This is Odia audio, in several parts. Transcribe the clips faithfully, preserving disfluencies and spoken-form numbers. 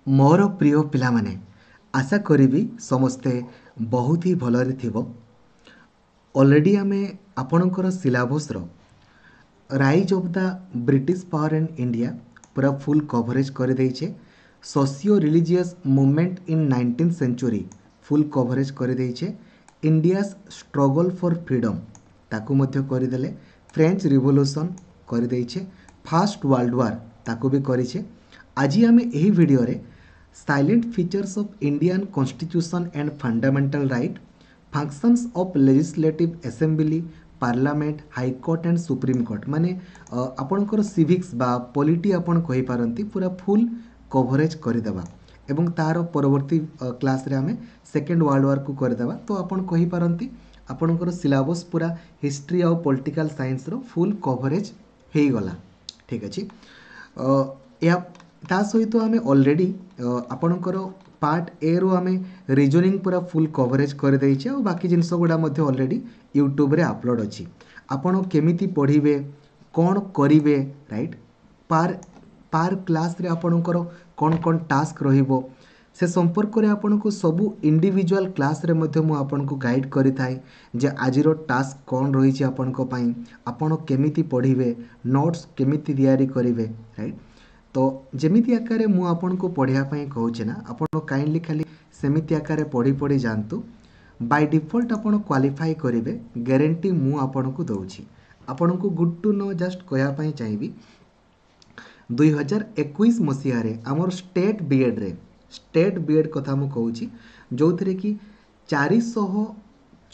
ମୋର ପ୍ରିୟ ପିଲାମାନେ ଆଶା କରିବି ସମସ୍ତେ ବହୁତ ହି ଭଲରେ ଥିବ ଅଲରେଡ଼ି ଆମେ ଆପଣଙ୍କର ସିଲାବସ୍ର Rise of the British power in India ପୁରା ଫୁଲ୍ କଭରେଜ୍ କରିଦେଇଛେ socio religious movement in nineteen century full coverage କରିଦେଇଛେ India's struggle for freedom ତାକୁ ମଧ୍ୟ କରିଦେଲେ ଫ୍ରେଞ୍ଚ ରିଭଲ୍ୟୁସନ୍ କରିଦେଇଛେ ଫାର୍ଷ୍ଟ ୱାର୍ଲଡ ୱାର୍ ତାକୁ ବି କରିଛେ ଆଜି ଆମେ ଏହି ଭିଡ଼ିଓରେ salient features of Indian Constitution and fundamental right functions of Legislative Assembly Parliament High Court and Supreme Court ମାନେ ଅ, ଆପଣଙ୍କର ସିଭିକ୍ସ ବା ପଲିଟି ଆପଣ କହିପାରନ୍ତି ପୁରା ଫୁଲ୍ କଭରେଜ୍ କରିଦେବା ଏବଂ ତା'ର ପରବର୍ତ୍ତୀ କ୍ଲାସ୍ରେ ଆମେ ସେକେଣ୍ଡ ୱାର୍ଲଡ ୱାର୍କୁ କରିଦେବା ତ ଆପଣ କହିପାରନ୍ତି ଆପଣଙ୍କର ସିଲାବସ୍ ପୁରା ହିଷ୍ଟ୍ରି ଆଉ ପଲିଟିକାଲ ସାଇନ୍ସର ଫୁଲ୍ କଭରେଜ୍ ହେଇଗଲା ଠିକ୍ ଅଛି ଅ, ଏହା ତା ସହିତ ଆମେ ଅଲରେଡ଼ି ଆପଣଙ୍କର ପାର୍ଟ ଏରୁ ଆମେ ରିଜନିଂ ପୁରା ଫୁଲ୍ କଭରେଜ୍ କରିଦେଇଛେ ଆଉ ବାକି ଜିନିଷ ଗୁଡ଼ା ମଧ୍ୟ ଅଲରେଡ଼ି ୟୁଟ୍ୟୁବରେ ଅପଲୋଡ଼ ଅଛି ଆପଣ କେମିତି ପଢ଼ିବେ କ'ଣ କରିବେ ରାଇଟ୍ ପାର୍ ପାର୍ କ୍ଲାସ୍ରେ ଆପଣଙ୍କର କ'ଣ କ'ଣ ଟାସ୍କ ରହିବ ସେ ସମ୍ପର୍କରେ ଆପଣଙ୍କୁ ସବୁ ଇଣ୍ଡିଭିଜୁଆଲ୍ କ୍ଲାସ୍ରେ ମଧ୍ୟ ମୁଁ ଆପଣଙ୍କୁ ଗାଇଡ଼ କରିଥାଏ ଯେ ଆଜିର ଟାସ୍କ କ'ଣ ରହିଛି ଆପଣଙ୍କ ପାଇଁ ଆପଣ କେମିତି ପଢ଼ିବେ ନୋଟ୍ସ କେମିତି ତିଆରି କରିବେ ରାଇଟ୍ ତ ଯେମିତି ଆକାରରେ ମୁଁ ଆପଣଙ୍କୁ ପଢ଼ିବା ପାଇଁ କହୁଛି ନା ଆପଣ କାଇଣ୍ଡଲି ଖାଲି ସେମିତି ଆକାରରେ ପଢ଼ି ପଢ଼ି ଯାଆନ୍ତୁ ବାଇ ଡିଫଲ୍ଟ ଆପଣ କ୍ୱାଲିଫାଇ କରିବେ ଗ୍ୟାରେଣ୍ଟି ମୁଁ ଆପଣଙ୍କୁ ଦେଉଛି ଆପଣଙ୍କୁ ଗୁଡ୍ ଟୁ ନୋ ଜଷ୍ଟ କହିବା ପାଇଁ ଚାହିଁବି ଦୁଇ ହଜାର ଏକୋଇଶ ମସିହାରେ ଆମର ଷ୍ଟେଟ୍ ବିଏଡ଼୍ରେ ଷ୍ଟେଟ୍ ବିଏଡ଼୍ କଥା ମୁଁ କହୁଛି ଯେଉଁଥିରେ କି ଚାରିଶହ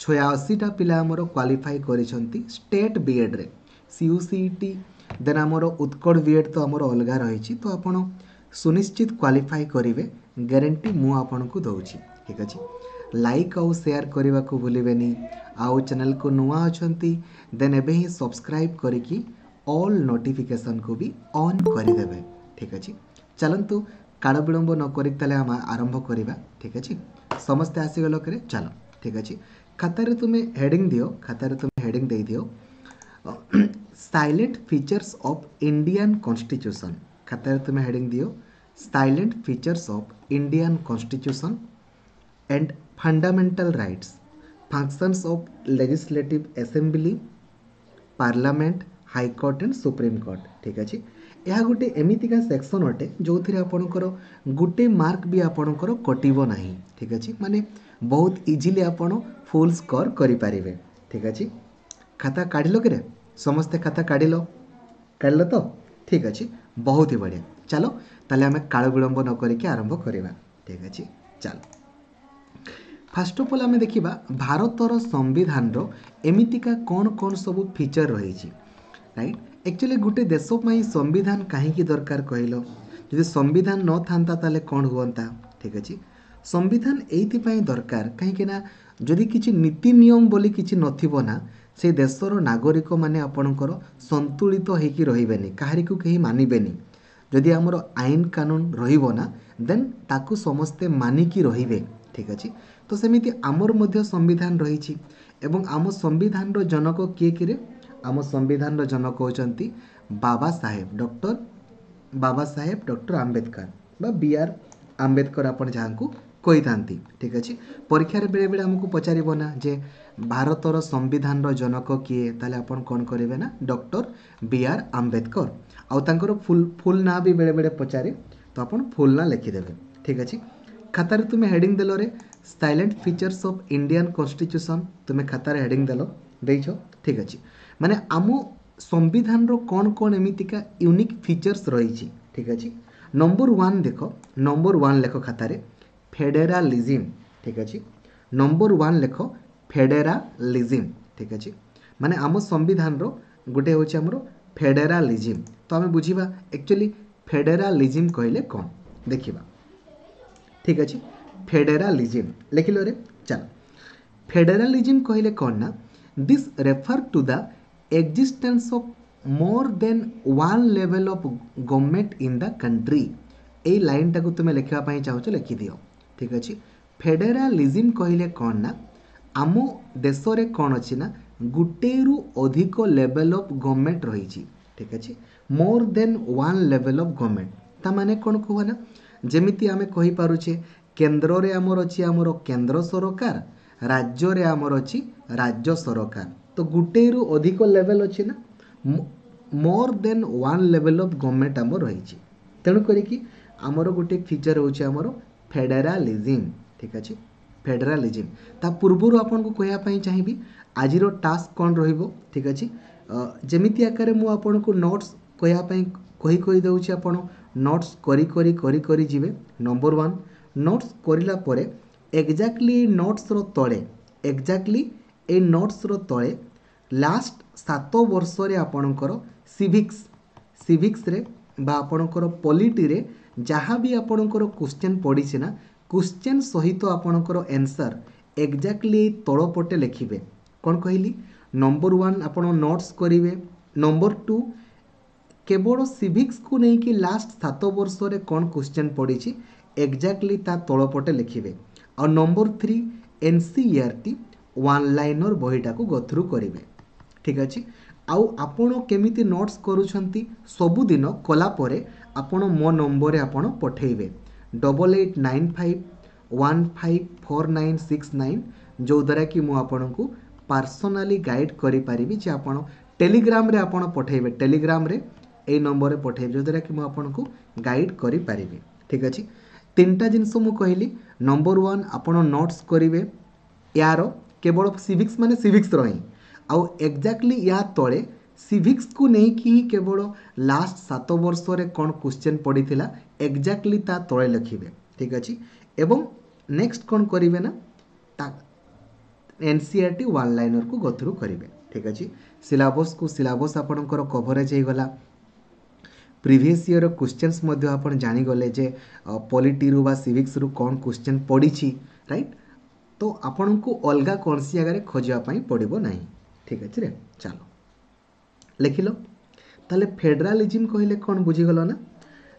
ଛୟାଅଶୀଟା ପିଲା ଆମର କ୍ୱାଲିଫାଇ କରିଛନ୍ତି ଷ୍ଟେଟ୍ ବିଏଡ଼୍ରେ C U C E T then ଆମର ଉତ୍କଳ ବିଏଡ଼୍ ତ ଆମର ଅଲଗା ରହିଛି ତ ଆପଣ ସୁନିଶ୍ଚିତ କ୍ୱାଲିଫାଇ କରିବେ ଗ୍ୟାରେଣ୍ଟି ମୁଁ ଆପଣଙ୍କୁ ଦେଉଛି ଠିକ୍ ଅଛି ଲାଇକ୍ ଆଉ ସେୟାର କରିବାକୁ ଭୁଲିବେନି ଆଉ ଚ୍ୟାନେଲକୁ ନୂଆ ଅଛନ୍ତି ଦେନ୍ ଏବେ ହିଁ ସବସ୍କ୍ରାଇବ୍ କରିକି ଅଲ୍ ନୋଟିଫିକେସନ୍କୁ ବି ଅନ୍ କରିଦେବେ ଠିକ୍ ଅଛି ଚାଲନ୍ତୁ କାଳ ବିଳମ୍ବ ନ କରିକି ତାହେଲେ ଆମେ ଆରମ୍ଭ କରିବା ଠିକ୍ ଅଛି ସମସ୍ତେ ଆସିଗଲ କରେ ଚାଲ ଠିକ୍ ଅଛି ଖାତାରେ ତୁମେ ହେଡ଼ିଂ ଦିଅ ଖାତାରେ ତୁମେ ହେଡ଼ିଂ ଦେଇଦିଅ salient features of Indian Constitution ଖାତାରେ ତୁମେ ହେଡ଼ିଂ ଦିଅ salient features of Indian Constitution and fundamental rights functions of Legislative Assembly Parliament High Court and Supreme Court ଠିକ୍ ଅଛି ଏହା ଗୋଟେ ଏମିତିକା ସେକ୍ସନ୍ ଅଟେ ଯେଉଁଥିରେ ଆପଣଙ୍କର ଗୋଟେ ମାର୍କ ବି ଆପଣଙ୍କର କଟିବ ନାହିଁ ଠିକ୍ ଅଛି ମାନେ ବହୁତ ଇଜିଲି ଆପଣ ଫୁଲ୍ ସ୍କୋର କରିପାରିବେ ଠିକ୍ ଅଛି ଖାତା କାଢ଼ିଲ କିରେ ସମସ୍ତେ ଖାତା କାଢ଼ିଲ କାଢ଼ିଲ ତ ଠିକ୍ ଅଛି ବହୁତ ହି ବଢ଼ିଆ ଚାଲ ତାହେଲେ ଆମେ କାଳ ବିଳମ୍ବ ନ କରିକି ଆରମ୍ଭ କରିବା ଠିକ୍ ଅଛି ଚାଲ ଫାର୍ଷ୍ଟ ଅଫ୍ ଅଲ୍ ଆମେ ଦେଖିବା ଭାରତର ସମ୍ବିଧାନର ଏମିତିକା କ'ଣ କ'ଣ ସବୁ ଫିଚର୍ ରହିଛି ରାଇଟ୍ ଆକ୍ଚୁଆଲି ଗୋଟେ ଦେଶ ପାଇଁ ସମ୍ବିଧାନ କାହିଁକି ଦରକାର କହିଲ ଯଦି ସମ୍ବିଧାନ ନଥାନ୍ତା ତାହେଲେ କ'ଣ ହୁଅନ୍ତା ଠିକ୍ ଅଛି ସମ୍ବିଧାନ ଏଇଥିପାଇଁ ଦରକାର କାହିଁକି ନା ଯଦି କିଛି ନୀତି ନିୟମ ବୋଲି କିଛି ନଥିବ ନା ସେ ଦେଶର ନାଗରିକମାନେ ଆପଣଙ୍କର ସନ୍ତୁଳିତ ହେଇକି ରହିବେନି କାହାରିକୁ କେହି ମାନିବେନି ଯଦି ଆମର ଆଇନ କାନୁନ ରହିବ ନା ଦେନ୍ ତାକୁ ସମସ୍ତେ ମାନିକି ରହିବେ ଠିକ୍ ଅଛି ତ ସେମିତି ଆମର ମଧ୍ୟ ସମ୍ବିଧାନ ରହିଛି ଏବଂ ଆମ ସମ୍ବିଧାନର ଜନକ କିଏ କିରେ ଆମ ସମ୍ବିଧାନର ଜନକ ହେଉଛନ୍ତି ବାବା ସାହେବ ଡକ୍ଟର ବାବା ସାହେବ ଡକ୍ଟର ଆମ୍ବେଦକର ବା ବି ଆର୍ ଆମ୍ବେଦକର ଆପଣ ଯାହାଙ୍କୁ କହିଥାନ୍ତି ଠିକ୍ ଅଛି ପରୀକ୍ଷାରେ ବେଳେବେଳେ ଆମକୁ ପଚାରିବ ନା ଯେ ଭାରତର ସମ୍ବିଧାନର ଜନକ କିଏ ତାହେଲେ ଆପଣ କ'ଣ କରିବେ ନା ଡକ୍ଟର ବି ଆର୍ ଆମ୍ବେଦକର ଆଉ ତାଙ୍କର ଫୁଲ୍ ଫୁଲ୍ ନାଁ ବି ବେଳେବେଳେ ପଚାରେ ତ ଆପଣ ଫୁଲ୍ ନାଁ ଲେଖିଦେବେ ଠିକ୍ ଅଛି ଖାତାରେ ତୁମେ heading ଦେଲରେ salient features of Indian Constitution ତୁମେ ଖାତାରେ ହେଡ଼ିଂ ଦେଲ ଦେଇଛ ଠିକ୍ ଅଛି ମାନେ ଆମ ସମ୍ବିଧାନର କ'ଣ କ'ଣ ଏମିତିକା ୟୁନିକ୍ ଫିଚର୍ସ ରହିଛି ଠିକ୍ ଅଛି ନମ୍ବର ୱାନ୍ ଦେଖ ନମ୍ବର ୱାନ୍ ଲେଖ ଖାତାରେ ଫେଡେରାଲିଜିମ୍ ଠିକ୍ ଅଛି ନମ୍ବର ୱାନ୍ ଲେଖ ଫେଡେରାଲିଜିମ୍ ଠିକ୍ ଅଛି ମାନେ ଆମ ସମ୍ବିଧାନର ଗୋଟେ ହେଉଛି ଆମର ଫେଡେରାଲିଜିମ୍ ତ ଆମେ ବୁଝିବା ଆକ୍ଚୁଆଲି ଫେଡେରାଲିଜିମ୍ କହିଲେ କ'ଣ ଦେଖିବା ଠିକ୍ ଅଛି ଫେଡେରାଲିଜିମ୍ ଲେଖିଲ ରେ ଚାଲ ଫେଡେରାଲିଜିମ୍ କହିଲେ କ'ଣ ନା this refer to the existence of more than one level of government in the country ଏଇ ଲାଇନଟାକୁ ତୁମେ ଲେଖିବା ପାଇଁ ଚାହୁଁଛ ଲେଖିଦିଅ ଠିକ୍ ଅଛି ଫେଡେରାଲିଜିମ୍ କହିଲେ କ'ଣ ନା ଆମ ଦେଶରେ କ'ଣ ଅଛି ନା ଗୋଟେରୁ ଅଧିକ ଲେଭେଲ୍ ଅଫ୍ ଗଭର୍ଣ୍ଣମେଣ୍ଟ ରହିଛି ଠିକ୍ ଅଛି more than one level of government ତା ମାନେ କ'ଣ କୁହ ନା ଯେମିତି ଆମେ କହିପାରୁଛେ କେନ୍ଦ୍ରରେ ଆମର ଅଛି ଆମର କେନ୍ଦ୍ର ସରକାର ରାଜ୍ୟରେ ଆମର ଅଛି ରାଜ୍ୟ ସରକାର ତ ଗୋଟେରୁ ଅଧିକ ଲେଭେଲ୍ ଅଛି ନା more than one level of government ଆମର ରହିଛି ତେଣୁ କରିକି ଆମର ଗୋଟେ ଫିଚର୍ ହେଉଛି ଆମର ଫେଡେରାଲିଜିମ୍ ଠିକ୍ ଅଛି ଫେଡେରାଲିଜିମ୍ ତା ପୂର୍ବରୁ ଆପଣଙ୍କୁ କହିବା ପାଇଁ ଚାହିଁବି ଆଜିର ଟାସ୍କ କ'ଣ ରହିବ ଠିକ୍ ଅଛି ଯେମିତି ଆକାରରେ ମୁଁ ଆପଣଙ୍କୁ ନୋଟ୍ସ କହିବା ପାଇଁ କହି କହି ଦେଉଛି ଆପଣ ନୋଟ୍ସ କରି କରି କରି କରି ଯିବେ ନମ୍ବର ୱାନ୍ ନୋଟ୍ସ କରିଲା ପରେ ଏକ୍ଜାକ୍ଟଲି ଏଇ ନୋଟ୍ସର ତଳେ ଏକ୍ଜାକ୍ଟଲି ଏଇ ନୋଟ୍ସର ତଳେ ଲାଷ୍ଟ ସାତ ବର୍ଷରେ ଆପଣଙ୍କର ସିଭିକ୍ସ ସିଭିକ୍ସରେ ବା ଆପଣଙ୍କର ପଲିଟିରେ ଯାହା ବି ଆପଣଙ୍କର କ୍ୱେଶ୍ଚେନ୍ ପଡ଼ିଛି ନା କ୍ୱେଶ୍ଚେନ୍ ସହିତ ଆପଣଙ୍କର ଆନ୍ସର୍ ଏକ୍ଜାକ୍ଟଲି ଏଇ ତଳ ପଟେ ଲେଖିବେ କ'ଣ କହିଲି ନମ୍ବର ୱାନ୍ ଆପଣ ନୋଟ୍ସ କରିବେ ନମ୍ବର ଟୁ କେବଳ ସିଭିକ୍ସକୁ ନେଇକି ଲାଷ୍ଟ ସାତ ବର୍ଷରେ କ'ଣ କ୍ୱେଶ୍ଚେନ୍ ପଡ଼ିଛି ଏକ୍ଜାକ୍ଟଲି ତା ତଳ ପଟେ ଲେଖିବେ ଆଉ number three N C E R ଟି ୱାନ୍ ଲାଇନର୍ ବହିଟାକୁ ଗୋ ଥ୍ରୁ କରିବେ ଠିକ୍ ଅଛି ଆଉ ଆପଣ କେମିତି ନୋଟ୍ସ କରୁଛନ୍ତି ସବୁଦିନ କଲା ପରେ ଆପଣ ମୋ ନମ୍ବରରେ ଆପଣ ପଠାଇବେ double eight nine five one five four nine six nine ଯେଉଁଦ୍ୱାରା କି ମୁଁ ଆପଣଙ୍କୁ ପାର୍ସନାଲି ଗାଇଡ଼ କରିପାରିବି ଯେ ଆପଣ ଟେଲିଗ୍ରାମରେ ଆପଣ ପଠାଇବେ ଟେଲିଗ୍ରାମରେ ଏଇ ନମ୍ବରରେ ପଠାଇବେ ଯେଉଁଦ୍ୱାରା କି ମୁଁ ଆପଣଙ୍କୁ ଗାଇଡ଼ କରିପାରିବି ଠିକ୍ ଅଛି ତିନିଟା ଜିନିଷ ମୁଁ କହିଲି ନମ୍ବର ୱାନ୍ ଆପଣ ନୋଟ୍ସ କରିବେ ୟାର କେବଳ ସିଭିକ୍ସ ମାନେ ସିଭିକ୍ସର ହିଁ ଆଉ ଏକ୍ଜାକ୍ଟଲି ୟା ତଳେ ସିଭିକ୍ସକୁ ନେଇକି ହିଁ କେବଳ ଲାଷ୍ଟ ସାତ ବର୍ଷରେ କ'ଣ କ୍ୱେଶ୍ଚେନ୍ ପଡ଼ିଥିଲା ଏକ୍ଜାକ୍ଟଲି ତା ତଳେ ଲେଖିବେ ଠିକ୍ ଅଛି ଏବଂ ନେକ୍ସଟ କ'ଣ କରିବେ ନା ତା N C R ଟି ୱାନ୍ ଲାଇନର୍କୁ ଗୋ ଥ୍ରୁ କରିବେ ଠିକ୍ ଅଛି ସିଲାବସ୍କୁ ସିଲାବସ୍ ଆପଣଙ୍କର କଭରେଜ୍ ହେଇଗଲା ପ୍ରିଭିୟସ୍ ଇୟର କ୍ୱେଶ୍ଚନ୍ସ ମଧ୍ୟ ଆପଣ ଜାଣିଗଲେ ଯେ ପଲିଟିରୁ ବା ସିଭିକ୍ସରୁ କ'ଣ କ୍ୱେଶ୍ଚନ୍ ପଡ଼ିଛି ରାଇଟ୍ ତ ଆପଣଙ୍କୁ ଅଲଗା କୌଣସି ଜାଗାରେ ଖୋଜିବା ପାଇଁ ପଡ଼ିବ ନାହିଁ ଠିକ୍ ଅଛି ରେ ଚାଲ ଲେଖିଲ ତାହେଲେ ଫେଡେରାଲିଜିମ୍ କହିଲେ କ'ଣ ବୁଝିଗଲ ନା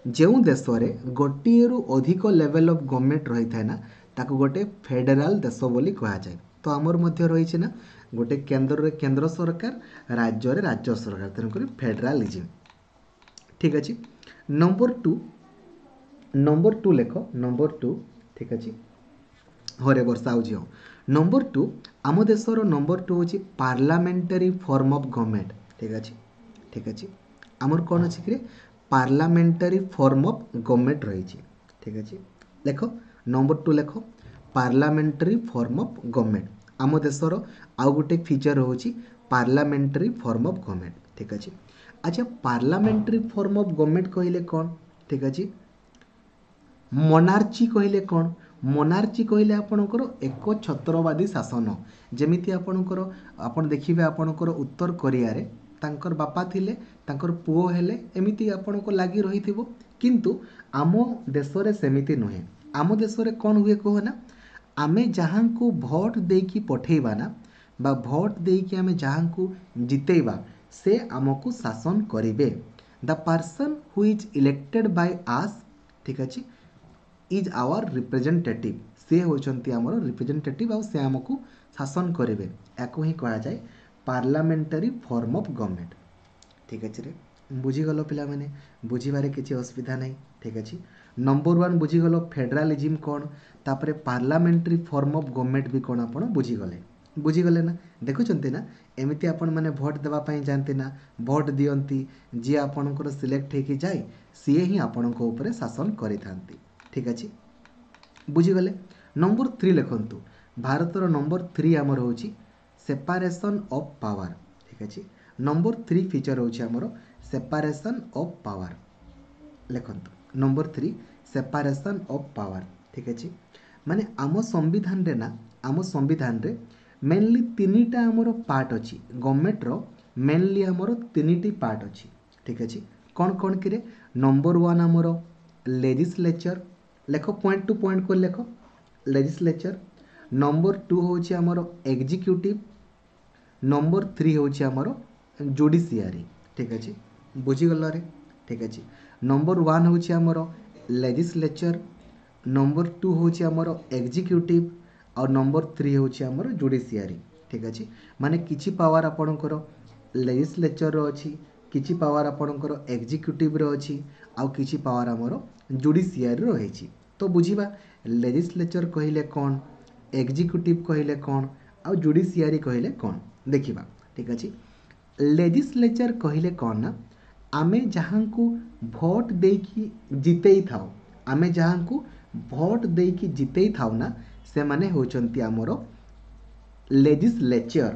ଯେଉଁ ଦେଶରେ ଗୋଟିଏରୁ ଅଧିକ ଲେଭେଲ୍ ଅଫ୍ ଗଭର୍ଣ୍ଣମେଣ୍ଟ ରହିଥାଏ ନା ତାକୁ ଗୋଟେ ଫେଡେରାଲ ଦେଶ ବୋଲି କୁହାଯାଏ ତ ଆମର ମଧ୍ୟ ରହିଛି ନା ଗୋଟେ କେନ୍ଦ୍ରରେ କେନ୍ଦ୍ର ସରକାର ରାଜ୍ୟରେ ରାଜ୍ୟ ସରକାର ତେଣୁକରି ଫେଡେରାଲିଜିମ୍ ଠିକ୍ ଅଛି ନମ୍ବର ଟୁ ନମ୍ବର ଟୁ ଲେଖ ନମ୍ବର ଟୁ ଠିକ୍ ଅଛି ହରେ ବର୍ଷା ହେଉଛି ହଁ ନମ୍ବର ଟୁ ଆମ ଦେଶର ନମ୍ବର ଟୁ ହେଉଛି ପାର୍ଲାମେଣ୍ଟାରୀ ଫର୍ମ ଅଫ୍ ଗଭର୍ଣ୍ଣମେଣ୍ଟ ଠିକ୍ ଅଛି ଠିକ୍ ଅଛି ଆମର କ'ଣ ଅଛି କିରେ ପାର୍ଲାମେଣ୍ଟାରୀ ଫର୍ମ ଅଫ୍ ଗଭର୍ଣ୍ଣମେଣ୍ଟ ରହିଛି ଠିକ୍ ଅଛି ଲେଖ ନମ୍ବର ଟୁ ଲେଖ ପାର୍ଲାମେଣ୍ଟାରୀ ଫର୍ମ ଅଫ୍ ଗଭର୍ଣ୍ଣମେଣ୍ଟ ଆମ ଦେଶର ଆଉ ଗୋଟେ ଫିଚର୍ ହେଉଛି ପାର୍ଲାମେଣ୍ଟାରୀ ଫର୍ମ ଅଫ୍ ଗଭର୍ଣ୍ଣମେଣ୍ଟ ଠିକ୍ ଅଛି ଆଚ୍ଛା ପାର୍ଲାମେଣ୍ଟାରୀ ଫର୍ମ ଅଫ୍ ଗଭର୍ଣ୍ଣମେଣ୍ଟ କହିଲେ କ'ଣ ଠିକ୍ ଅଛି ମୋନାର୍ଚି କହିଲେ କ'ଣ ମୋନାର୍ଚି କହିଲେ ଆପଣଙ୍କର ଏକ ଛତ୍ରବାଦୀ ଶାସନ ଯେମିତି ଆପଣଙ୍କର ଆପଣ ଦେଖିବେ ଆପଣଙ୍କର ଉତ୍ତର କୋରିଆରେ ତାଙ୍କର ବାପା ଥିଲେ ତାଙ୍କର ପୁଅ ହେଲେ ଏମିତି ଆପଣଙ୍କ ଲାଗି ରହିଥିବ କିନ୍ତୁ ଆମ ଦେଶରେ ସେମିତି ନୁହେଁ ଆମ ଦେଶରେ କ'ଣ ହୁଏ କୁହ ନା ଆମେ ଯାହାଙ୍କୁ ଭୋଟ ଦେଇକି ପଠେଇବା ନା ବା ଭୋଟ ଦେଇକି ଆମେ ଯାହାଙ୍କୁ ଜିତେଇବା ସେ ଆମକୁ ଶାସନ କରିବେ the person who is elected by us ଠିକ୍ ଅଛି is hour representative ସେ ହେଉଛନ୍ତି ଆମର ରିପ୍ରେଜେଣ୍ଟେଟିଭ୍ ଆଉ ସେ ଆମକୁ ଶାସନ କରିବେ ୟାକୁ ହିଁ କୁହାଯାଏ ପାର୍ଲାମେଣ୍ଟାରୀ ଫର୍ମ ଅଫ୍ ଗଭର୍ଣ୍ଣମେଣ୍ଟ ଠିକ୍ ଅଛି ରେ ବୁଝିଗଲ ପିଲାମାନେ ବୁଝିବାରେ କିଛି ଅସୁବିଧା ନାହିଁ ଠିକ୍ ଅଛି ନମ୍ବର ୱାନ୍ ବୁଝିଗଲ ଫେଡେରାଲିଜିମ୍ କ'ଣ ତାପରେ ପାର୍ଲାମେଣ୍ଟାରୀ ଫର୍ମ ଅଫ୍ ଗଭର୍ଣ୍ଣମେଣ୍ଟ ବି କ'ଣ ଆପଣ ବୁଝିଗଲେ ବୁଝିଗଲେ ନା ଦେଖୁଛନ୍ତି ନା ଏମିତି ଆପଣମାନେ ଭୋଟ ଦେବା ପାଇଁ ଯାଆନ୍ତି ନା ଭୋଟ ଦିଅନ୍ତି ଯିଏ ଆପଣଙ୍କର ସିଲେକ୍ଟ ହେଇକି ଯାଏ ସିଏ ହିଁ ଆପଣଙ୍କ ଉପରେ ଶାସନ କରିଥାନ୍ତି ଠିକ୍ ଅଛି ବୁଝିଗଲେ ନମ୍ବର ଥ୍ରୀ ଲେଖନ୍ତୁ ଭାରତର ନମ୍ବର ଥ୍ରୀ ଆମର ହେଉଛି ସେପାରେସନ୍ ଅଫ୍ ପାୱାର ଠିକ୍ ଅଛି ନମ୍ବର ଥ୍ରୀ ଫିଚର୍ ହେଉଛି ଆମର ସେପାରେସନ୍ ଅଫ୍ ପାୱାର ଲେଖନ୍ତୁ number three separation of power ଠିକ୍ ଅଛି ମାନେ ଆମ ସମ୍ବିଧାନରେ ନା ଆମ ସମ୍ବିଧାନରେ ମେନଲି ତିନିଟା ଆମର ପାର୍ଟ ଅଛି ଗଭର୍ଣ୍ଣମେଣ୍ଟର ମେନଲି ଆମର ତିନିଟି ପାର୍ଟ ଅଛି ଠିକ୍ ଅଛି କ'ଣ କ'ଣ କିରେ ନମ୍ବର ୱାନ୍ ଆମର ଲେଜିସ୍ଲେଚର ଲେଖ ପଏଣ୍ଟ ଟୁ ପଏଣ୍ଟ କରି ଲେଖ ଲେଜିସ୍ଲେଚର ନମ୍ବର ଟୁ ହେଉଛି ଆମର ଏକ୍ଜିକ୍ୟୁଟିଭ୍ ନମ୍ବର ଥ୍ରୀ ହେଉଛି ଆମର ଜୁଡ଼ିସିଆରୀ ଠିକ୍ ଅଛି ବୁଝିଗଲରେ ଠିକ୍ ଅଛି ନମ୍ବର ୱାନ୍ ହେଉଛି ଆମର ଲେଜିସ୍ଲେଚର ନମ୍ବର ଟୁ ହେଉଛି ଆମର ଏକ୍ଜିକ୍ୟୁଟିଭ୍ ଆଉ ନମ୍ବର ଥ୍ରୀ ହେଉଛି ଆମର ଜୁଡ଼ିସିଆରୀ ଠିକ୍ ଅଛି ମାନେ କିଛି ପାୱାର ଆପଣଙ୍କର ଲେଜିସ୍ଲେଚରର ଅଛି କିଛି ପାୱାର ଆପଣଙ୍କର ଏକ୍ଜିକ୍ୟୁଟିଭ୍ର ଅଛି ଆଉ କିଛି ପାୱାର ଆମର ଜୁଡ଼ିସିଆରୀ ରହିଛି। ତ ବୁଝିବା ଲେଜିସ୍ଲେଚର କହିଲେ କ'ଣ, ଏକ୍ଜିକ୍ୟୁଟିଭ୍ କହିଲେ କ'ଣ, ଆଉ ଜୁଡ଼ିସିଆରୀ କହିଲେ କ'ଣ, ଦେଖିବା। ଠିକ୍ ଅଛି। ଲେଜିସ୍ଲେଚର କହିଲେ କ'ଣ ନା ଆମେ ଯାହାଙ୍କୁ ଭୋଟ ଦେଇକି ଜିତେଇ ଥାଉ, ଆମେ ଯାହାଙ୍କୁ ଭୋଟ ଦେଇକି ଜିତେଇ ଥାଉ ନା, ସେମାନେ ହେଉଛନ୍ତି ଆମର ଲେଜିସ୍ଲେଚର।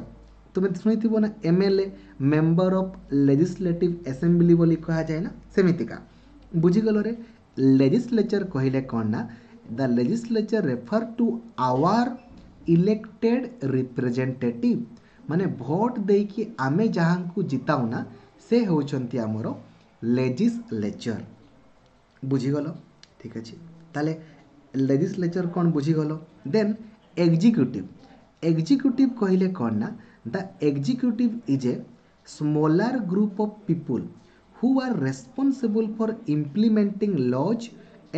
ତୁମେ ଶୁଣିଥିବ ନା M L A, member of legislative assembly ବୋଲି କୁହାଯାଏ ନା, ସେମିତିକା ବୁଝିଗଲରେ। ଲେଜିସ୍ଲେଚର କହିଲେ କ'ଣ ନା the legislature refer to our elected representative, ମାନେ ଭୋଟ ଦେଇକି ଆମେ ଯାହାଙ୍କୁ ଜିତାଉ ନା, ସେ ହେଉଛନ୍ତି ଆମର ଲେଜିସ୍ଲେଚର। ବୁଝିଗଲ? ଠିକ୍ ଅଛି। ତାହେଲେ ଲେଜିସ୍ଲେଚର କ'ଣ ବୁଝିଗଲ। ଦେନ୍ ଏକ୍ଜିକ୍ୟୁଟିଭ୍। ଏକ୍ଜିକ୍ୟୁଟିଭ୍ କହିଲେ କ'ଣ ନା the executive is a smaller group of people who are responsible for implementing laws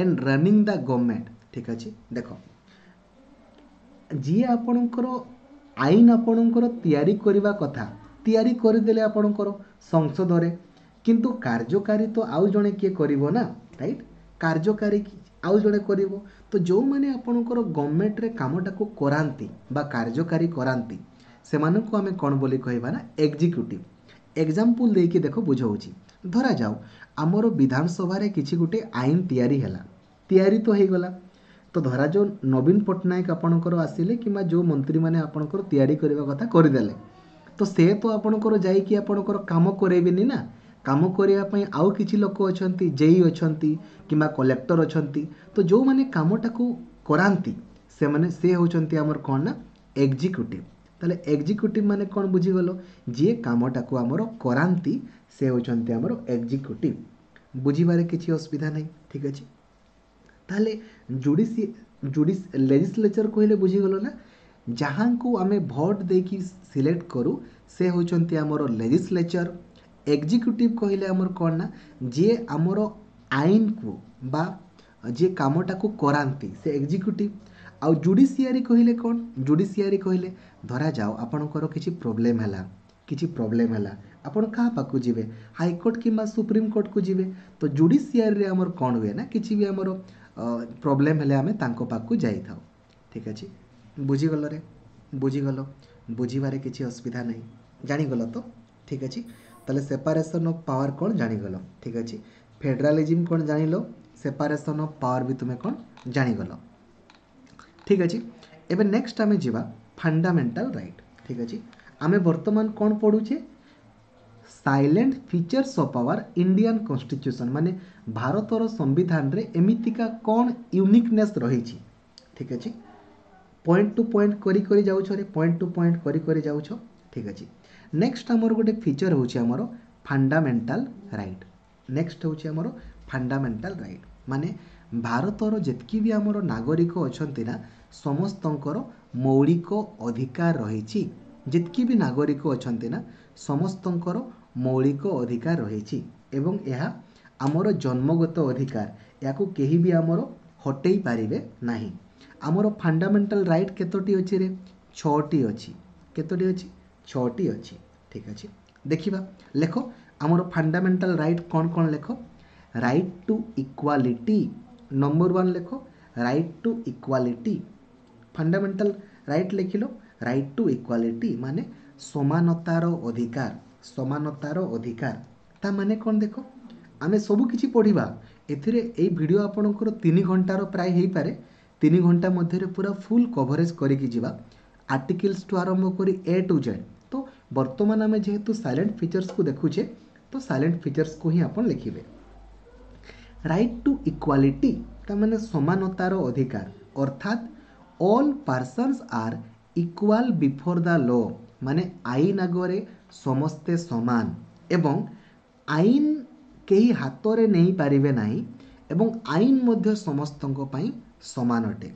and running the government। ଠିକ୍ ଅଛି। ଦେଖ, ଯିଏ ଆପଣଙ୍କର ଆଇନ ଆପଣଙ୍କର ତିଆରି କରିବା କଥା, ତିଆରି କରିଦେଲେ ଆପଣଙ୍କର ସଂସଦରେ, କିନ୍ତୁ କାର୍ଯ୍ୟକାରୀ ତ ଆଉ ଜଣେ କିଏ କରିବ ନା, ରାଇଟ୍? କାର୍ଯ୍ୟକାରୀ ଆଉ ଜଣେ କରିବ। ତ ଯେଉଁମାନେ ଆପଣଙ୍କର ଗଭର୍ଣ୍ଣମେଣ୍ଟରେ କାମଟାକୁ କରାନ୍ତି ବା କାର୍ଯ୍ୟକାରୀ କରାନ୍ତି, ସେମାନଙ୍କୁ ଆମେ କ'ଣ ବୋଲି କହିବା ନା ଏକ୍ଜିକ୍ୟୁଟିଭ୍। ଏକ୍ଜାମ୍ପଲ୍ ଦେଇକି ଦେଖ ବୁଝାଉଛି। ଧରାଯାଉ ଆମର ବିଧାନସଭାରେ କିଛି ଗୋଟେ ଆଇନ ତିଆରି ହେଲା, ତିଆରି ତ ହେଇଗଲା। ତ ଧରାଯାଉ ନବୀନ ପଟ୍ଟନାୟକ ଆପଣଙ୍କର ଆସିଲେ କିମ୍ବା ଯେଉଁ ମନ୍ତ୍ରୀମାନେ ଆପଣଙ୍କର ତିଆରି କରିବା କଥା କରିଦେଲେ, ତ ସେ ତ ଆପଣଙ୍କର ଯାଇକି ଆପଣଙ୍କର କାମ କରେଇବେନି ନା। କାମ କରିବା ପାଇଁ ଆଉ କିଛି ଲୋକ ଅଛନ୍ତି, ଜେଇ ଅଛନ୍ତି କିମ୍ବା କଲେକ୍ଟର ଅଛନ୍ତି। ତ ଯେଉଁମାନେ କାମଟାକୁ କରାନ୍ତି ସେମାନେ, ସେ ହେଉଛନ୍ତି ଆମର କ'ଣ ନା ଏକ୍ଜିକ୍ୟୁଟିଭ୍। ତାହେଲେ ଏକ୍ଜିକ୍ୟୁଟିଭ୍ ମାନେ କ'ଣ ବୁଝିଗଲ? ଯିଏ କାମଟାକୁ ଆମର କରାନ୍ତି ସେ ହେଉଛନ୍ତି ଆମର ଏକ୍ଜିକ୍ୟୁଟିଭ୍। ବୁଝିବାରେ କିଛି ଅସୁବିଧା ନାହିଁ। ଠିକ୍ ଅଛି। ତାହେଲେ ଜୁଡ଼ିସି ଜୁଡ଼ିସ୍ ଲେଜିସ୍ଲେଚର କହିଲେ ବୁଝିଗଲ ନା, ଯାହାଙ୍କୁ ଆମେ ଭୋଟ ଦେଇକି ସିଲେକ୍ଟ କରୁ ସେ ହେଉଛନ୍ତି ଆମର ଲେଜିସ୍ଲେଚର। ଏକ୍ଜିକ୍ୟୁଟିଭ୍ କହିଲେ ଆମର କ'ଣ ନା ଯିଏ ଆମର ଆଇନକୁ ବା ଯିଏ କାମଟାକୁ କରାନ୍ତି ସେ ଏକ୍ଜିକ୍ୟୁଟିଭ୍। ଆଉ ଜୁଡ଼ିସିଆରୀ କହିଲେ କ'ଣ? ଜୁଡ଼ିସିଆରୀ କହିଲେ ଧରାଯାଉ ଆପଣଙ୍କର କିଛି ପ୍ରୋବ୍ଲେମ୍ ହେଲା, କିଛି ପ୍ରୋବ୍ଲେମ୍ ହେଲା, ଆପଣ କାହା ପାଖକୁ ଯିବେ? ହାଇକୋର୍ଟ କିମ୍ବା ସୁପ୍ରିମକୋର୍ଟକୁ ଯିବେ। ତ ଜୁଡ଼ିସିଆରୀରେ ଆମର କ'ଣ ହୁଏ ନା କିଛି ବି ଆମର ପ୍ରୋବ୍ଲେମ୍ ହେଲେ ଆମେ ତାଙ୍କ ପାଖକୁ ଯାଇଥାଉ। ଠିକ୍ ଅଛି। ବୁଝିଗଲରେ? ବୁଝିଗଲ? ବୁଝିବାରେ କିଛି ଅସୁବିଧା ନାହିଁ, ଜାଣିଗଲ ତ? ଠିକ୍ ଅଛି। ତାହେଲେ ସେପାରେସନ୍ ଅଫ୍ ପାୱାର କ'ଣ ଜାଣିଗଲ। ଠିକ୍ ଅଛି। ଫେଡେରାଲିଜିମ୍ କ'ଣ ଜାଣିଲ, ସେପାରେସନ୍ ଅଫ୍ ପାୱାର ବି ତୁମେ କ'ଣ ଜାଣିଗଲ। ଠିକ୍ ଅଛି। ଏବେ ନେକ୍ସଟ ଆମେ ଯିବା ଫଣ୍ଡାମେଣ୍ଟାଲ ରାଇଟ୍। ଠିକ୍ ଅଛି। ଆମେ ବର୍ତ୍ତମାନ କ'ଣ ପଢ଼ୁଛେ? Salient features of our Indian constitution, ମାନେ ଭାରତର ସମ୍ବିଧାନରେ ଏମିତିକା କ'ଣ ୟୁନିକନେସ୍ ରହିଛି। ଠିକ୍ ଅଛି। ପଏଣ୍ଟ ଟୁ ପଏଣ୍ଟ କରି କରି ଯାଉଛ ରେ, ପଏଣ୍ଟ ଟୁ ପଏଣ୍ଟ କରି କରି ଯାଉଛ। ଠିକ୍ ଅଛି। ନେକ୍ସଟ ଆମର ଗୋଟେ ଫିଚର ହେଉଛି ଆମର ଫଣ୍ଡାମେଣ୍ଟାଲ ରାଇଟ୍। ନେକ୍ସଟ ହେଉଛି ଆମର ଫଣ୍ଡାମେଣ୍ଟାଲ ରାଇଟ୍, ମାନେ ଭାରତର ଯେତିକି ବି ଆମର ନାଗରିକ ଅଛନ୍ତି ନା, ସମସ୍ତଙ୍କର ମୌଳିକ ଅଧିକାର ରହିଛି। ଯେତିକି ବି ନାଗରିକ ଅଛନ୍ତି ନା, ସମସ୍ତଙ୍କର ମୌଳିକ ଅଧିକାର ରହିଛି ଏବଂ ଏହା ଆମର ଜନ୍ମଗତ ଅଧିକାର, ଏହାକୁ କେହି ବି ଆମର ହଟେଇ ପାରିବେ ନାହିଁ। ଆମର ଫଣ୍ଡାମେଣ୍ଟାଲ ରାଇଟ୍ କେତୋଟି ଅଛି ରେ? ଛଅଟି ଅଛି। କେତୋଟି ଅଛି? ଛଅଟି ଅଛି। ଠିକ୍ ଅଛି। ଦେଖିବା, ଲେଖ ଆମର ଫଣ୍ଡାମେଣ୍ଟାଲ ରାଇଟ୍ କ'ଣ କ'ଣ ଲେଖ। Right to equality, number one ଲେଖ, right to equality. Fundamental right ଲେଖିଲ, right to equality ମାନେ ସମାନତାର ଅଧିକାର, ସମାନତାର ଅଧିକାର। ତା ମାନେ କ'ଣ ଦେଖ, ଆମେ ସବୁ କିଛି ପଢ଼ିବା ଏଥିରେ। ଏଇ ଭିଡ଼ିଓ ଆପଣଙ୍କର ତିନି ଘଣ୍ଟାର ପ୍ରାୟ ହେଇପାରେ। ତିନି ଘଣ୍ଟା ମଧ୍ୟରେ ପୁରା ଫୁଲ୍ କଭରେଜ୍ କରିକି ଯିବା, ଆର୍ଟିକିଲ୍ସଠୁ ଆରମ୍ଭ କରି ଏ ଟୁ ଜେଡ଼୍। ତ ବର୍ତ୍ତମାନ ଆମେ ଯେହେତୁ ସାଇଲେଣ୍ଟ ଫିଚର୍ସକୁ ଦେଖୁଛେ, ତ ସାଇଲେଣ୍ଟ ଫିଚର୍ସକୁ ହିଁ ଆପଣ ଲେଖିବେ। ରାଇଟ୍ ଟୁ ଇକ୍ୱାଲିଟି ତା ମାନେ ସମାନତାର ଅଧିକାର, ଅର୍ଥାତ୍ all persons are equal before the law, ମାନେ ଆଇନ ଆଗରେ ସମସ୍ତେ ସମାନ ଏବଂ ଆଇନ କେହି ହାତରେ ନେଇପାରିବେ ନାହିଁ ଏବଂ ଆଇନ ମଧ୍ୟ ସମସ୍ତଙ୍କ ପାଇଁ ସମାନ ଅଟେ।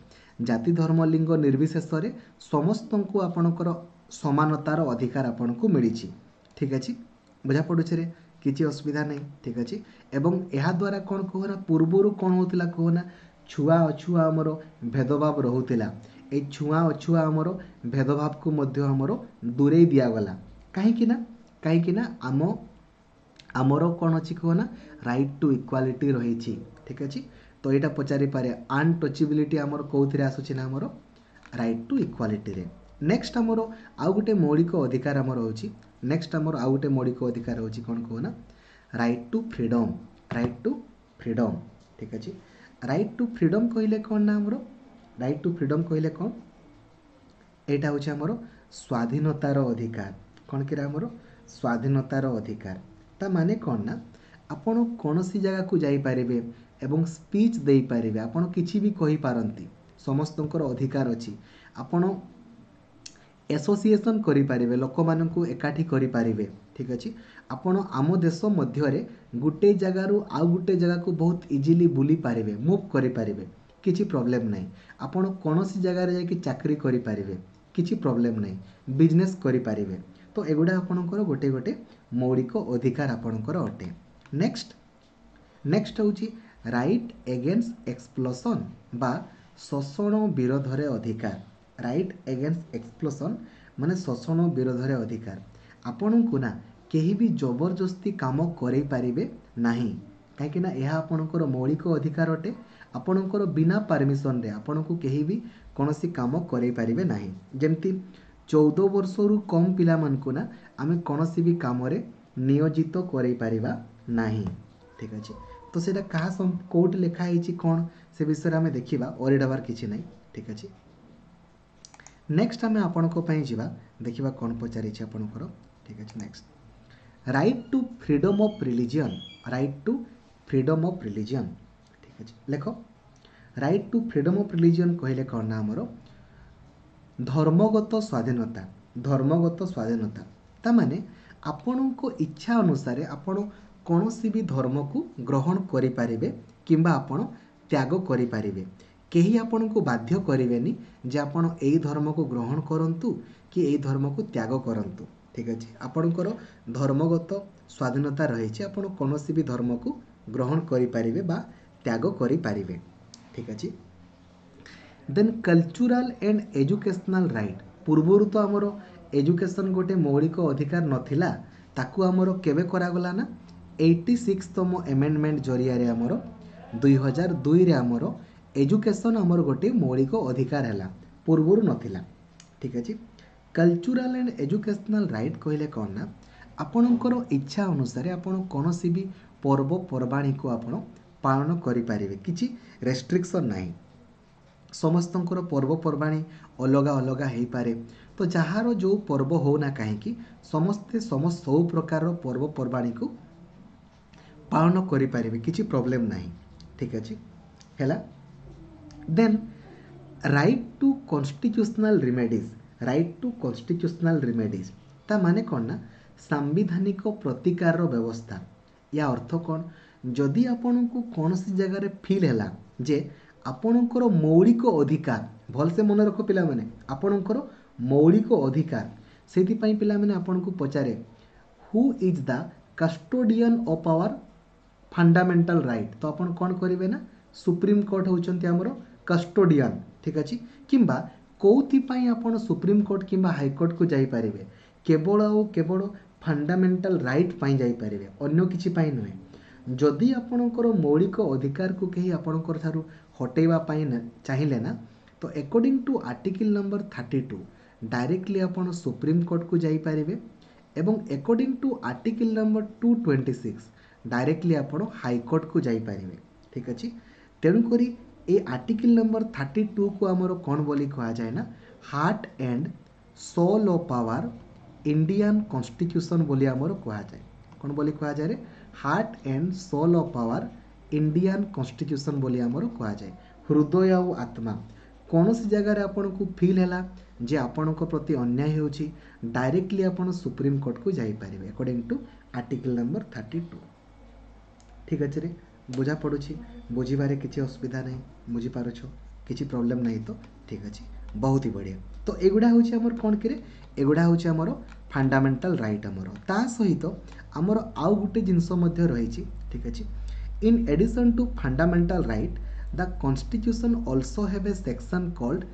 ଜାତି, ଧର୍ମ, ଲିଙ୍ଗ ନିର୍ବିଶେଷରେ ସମସ୍ତଙ୍କୁ ଆପଣଙ୍କର ସମାନତାର ଅଧିକାର ଆପଣଙ୍କୁ ମିଳିଛି। ଠିକ୍ ଅଛି, ବୁଝା ପଡ଼ୁଛି ରେ? କିଛି ଅସୁବିଧା ନାହିଁ। ଠିକ୍ ଅଛି। ଏବଂ ଏହାଦ୍ୱାରା କ'ଣ କୁହ ନା, ପୂର୍ବରୁ କ'ଣ ହେଉଥିଲା କୁହ ନା, ଛୁଆ ଅଛୁଆ ଆମର ଭେଦଭାବ ରହୁଥିଲା। ଏଇ ଛୁଆଁ ଅଛୁଆଁ ଆମର ଭେଦଭାବକୁ ମଧ୍ୟ ଆମର ଦୂରେଇ ଦିଆଗଲା। କାହିଁକି ନା କାହିଁକି ନା ଆମ ଆମର କ'ଣ ଅଛି କୁହ ନା ରାଇଟ୍ ଟୁ ଇକ୍ୱାଲିଟି ରହିଛି ଠିକ୍ ଅଛି ତ ଏଇଟା ପଚାରିପାରେ ଅନଟଚେବିଲିଟି ଆମର କେଉଁଥିରେ ଆସୁଛି ନା ଆମର ରାଇଟ୍ ଟୁ ଇକ୍ୱାଲିଟିରେ ନେକ୍ସଟ ଆମର ଆଉ ଗୋଟେ ମୌଳିକ ଅଧିକାର ଆମର ହେଉଛି ନେକ୍ସଟ ଆମର ଆଉ ଗୋଟେ ମୌଳିକ ଅଧିକାର ହେଉଛି କ'ଣ କୁହ ନା right to freedom right to freedom ଠିକ୍ ଅଛି ରାଇଟ୍ ଟୁ ଫ୍ରିଡ଼ମ୍ କହିଲେ କ'ଣ ନା ଆମର ରାଇଟ୍ ଟୁ ଫ୍ରିଡ଼ମ୍ କହିଲେ କ'ଣ ଏଇଟା ହେଉଛି ଆମର ସ୍ୱାଧୀନତାର ଅଧିକାର କ'ଣ କିରେ ଆମର ସ୍ୱାଧୀନତାର ଅଧିକାର ତା ମାନେ କ'ଣ ନା ଆପଣ କୌଣସି ଜାଗାକୁ ଯାଇପାରିବେ ଏବଂ ସ୍ପିଚ୍ ଦେଇପାରିବେ ଆପଣ କିଛି ବି କହିପାରନ୍ତି ସମସ୍ତଙ୍କର ଅଧିକାର ଅଛି ଆପଣ ଆସୋସିଏସନ୍ କରିପାରିବେ ଲୋକମାନଙ୍କୁ ଏକାଠି କରିପାରିବେ ଠିକ୍ ଅଛି ଆପଣ ଆମ ଦେଶ ମଧ୍ୟରେ ଗୋଟେ ଜାଗାରୁ ଆଉ ଗୋଟେ ଜାଗାକୁ ବହୁତ ଇଜିଲି ବୁଲି ପାରିବେ ମୁଭ୍ କରିପାରିବେ କିଛି ପ୍ରୋବ୍ଲେମ୍ ନାହିଁ ଆପଣ କୌଣସି ଜାଗାରେ ଯାଇକି ଚାକିରି କରିପାରିବେ କିଛି ପ୍ରୋବ୍ଲେମ୍ ନାହିଁ ବିଜନେସ୍ କରିପାରିବେ ତ ଏଗୁଡ଼ା ଆପଣଙ୍କର ଗୋଟେ ଗୋଟେ ମୌଳିକ ଅଧିକାର ଆପଣଙ୍କର ଅଟେ ନେକ୍ସଟ ନେକ୍ସଟ ହେଉଛି ରାଇଟ୍ ଏଗେନ୍ଷ୍ଟ ଏକ୍ସପ୍ଲଏଟେସନ୍ ବା ଶୋଷଣ ବିରୋଧରେ ଅଧିକାର ରାଇଟ୍ ଏଗେନ୍ଷ୍ଟ ଏକ୍ସପ୍ଲଏଟେସନ୍ ମାନେ ଶୋଷଣ ବିରୋଧରେ ଅଧିକାର ଆପଣଙ୍କୁ ନା କେହି ବି ଜବରଦସ୍ତି କାମ କରେଇ ପାରିବେ ନାହିଁ କାହିଁକି ନା ଏହା ଆପଣଙ୍କର ମୌଳିକ ଅଧିକାର ଅଟେ ଆପଣଙ୍କର ବିନା ପାରମିସନରେ ଆପଣଙ୍କୁ କେହି ବି କୌଣସି କାମ କରେଇ ପାରିବେ ନାହିଁ ଯେମିତି ଚଉଦ ବର୍ଷରୁ କମ୍ ପିଲାମାନଙ୍କୁ ନା ଆମେ କୌଣସି ବି କାମରେ ନିୟୋଜିତ କରେଇ ପାରିବା ନାହିଁ ଠିକ୍ ଅଛି ତ ସେଇଟା କାହା କେଉଁଠି ଲେଖା ହେଇଛି କ'ଣ ସେ ବିଷୟରେ ଆମେ ଦେଖିବା ୱରିଡ୍ ହେବାର କିଛି ନାହିଁ ଠିକ୍ ଅଛି ନେକ୍ସଟ ଆମେ ଆପଣଙ୍କ ପାଇଁ ଯିବା ଦେଖିବା କ'ଣ ପଚାରିଛି ଆପଣଙ୍କର ଠିକ୍ ଅଛି next right to freedom of religion right to freedom of religion ଠିକ୍ ଅଛି ଲେଖ right to freedom of religion କହିଲେ କ'ଣ ନା ଆମର ଧର୍ମଗତ ସ୍ୱାଧୀନତା ଧର୍ମଗତ ସ୍ୱାଧୀନତା ତା ମାନେ ଆପଣଙ୍କ ଇଚ୍ଛା ଅନୁସାରେ ଆପଣ କୌଣସି ବି ଧର୍ମକୁ ଗ୍ରହଣ କରିପାରିବେ କିମ୍ବା ଆପଣ ତ୍ୟାଗ କରିପାରିବେ କେହି ଆପଣଙ୍କୁ ବାଧ୍ୟ କରିବେନି ଯେ ଆପଣ ଏଇ ଧର୍ମକୁ ଗ୍ରହଣ କରନ୍ତୁ କି ଏଇ ଧର୍ମକୁ ତ୍ୟାଗ କରନ୍ତୁ ଠିକ୍ ଅଛି ଆପଣଙ୍କର ଧର୍ମଗତ ସ୍ୱାଧୀନତା ରହିଛି ଆପଣ କୌଣସି ବି ଧର୍ମକୁ ଗ୍ରହଣ କରିପାରିବେ ବା ତ୍ୟାଗ କରିପାରିବେ ଠିକ୍ ଅଛି then cultural and educational right ପୂର୍ବରୁ ତ ଆମର ଏଜୁକେସନ୍ ଗୋଟେ ମୌଳିକ ଅଧିକାର ନଥିଲା ତାକୁ ଆମର କେବେ କରାଗଲା ନା ଏଇଟି ସିକ୍ସତମ ଆମେଣ୍ଡମେଣ୍ଟ ଜରିଆରେ ଆମର ଦୁଇ ହଜାର ଦୁଇରେ ଆମର ଏଜୁକେସନ୍ ଆମର ଗୋଟେ ମୌଳିକ ଅଧିକାର ହେଲା ପୂର୍ବରୁ ନଥିଲା ଠିକ୍ ଅଛି କଲଚରାଲ୍ ଆଣ୍ଡ ଏଜୁକେସନାଲ୍ ରାଇଟ୍ କହିଲେ କ'ଣ ନା ଆପଣଙ୍କର ଇଚ୍ଛା ଅନୁସାରେ ଆପଣ କୌଣସି ବି ପର୍ବପର୍ବାଣୀକୁ ଆପଣ ପାଳନ କରିପାରିବେ କିଛି ରେଷ୍ଟ୍ରିକ୍ସନ୍ ନାହିଁ ସମସ୍ତଙ୍କର ପର୍ବପର୍ବାଣୀ ଅଲଗା ଅଲଗା ହେଇପାରେ ତ ଯାହାର ଯେଉଁ ପର୍ବ ହେଉନା କାହିଁକି ସମସ୍ତେ ସମସ୍ତ ସବୁ ପ୍ରକାରର ପର୍ବପର୍ବାଣୀକୁ ପାଳନ କରିପାରିବେ କିଛି ପ୍ରୋବ୍ଲେମ୍ ନାହିଁ ଠିକ୍ ଅଛି ହେଲା then right to constitutional remedies right to constitutional remedies ତା ମାନେ କ'ଣ ନା ସାମ୍ବିଧାନିକ ପ୍ରତିକାରର ବ୍ୟବସ୍ଥା ୟା ଅର୍ଥ କ'ଣ ଯଦି ଆପଣଙ୍କୁ କୌଣସି ଜାଗାରେ ଫିଲ୍ ହେଲା ଯେ ଆପଣଙ୍କର ମୌଳିକ ଅଧିକାର ଭଲସେ ମନେ ରଖ ପିଲାମାନେ ଆପଣଙ୍କର ମୌଳିକ ଅଧିକାର ସେଇଥିପାଇଁ ପିଲାମାନେ ଆପଣଙ୍କୁ ପଚାରେ who is the custodian of our fundamental right ତ ଆପଣ କ'ଣ କରିବେ ନା ସୁପ୍ରିମକୋର୍ଟ ହେଉଛନ୍ତି ଆମର କଷ୍ଟୋଡ଼ିଆନ୍ ଠିକ୍ ଅଛି କିମ୍ବା କେଉଁଥିପାଇଁ ଆପଣ ସୁପ୍ରିମକୋର୍ଟ କିମ୍ବା ହାଇକୋର୍ଟକୁ ଯାଇପାରିବେ କେବଳ ଆଉ କେବଳ ଫଣ୍ଡାମେଣ୍ଟାଲ ରାଇଟ୍ ପାଇଁ ଯାଇପାରିବେ ଅନ୍ୟ କିଛି ପାଇଁ ନୁହେଁ ଯଦି ଆପଣଙ୍କର ମୌଳିକ ଅଧିକାରକୁ କେହି ଆପଣଙ୍କର ଠାରୁ ହଟେଇବା ପାଇଁ ଚାହିଁଲେ ନା ତ according to article number thirty two directly ଆପଣ ସୁପ୍ରିମକୋର୍ଟକୁ ଯାଇପାରିବେ ଏବଂ according to article number two twenty six directly ଆପଣ ହାଇକୋର୍ଟକୁ ଯାଇପାରିବେ ଠିକ୍ ଅଛି ତେଣୁକରି ଏ ଆର୍ଟିକିଲ୍ ନମ୍ବର ଥାର୍ଟି ଟୁକୁ ଆମର କ'ଣ ବୋଲି କୁହାଯାଏ ନା heart and soul of our Indian constitution ବୋଲି ଆମର କୁହାଯାଏ କ'ଣ ବୋଲି କୁହାଯାଏ heart and soul of our Indian constitution ବୋଲି ଆମର କୁହାଯାଏ ହୃଦୟ ଆଉ ଆତ୍ମା କୌଣସି ଜାଗାରେ ଆପଣଙ୍କୁ ଫିଲ୍ ହେଲା ଯେ ଆପଣଙ୍କ ପ୍ରତି ଅନ୍ୟାୟ ହେଉଛି ଡାଇରେକ୍ଟଲି ଆପଣ ସୁପ୍ରିମକୋର୍ଟକୁ ଯାଇପାରିବେ according to article number thirty two ଠିକ୍ ଅଛି ରେ ବୁଝା ପଡ଼ୁଛି ବୁଝିବାରେ କିଛି ଅସୁବିଧା ନାହିଁ ବୁଝିପାରୁଛ କିଛି ପ୍ରୋବ୍ଲେମ୍ ନାହିଁ ତ ଠିକ୍ ଅଛି ବହୁତ ହି ବଢ଼ିଆ ତ ଏଗୁଡ଼ା ହେଉଛି ଆମର କ'ଣ କିରେ ଏଗୁଡ଼ା ହେଉଛି ଆମର ଫଣ୍ଡାମେଣ୍ଟାଲ ରାଇଟ୍ ଆମର ତା ସହିତ ଆମର ଆଉ ଗୋଟେ ଜିନିଷ ମଧ୍ୟ ରହିଛି ଠିକ୍ ଅଛି in addition to fundamental right the constitution also have a section called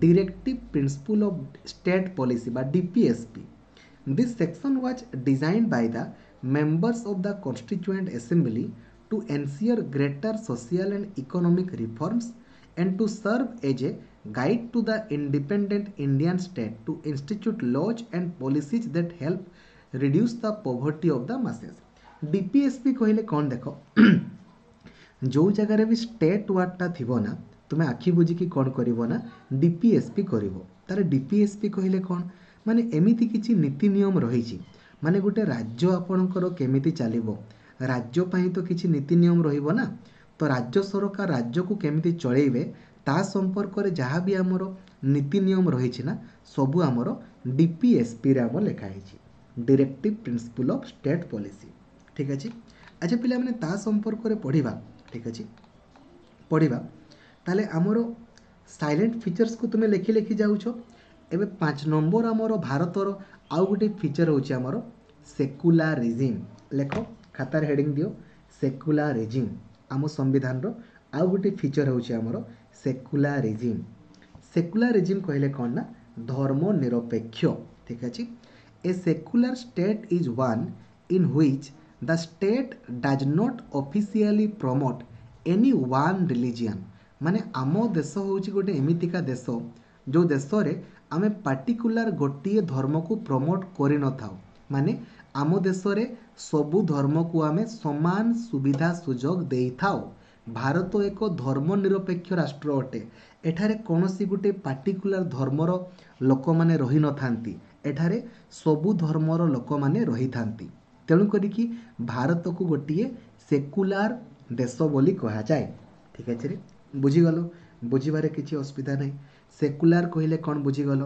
directive principle of state policy ବା DPSP this section was designed by the members of the Constituent Assembly to ensure greater social and economic reforms and to serve as a guide to the independent Indian state to institute laws and policies that help reduce the poverty of the masses. D P S P କହିଲେ କ'ଣ? ଦେଖ, ଯେଉଁ ଜାଗାରେ ବି ଷ୍ଟେଟ୍ ୱାର୍ଡ଼ଟା ଥିବ ନା, ତୁମେ ଆଖି ବୁଜିକି କ'ଣ କରିବ ନା, ଡିପିଏସ୍ପି କରିବ। ତାହେଲେ ଡିପିଏସ୍ପି କହିଲେ କ'ଣ? ମାନେ ଏମିତି କିଛି ନୀତି ନିୟମ ରହିଛି, ମାନେ ଗୋଟେ ରାଜ୍ୟ ଆପଣଙ୍କର କେମିତି ଚାଲିବ, ରାଜ୍ୟ ପାଇଁ ତ କିଛି ନୀତି ନିୟମ ରହିବ ନା। ତ ରାଜ୍ୟ ସରକାର ରାଜ୍ୟକୁ କେମିତି ଚଳେଇବେ, ତା ସମ୍ପର୍କରେ ଯାହା ବି ଆମର ନୀତି ନିୟମ ରହିଛି ନା, ସବୁ ଆମର ଡିପିଏସ୍ପିରେ ଆମର ଲେଖା ହେଇଛି, Directive Principle of State Policy। ଠିକ୍ ଅଛି? ଆଚ୍ଛା ପିଲାମାନେ, ତା ସମ୍ପର୍କରେ ପଢ଼ିବା। ଠିକ୍ ଅଛି, ପଢ଼ିବା। ତାହେଲେ ଆମର ସାଲିଏଣ୍ଟ ଫିଚର୍ସକୁ ତୁମେ ଲେଖି ଲେଖି ଯାଉଛ। ଏବେ ପାଞ୍ଚ ନମ୍ବର ଆମର ଭାରତର ଆଉ ଗୋଟେ ଫିଚର୍ ହେଉଛି ଆମର ସେକୁଲାରିଜିମ୍। ଲେଖ, ଖାତାରେ ହେଡ଼ିଂ ଦିଅ, ସେକୁଲାରିଜିମ୍। ଆମ ସମ୍ବିଧାନର ଆଉ ଗୋଟେ ଫିଚର୍ ହେଉଛି ଆମର ସେକୁଲାରିଜିମ୍। ସେକୁଲାରିଜିମ୍ କହିଲେ କ'ଣ ନା ଧର୍ମ ନିରପେକ୍ଷ। ଠିକ୍ ଅଛି? A secular state is one in which the state does not officially promote any one religion। ମାନେ ଆମ ଦେଶ ହେଉଛି ଗୋଟେ ଏମିତିକା ଦେଶ, ଯେଉଁ ଦେଶରେ ଆମେ ପାର୍ଟିକୁଲାର ଗୋଟିଏ ଧର୍ମକୁ ପ୍ରମୋଟ୍ କରିନଥାଉ। ମାନେ ଆମ ଦେଶରେ ସବୁ ଧର୍ମକୁ ଆମେ ସମାନ ସୁବିଧା ସୁଯୋଗ ଦେଇଥାଉ। ଭାରତ ଏକ ଧର୍ମ ନିରପେକ୍ଷ ରାଷ୍ଟ୍ର ଅଟେ। ଏଠାରେ କୌଣସି ଗୋଟେ ପାର୍ଟିକୁଲାର ଧର୍ମର ଲୋକମାନେ ରହିନଥାନ୍ତି, ଏଠାରେ ସବୁ ଧର୍ମର ଲୋକମାନେ ରହିଥାନ୍ତି। ତେଣୁ କରିକି ଭାରତକୁ ଗୋଟିଏ ସେକୁଲାର ଦେଶ ବୋଲି କୁହାଯାଏ। ଠିକ୍ ଅଛି ରେ? ବୁଝିଗଲ? ବୁଝିବାରେ କିଛି ଅସୁବିଧା ନାହିଁ। ସେକୁଲାର କହିଲେ କ'ଣ ବୁଝିଗଲ?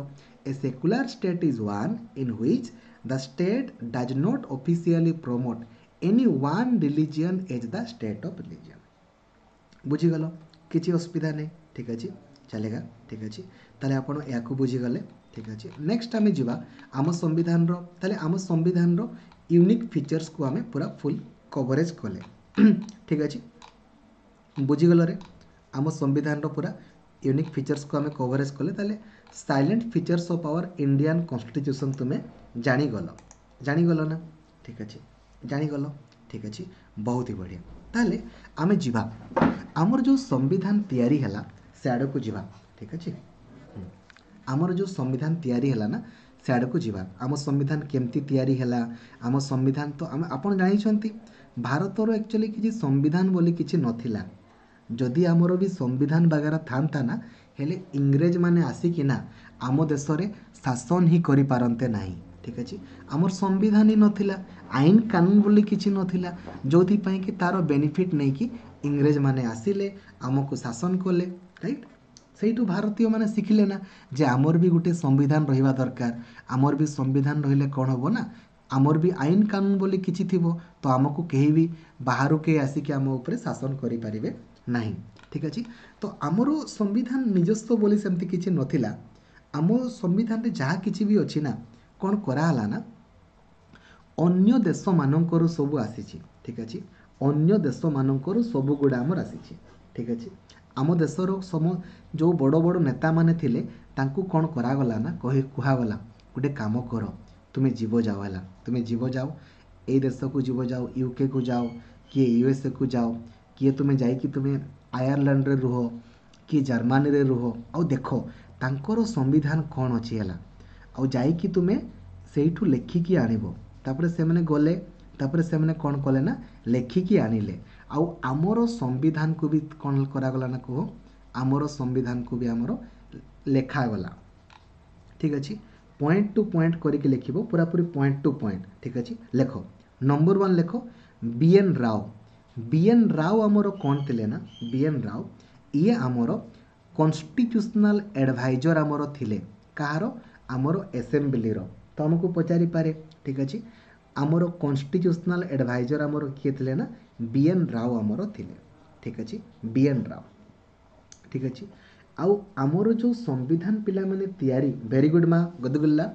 A secular state is one in which the state does not officially promote any one religion as the state of religion। ବୁଝିଗଲ? କିଛି ଅସୁବିଧା ନାହିଁ। ଠିକ୍ ଅଛି, चलेगा। ଠିକ୍ ଅଛି, ତାହେଲେ ଆପଣ ଏହାକୁ ବୁଝିଗଲେ। ଠିକ୍ ଅଛି, ନେକ୍ସଟ ଆମେ ଯିବା ଆମ ସମ୍ବିଧାନର। ତାହେଲେ ଆମ ସମ୍ବିଧାନର ୟୁନିକ୍ ଫିଚର୍ସକୁ ଆମେ ପୁରା ଫୁଲ୍ କଭରେଜ୍ କଲେ। ଠିକ୍ ଅଛି, ବୁଝିଗଲରେ? ଆମ ସମ୍ବିଧାନର ପୁରା ୟୁନିକ୍ ଫିଚର୍ସକୁ ଆମେ କଭରେଜ୍ କଲେ। ତାହେଲେ salient features of our Indian Constitution ତୁମେ ଜାଣିଗଲ। ଜାଣିଗଲ ନା? ଠିକ୍ ଅଛି, ଜାଣିଗଲ। ଠିକ୍ ଅଛି, ବହୁତ ହି ବଢ଼ିଆ। ତାହେଲେ ଆମେ ଯିବା ଆମର ଯେଉଁ ସମ୍ବିଧାନ ତିଆରି ହେଲା ସେ ଆଡ଼କୁ ଯିବା। ଠିକ୍ ଅଛି, ଆମର ଯେଉଁ ସମ୍ବିଧାନ ତିଆରି ହେଲା ନା, ସେ ଆଡ଼କୁ ଯିବା। ଆମ ସମ୍ବିଧାନ କେମିତି ତିଆରି ହେଲା? ଆମ ସମ୍ବିଧାନ ତ ଆମେ ଆପଣ ଜାଣିଛନ୍ତି, ଭାରତର ଆକ୍ଚୁଆଲି କିଛି ସମ୍ବିଧାନ ବୋଲି କିଛି ନଥିଲା। ଯଦି ଆମର ବି ସମ୍ବିଧାନ ବାଗେରା ଥାନ୍ତା ନା, ହେଲେ ଇଂରେଜମାନେ ଆସିକିନା ଆମ ଦେଶରେ ଶାସନ ହିଁ କରିପାରନ୍ତେ ନାହିଁ। ଠିକ୍ ଅଛି? ଆମର ସମ୍ବିଧାନ ହିଁ ନଥିଲା, ଆଇନ କାନୁନ ବୋଲି କିଛି ନଥିଲା, ଯେଉଁଥିପାଇଁ କି ତା'ର ବେନିଫିଟ୍ ନେଇକି ଇଂରେଜମାନେ ଆସିଲେ, ଆମକୁ ଶାସନ କଲେ, ରାଇଟ୍? ସେଇଠୁ ଭାରତୀୟମାନେ ଶିଖିଲେ ନା ଯେ ଆମର ବି ଗୋଟେ ସମ୍ବିଧାନ ରହିବା ଦରକାର। ଆମର ବି ସମ୍ବିଧାନ ରହିଲେ କ'ଣ ହେବ ନା, ଆମର ବି ଆଇନ କାନୁନ ବୋଲି କିଛି ଥିବ, ତ ଆମକୁ କେହି ବି ବାହାରୁ କେହି ଆସିକି ଆମ ଉପରେ ଶାସନ କରିପାରିବେ ନାହିଁ। ଠିକ୍ ଅଛି? ତ ଆମର ସମ୍ବିଧାନ ନିଜସ୍ୱ ବୋଲି ସେମିତି କିଛି ନଥିଲା। ଆମ ସମ୍ବିଧାନରେ ଯାହା କିଛି ବି ଅଛି ନା, କ'ଣ କରାହେଲା ନା, ଅନ୍ୟ ଦେଶମାନଙ୍କରୁ ସବୁ ଆସିଛି। ଠିକ୍ ଅଛି? ଅନ୍ୟ ଦେଶମାନଙ୍କରୁ ସବୁ ଗୁଡ଼ା ଆମର ଆସିଛି। ଠିକ୍ ଅଛି? ଆମ ଦେଶର ସମ ଯେଉଁ ବଡ଼ ବଡ଼ ନେତାମାନେ ଥିଲେ, ତାଙ୍କୁ କ'ଣ କରାଗଲା ନା, କହି କୁହାଗଲା, ଗୋଟେ କାମ କର, ତୁମେ ଯିବ ଯାଅ, ହେଲା, ତୁମେ ଯିବ ଯାଅ, ଏଇ ଦେଶକୁ ଯିବ ଯାଅ, ୟୁକେକୁ ଯାଅ, କିଏ ୟୁଏସ୍ଏକୁ ଯାଅ, କିଏ ତୁମେ ଯାଇକି ତୁମେ ଆୟାରଲାଣ୍ଡରେ ରୁହ କି ଜର୍ମାନୀରେ ରୁହ, ଆଉ ଦେଖ ତାଙ୍କର ସମ୍ବିଧାନ କ'ଣ ଅଛି, ହେଲା, ଆଉ ଯାଇକି ତୁମେ ସେଇଠୁ ଲେଖିକି ଆଣିବ। ତାପରେ ସେମାନେ ଗଲେ। ତାପରେ ସେମାନେ କ'ଣ କଲେ ନା, ଲେଖିକି ଆଣିଲେ। ଆଉ ଆମର ସମ୍ବିଧାନକୁ ବି କ'ଣ କରାଗଲା ନା କୁହ, ଆମର ସମ୍ବିଧାନକୁ ବି ଆମର ଲେଖାଗଲା। ଠିକ୍ ଅଛି? ପଏଣ୍ଟ ଟୁ ପଏଣ୍ଟ କରିକି ଲେଖିବ, ପୁରାପୁରି ପଏଣ୍ଟ ଟୁ ପଏଣ୍ଟ। ଠିକ୍ ଅଛି, ଲେଖ। ନମ୍ବର ୱାନ୍ ଲେଖ, ବି ଏନ୍ ରାଓ। ବି ଏନ୍ ରାଓ ଆମର କ'ଣ ଥିଲେ ନା, ବି ଏନ୍ ରାଓ ଇଏ ଆମର କନଷ୍ଟିଚ୍ୟୁସନାଲ ଆଡ଼ଭାଇଜର ଆମର ଥିଲେ। କାହାର? ଆମର ଆସେମ୍ବଲିର। ତ ଆମକୁ ପଚାରିପାରେ। ଠିକ୍ ଅଛି? ଆମର କନଷ୍ଟିଚ୍ୟୁସନାଲ ଆଡ଼ଭାଇଜର ଆମର କିଏ ଥିଲେ ନା, ବି ଏନ୍ ରାଓ ଆମର ଥିଲେ। ଠିକ୍ ଅଛି? ବି ଏନ୍ ରାଓ। ଠିକ୍ ଅଛି? ଆଉ ଆମର ଯେଉଁ ସମ୍ବିଧାନ ପିଲାମାନେ ତିଆରି, ଭେରି ଗୁଡ୍ ମା ଗଦଗୁଲ୍ଲା,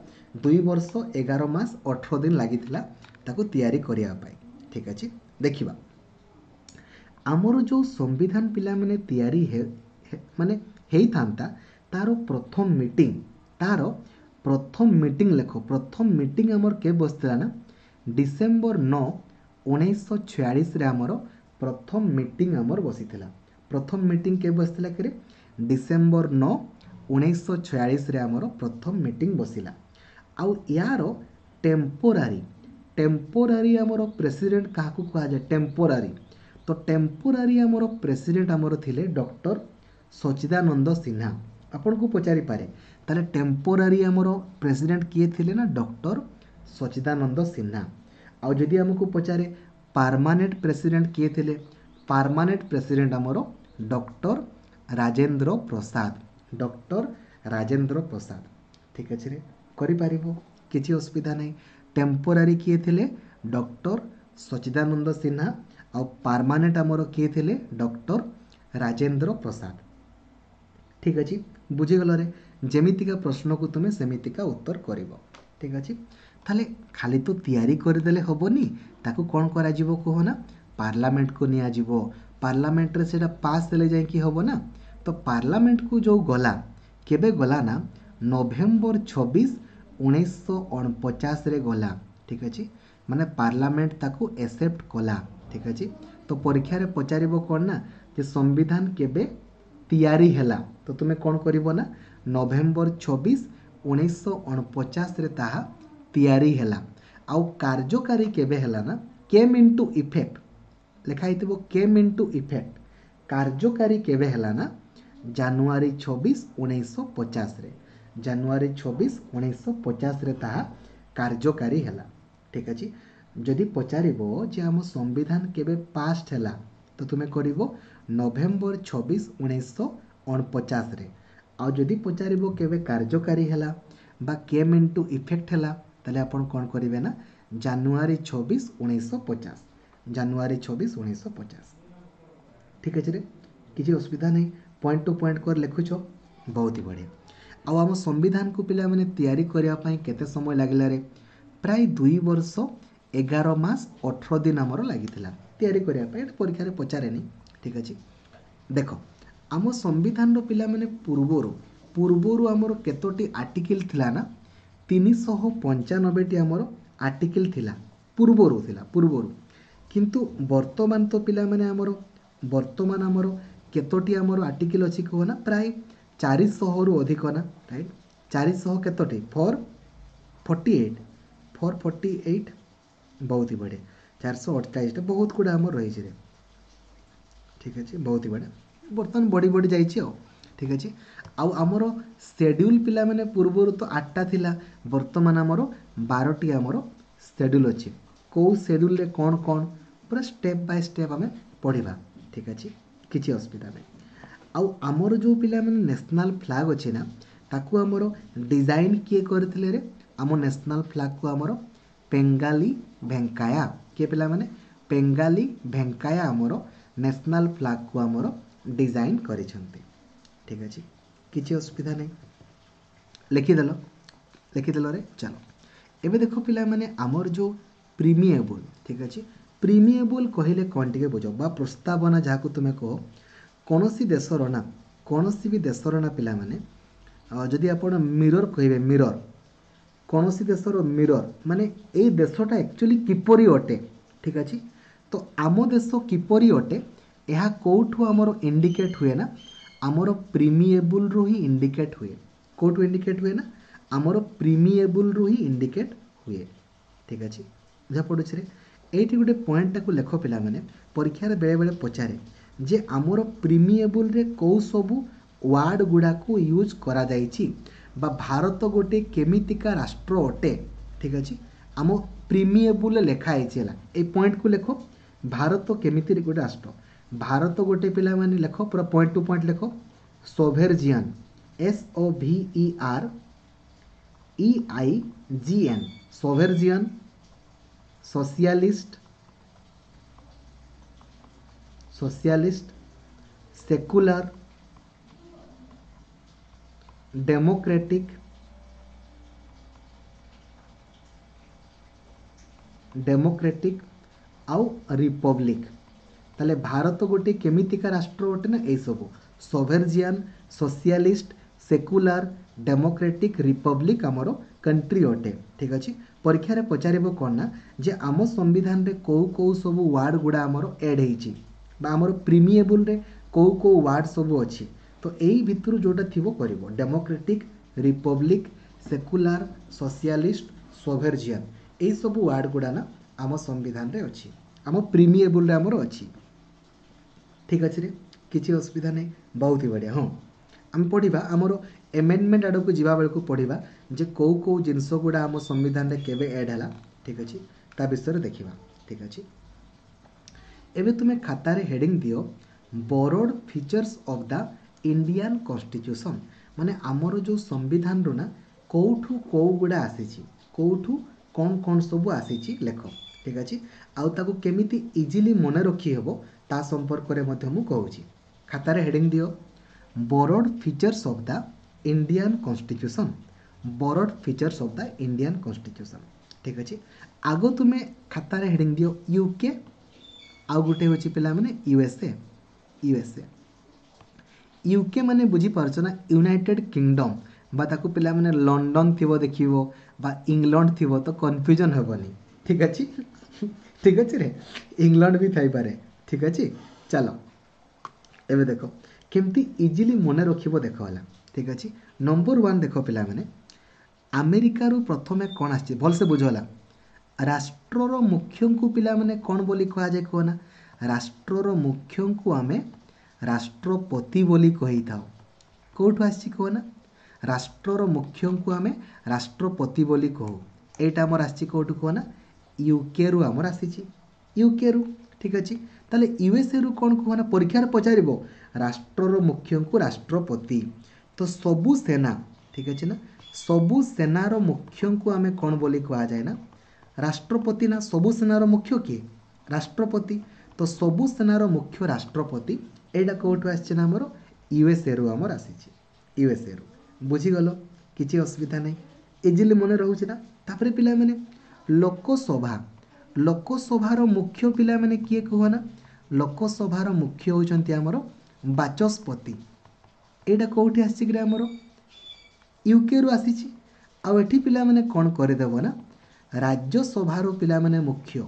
ଦୁଇ ବର୍ଷ ଏଗାର ମାସ ଅଠର ଦିନ ଲାଗିଥିଲା ତାକୁ ତିଆରି କରିବା ପାଇଁ। ଠିକ୍ ଅଛି, ଦେଖିବା ଆମର ଯେଉଁ ସମ୍ବିଧାନ ପିଲାମାନେ ତିଆରି ମାନେ ହେଇଥାନ୍ତା, ତାର ପ୍ରଥମ ମିଟିଂ, ତାର ପ୍ରଥମ ମିଟିଂ ଲେଖ। ପ୍ରଥମ ମିଟିଂ ଆମର କେବେ ବସିଥିଲା ନା, ଡିସେମ୍ବର ନଅ ଉଣେଇଶହ ଛୟାଳିଶରେ ଆମର ପ୍ରଥମ ମିଟିଂ ଆମର ବସିଥିଲା। ପ୍ରଥମ ମିଟିଂ କେବେ ବସିଥିଲା କିରେ? ଡିସେମ୍ବର ନଅ ଉଣେଇଶହ ଛୟାଳିଶରେ ଆମର ପ୍ରଥମ ମିଟିଂ ବସିଲା। ଆଉ ୟାର ଟେମ୍ପୋରାରୀ ଟେମ୍ପୋରାରୀ ଆମର ପ୍ରେସିଡେଣ୍ଟ କାହାକୁ କୁହାଯାଏ? ଟେମ୍ପୋରାରୀ, ତ ଟେମ୍ପୋରାରୀ ଆମର ପ୍ରେସିଡେଣ୍ଟ ଆମର ଥିଲେ ଡକ୍ଟର ସଚିଦାନନ୍ଦ ସିହ୍ନା। ଆପଣଙ୍କୁ ପଚାରିପାରେ, ତାହେଲେ ଟେମ୍ପୋରାରୀ ଆମର ପ୍ରେସିଡେଣ୍ଟ କିଏ ଥିଲେ ନା ଡକ୍ଟର ସଚିଦାନନ୍ଦ ସିହ୍ନା। ଆଉ ଯଦି ଆମକୁ ପଚାରେ ପାର୍ମାନେଣ୍ଟ ପ୍ରେସିଡେଣ୍ଟ କିଏ ଥିଲେ, ପାର୍ମାନେଣ୍ଟ ପ୍ରେସିଡେଣ୍ଟ ଆମର ଡକ୍ଟର ରାଜେନ୍ଦ୍ର ପ୍ରସାଦ, ଡକ୍ଟର ରାଜେନ୍ଦ୍ର ପ୍ରସାଦ। ଠିକ୍ ଅଛି ରେ, କରିପାରିବ, କିଛି ଅସୁବିଧା ନାହିଁ। ଟେମ୍ପୋରାରୀ କିଏ ଥିଲେ? ଡକ୍ଟର ସଚିଦାନନ୍ଦ ସିହ୍ନା। ଆଉ ପାର୍ମାନେଣ୍ଟ ଆମର କିଏ ଥିଲେ? ଡକ୍ଟର ରାଜେନ୍ଦ୍ର ପ୍ରସାଦ। ଠିକ୍ ଅଛି, ବୁଝିଗଲରେ? ଯେମିତିକା ପ୍ରଶ୍ନକୁ ତୁମେ ସେମିତିକା ଉତ୍ତର କରିବ। ଠିକ୍ ଅଛି, ତାହେଲେ ଖାଲି ତ ତିଆରି କରିଦେଲେ ହେବନି, ତାକୁ କ'ଣ କରାଯିବ କୁହ ନା? ପାର୍ଲାମେଣ୍ଟକୁ ନିଆଯିବ। ପାର୍ଲାମେଣ୍ଟରେ ସେଇଟା ପାସ୍ ହେଲେ ଯାଇକି ହେବ ନା। ତ ପାର୍ଲାମେଣ୍ଟକୁ ଯେଉଁ ଗଲା, କେବେ ଗଲା ନା ନଭେମ୍ବର ଛବିଶ ଉଣେଇଶହ ଅଣପଚାଶରେ ଗଲା। ଠିକ୍ ଅଛି, ମାନେ ପାର୍ଲାମେଣ୍ଟ ତାକୁ ଏକ୍ସେପ୍ଟ କଲା। ଠିକ୍ ଅଛି, ତ ପରୀକ୍ଷାରେ ପଚାରିବ କ'ଣ ନା ଯେ ସମ୍ବିଧାନ କେବେ ତିଆରି ହେଲା, ତ ତୁମେ କ'ଣ କରିବ ନା ନଭେମ୍ବର ଛବିଶ ଉଣେଇଶହ ଅଣପଚାଶରେ ତାହା ତିଆରି ହେଲା। ଆଉ କାର୍ଯ୍ୟକାରୀ କେବେ ହେଲା ନା କେମ୍ ଇଣ୍ଟୁ ଇଫେକ୍ଟ ଲେଖା ହେଇଥିବ, କେମ୍ ଇଣ୍ଟୁ ଇଫେକ୍ଟ କାର୍ଯ୍ୟକାରୀ କେବେ ହେଲା ନା ଜାନୁଆରୀ ଛବିଶ ଉଣେଇଶହ ପଚାଶରେ, ଜାନୁଆରୀ ଛବିଶ ଉଣେଇଶହ ପଚାଶରେ ତାହା କାର୍ଯ୍ୟକାରୀ ହେଲା। ଠିକ୍ ଅଛି, ଯଦି ପଚାରିବ ଯେ ଆମ ସମ୍ବିଧାନ କେବେ ପାସ୍ଡ ହେଲା, ତ ତୁମେ କରିବ ନଭେମ୍ବର ଛବିଶ ଉଣେଇଶହ ଅଣପଚାଶରେ। ଆଉ ଯଦି ପଚାରିବ କେବେ କାର୍ଯ୍ୟକାରୀ ହେଲା ବା କେମ୍ ଇଣ୍ଟୁ ଇଫେକ୍ଟ ହେଲା, ତାହେଲେ ଆପଣ କ'ଣ କରିବେ ନା ଜାନୁଆରୀ ଛବିଶ ଉଣେଇଶହ ପଚାଶ, ଜାନୁଆରୀ ଛବିଶ ଉଣେଇଶହ ପଚାଶ। ଠିକ୍ ଅଛି ରେ, କିଛି ଅସୁବିଧା ନାହିଁ, ପଏଣ୍ଟ ଟୁ ପଏଣ୍ଟ କରି ଲେଖୁଛ, ବହୁତ ହି ବଢ଼ିଆ। ଆଉ ଆମ ସମ୍ବିଧାନକୁ ପିଲାମାନେ ତିଆରି କରିବା ପାଇଁ କେତେ ସମୟ ଲାଗିଲା ରେ? ପ୍ରାୟ ଦୁଇ ବର୍ଷ ଏଗାର ମାସ ଅଠର ଦିନ ଆମର ଲାଗିଥିଲା ତିଆରି କରିବା ପାଇଁ। ଏଇଟା ପରୀକ୍ଷାରେ ପଚାରେନି। ଠିକ୍ ଅଛି, ଦେଖ ଆମ ସମ୍ବିଧାନର ପିଲାମାନେ ପୂର୍ବରୁ ପୂର୍ବରୁ ଆମର କେତୋଟି ଆର୍ଟିକିଲ୍ ଥିଲା ନା ତିନିଶହ ପଞ୍ଚାନବେଟି ଆମର ଆର୍ଟିକିଲ୍ ଥିଲା, ପୂର୍ବରୁ ଥିଲା ପୂର୍ବରୁ। କିନ୍ତୁ ବର୍ତ୍ତମାନ ତ ପିଲାମାନେ ଆମର ବର୍ତ୍ତମାନ ଆମର କେତୋଟି ଆମର ଆର୍ଟିକିଲ୍ ଅଛି କୁହ ନା? ପ୍ରାୟ ଚାରିଶହରୁ ଅଧିକ ନା, ରାଇଟ୍? ଚାରିଶହ କେତୋଟି? Four forty eight, four forty eight, ବହୁତ ହି ବଢ଼ିଆ। ଚାରିଶହ ଅଠଚାଳିଶଟା, ବହୁତ ଗୁଡ଼ା ଆମର ରହିଛି ରେ। ଠିକ୍ ଅଛି, ବହୁତ ହି ବଢ଼ିଆ, ବର୍ତ୍ତମାନ ବଢ଼ି ବଢ଼ି ଯାଇଛି ଆଉ। ଠିକ୍ ଅଛି, ଆଉ ଆମର ସେଡ୍ୟୁଲ୍ ପିଲାମାନେ ପୂର୍ବରୁ ତ ଆଠଟା ଥିଲା, ବର୍ତ୍ତମାନ ଆମର ବାରଟି ଆମର ସେଡ୍ୟୁଲ୍ ଅଛି। କେଉଁ ସେଡ୍ୟୁଲ୍ରେ କ'ଣ କ'ଣ ପୁରା ଷ୍ଟେପ୍ ବାଇ ଷ୍ଟେପ୍ ଆମେ ପଢ଼ିବା। ଠିକ୍ ଅଛି, କିଛି ଅସୁବିଧା ନାହିଁ। ଆଉ ଆମର ଯେଉଁ ପିଲାମାନେ ନ୍ୟାସନାଲ୍ ଫ୍ଲାଗ୍ ଅଛି ନା, ତାକୁ ଆମର ଡିଜାଇନ୍ କିଏ କରିଥିଲେ ରେ? ଆମ ନ୍ୟାସନାଲ୍ ଫ୍ଲାଗ୍କୁ ଆମର ପେଙ୍ଗାଲି ଭେଙ୍କାୟା। କିଏ ପିଲାମାନେ? ପେଙ୍ଗାଲି ଭେଙ୍କାୟା ଆମର ନ୍ୟାସନାଲ୍ ଫ୍ଲାଗ୍କୁ ଆମର ଡିଜାଇନ୍ କରିଛନ୍ତି। ଠିକ୍ ଅଛି, କିଛି ଅସୁବିଧା ନାହିଁ, ଲେଖିଦେଲ, ଲେଖିଦେଲରେ। ଚାଲ ଏବେ ଦେଖ ପିଲାମାନେ ଆମର ଯେଉଁ ପ୍ରିମିଏବୁଲ୍, ଠିକ୍ ଅଛି, ପ୍ରିମିଏବୁଲ୍ କହିଲେ କ'ଣ ଟିକେ ବୁଝ, ବା ପ୍ରସ୍ତାବନା ଯାହାକୁ ତୁମେ କୁହ। କୌଣସି ଦେଶର ନା, କୌଣସି ବି ଦେଶର ନା ପିଲାମାନେ, ଯଦି ଆପଣ ମିରର କହିବେ, ମିରର କୌଣସି ଦେଶର ମିରର ମାନେ ଏଇ ଦେଶଟା ଆକ୍ଚୁଆଲି କିପରି ଅଟେ। ଠିକ୍ ଅଛି, ତ ଆମ ଦେଶ କିପରି ଅଟେ ଏହା କେଉଁଠୁ ଆମର ଇଣ୍ଡିକେଟ୍ ହୁଏ ନା ଆମର ପ୍ରିମିଏବୁଲ୍ରୁ ହିଁ ଇଣ୍ଡିକେଟ୍ ହୁଏ। କେଉଁଠୁ ଇଣ୍ଡିକେଟ୍ ହୁଏ ନା ଆମର ପ୍ରିମିଏବୁଲ୍ରୁ ହିଁ ଇଣ୍ଡିକେଟ୍ ହୁଏ। ଠିକ୍ ଅଛି, ବୁଝା ପଡ଼ୁଛି ରେ? ଏଇଠି ଗୋଟେ ପଏଣ୍ଟଟାକୁ ଲେଖ ପିଲାମାନେ, ପରୀକ୍ଷାରେ ବେଳେବେଳେ ପଚାରେ ଯେ ଆମର ପ୍ରିମିଏବୁଲ୍ରେ କେଉଁ ସବୁ ୱାର୍ଡ଼ ଗୁଡ଼ାକୁ ୟୁଜ୍ କରାଯାଇଛି ବା ଭାରତ ଗୋଟେ କେମିତିକା ରାଷ୍ଟ୍ର ଅଟେ। ଠିକ୍ ଅଛି, ଆମ ପ୍ରିମିଏବୁଲ୍ରେ ଲେଖା ହେଇଛି ହେଲା, ଏଇ ପଏଣ୍ଟକୁ ଲେଖ, ଭାରତ କେମିତି ଗୋଟେ ରାଷ୍ଟ୍ର। ଭାରତ ଗୋଟେ ପିଲାମାନେ ଲେଖ, ପୁରା ପଏଣ୍ଟ ଟୁ ପଏଣ୍ଟ ଲେଖ, sovereign, S O V E R E I G N, sovereign, socialist, socialist, secular, democratic, democratic ଆଉ ରିପବ୍ଲିକ୍। ତାହେଲେ ଭାରତ ଗୋଟେ କେମିତିକା ରାଷ୍ଟ୍ର ଅଟେ ନା ଏଇସବୁ sovereign, socialist, secular, democratic, republic ଆମର କଣ୍ଟ୍ରି ଅଟେ। ଠିକ୍ ଅଛି, ପରୀକ୍ଷାରେ ପଚାରିବ କ'ଣ ନା ଯେ ଆମ ସମ୍ବିଧାନରେ କେଉଁ କେଉଁ ସବୁ ୱାର୍ଡ଼ ଗୁଡ଼ା ଆମର ଏଡ଼୍ ହେଇଛି ବା ଆମର ପ୍ରିମିଏବୁଲରେ କେଉଁ କେଉଁ ୱାର୍ଡ଼ ସବୁ ଅଛି। ତ ଏଇ ଭିତରୁ ଯେଉଁଟା ଥିବ କରିବ। Democratic, republic, secular, socialist, sovereign, ଏଇସବୁ ୱାର୍ଡ଼ ଗୁଡ଼ା ନା ଆମ ସମ୍ବିଧାନରେ ଅଛି, ଆମ ପ୍ରିମିଏବୁଲରେ ଆମର ଅଛି। ଠିକ୍ ଅଛି ରେ, କିଛି ଅସୁବିଧା ନାହିଁ, ବହୁତ ହି ବଢ଼ିଆ। ହଁ, ଆମେ ପଢ଼ିବା ଆମର ଏମେଣ୍ଡମେଣ୍ଟ ଆଡ଼କୁ ଯିବା ବେଳକୁ ପଢ଼ିବା ଯେ କେଉଁ କେଉଁ ଜିନିଷ ଗୁଡ଼ା ଆମ ସମ୍ବିଧାନରେ କେବେ ଏଡ଼୍ ହେଲା। ଠିକ୍ ଅଛି, ତା ବିଷୟରେ ଦେଖିବା। ଠିକ୍ ଅଛି, ଏବେ ତୁମେ ଖାତାରେ ହେଡ଼ିଂ ଦିଅ borrowed features of the Indian constitution. ମାନେ ଆମର ଯେଉଁ ସମ୍ବିଧାନରୁ ନା କେଉଁଠୁ କେଉଁ ଗୁଡ଼ା ଆସିଛି, କେଉଁଠୁ କ'ଣ କ'ଣ ସବୁ ଆସିଛି ଲେଖ। ଠିକ୍ ଅଛି, ଆଉ ତାକୁ କେମିତି ଇଜିଲି ମନେ ରଖିହେବ ତା ସମ୍ପର୍କରେ ମଧ୍ୟ ମୁଁ କହୁଛି। ଖାତାରେ ହେଡ଼ିଂ ଦିଅ borrowed features of the Indian constitution, borrowed features of the Indian constitution. ଠିକ୍ ଅଛି, ଆଗ ତୁମେ ଖାତାରେ ହେଡ଼ିଂ ଦିଅ ୟୁକେ, ଆଉ ଗୋଟେ ହେଉଛି ପିଲାମାନେ ୟୁଏସ୍ଏ। ୟୁଏସ୍ଏ, ୟୁକେ ମାନେ ବୁଝିପାରୁଛ ନା ୟୁନାଇଟେଡ୍ କିଙ୍ଗଡମ୍, ବା ତାକୁ ପିଲାମାନେ ଲଣ୍ଡନ ଥିବ ଦେଖିବ ବା ଇଂଲଣ୍ଡ ଥିବ, ତ କନଫ୍ୟୁଜନ୍ ହେବନି। ଠିକ୍ ଅଛି, ଠିକ୍ ଅଛି ରେ, ଇଂଲଣ୍ଡ ବି ଥାଇପାରେ। ଠିକ୍ ଅଛି, ଚାଲ ଏବେ ଦେଖ କେମିତି ଇଜିଲି ମନେ ରଖିବ। ଦେଖ ହେଲା, ଠିକ୍ ଅଛି, ନମ୍ବର ୱାନ୍ ଦେଖ ପିଲାମାନେ, ଆମେରିକାରୁ ପ୍ରଥମେ କ'ଣ ଆସିଛି ଭଲସେ ବୁଝ ହେଲା। ରାଷ୍ଟ୍ରର ମୁଖ୍ୟଙ୍କୁ ପିଲାମାନେ କ'ଣ ବୋଲି କୁହାଯାଏ କୁହ ନା? ରାଷ୍ଟ୍ରର ମୁଖ୍ୟଙ୍କୁ ଆମେ ରାଷ୍ଟ୍ରପତି ବୋଲି କହିଥାଉ। କେଉଁଠୁ ଆସିଛି କୁହ ନା? ରାଷ୍ଟ୍ରର ମୁଖ୍ୟଙ୍କୁ ଆମେ ରାଷ୍ଟ୍ରପତି ବୋଲି କହୁ। ଏଇଟା ଆମର ଆସିଛି କେଉଁଠୁ କୁହ ନା? ୟୁକେରୁ ଆମର ଆସିଛି, ୟୁକେରୁ। ଠିକ୍ ଅଛି, ତାହେଲେ ୟୁଏସ୍ଏରୁ କ'ଣ କୁହ ନା? ପରୀକ୍ଷାରେ ପଚାରିବ ରାଷ୍ଟ୍ରର ମୁଖ୍ୟଙ୍କୁ ରାଷ୍ଟ୍ରପତି। ତ ସବୁ ସେନା, ଠିକ୍ ଅଛି ନା, ସବୁ ସେନାର ମୁଖ୍ୟଙ୍କୁ ଆମେ କ'ଣ ବୋଲି କୁହାଯାଏ ନା ରାଷ୍ଟ୍ରପତି ନା? ସବୁ ସେନାର ମୁଖ୍ୟ କିଏ? ରାଷ୍ଟ୍ରପତି। ତ ସବୁ ସେନାର ମୁଖ୍ୟ ରାଷ୍ଟ୍ରପତି। ଏଇଟା କେଉଁଠୁ ଆସିଛି ନା ଆମର ୟୁଏସ୍ଏରୁ ଆମର ଆସିଛି, ୟୁଏସ୍ଏରୁ। ବୁଝିଗଲ, କିଛି ଅସୁବିଧା ନାହିଁ, ଇଜିଲି ମନେ ରହୁଛି ନା? ତାପରେ ପିଲାମାନେ ଲୋକସଭା, ଲୋକସଭାର ମୁଖ୍ୟ ପିଲାମାନେ କିଏ କୁହ ନା? ଲୋକସଭାର ମୁଖ୍ୟ ହେଉଛନ୍ତି ଆମର ବାଚସ୍ପତି। ଏଇଟା କେଉଁଠି ଆସିଛି କିରେ? ଆମର ୟୁକେରୁ ଆସିଛି। ଆଉ ଏଠି ପିଲାମାନେ କ'ଣ କରିଦେବ ନା ରାଜ୍ୟସଭାର ପିଲାମାନେ ମୁଖ୍ୟ,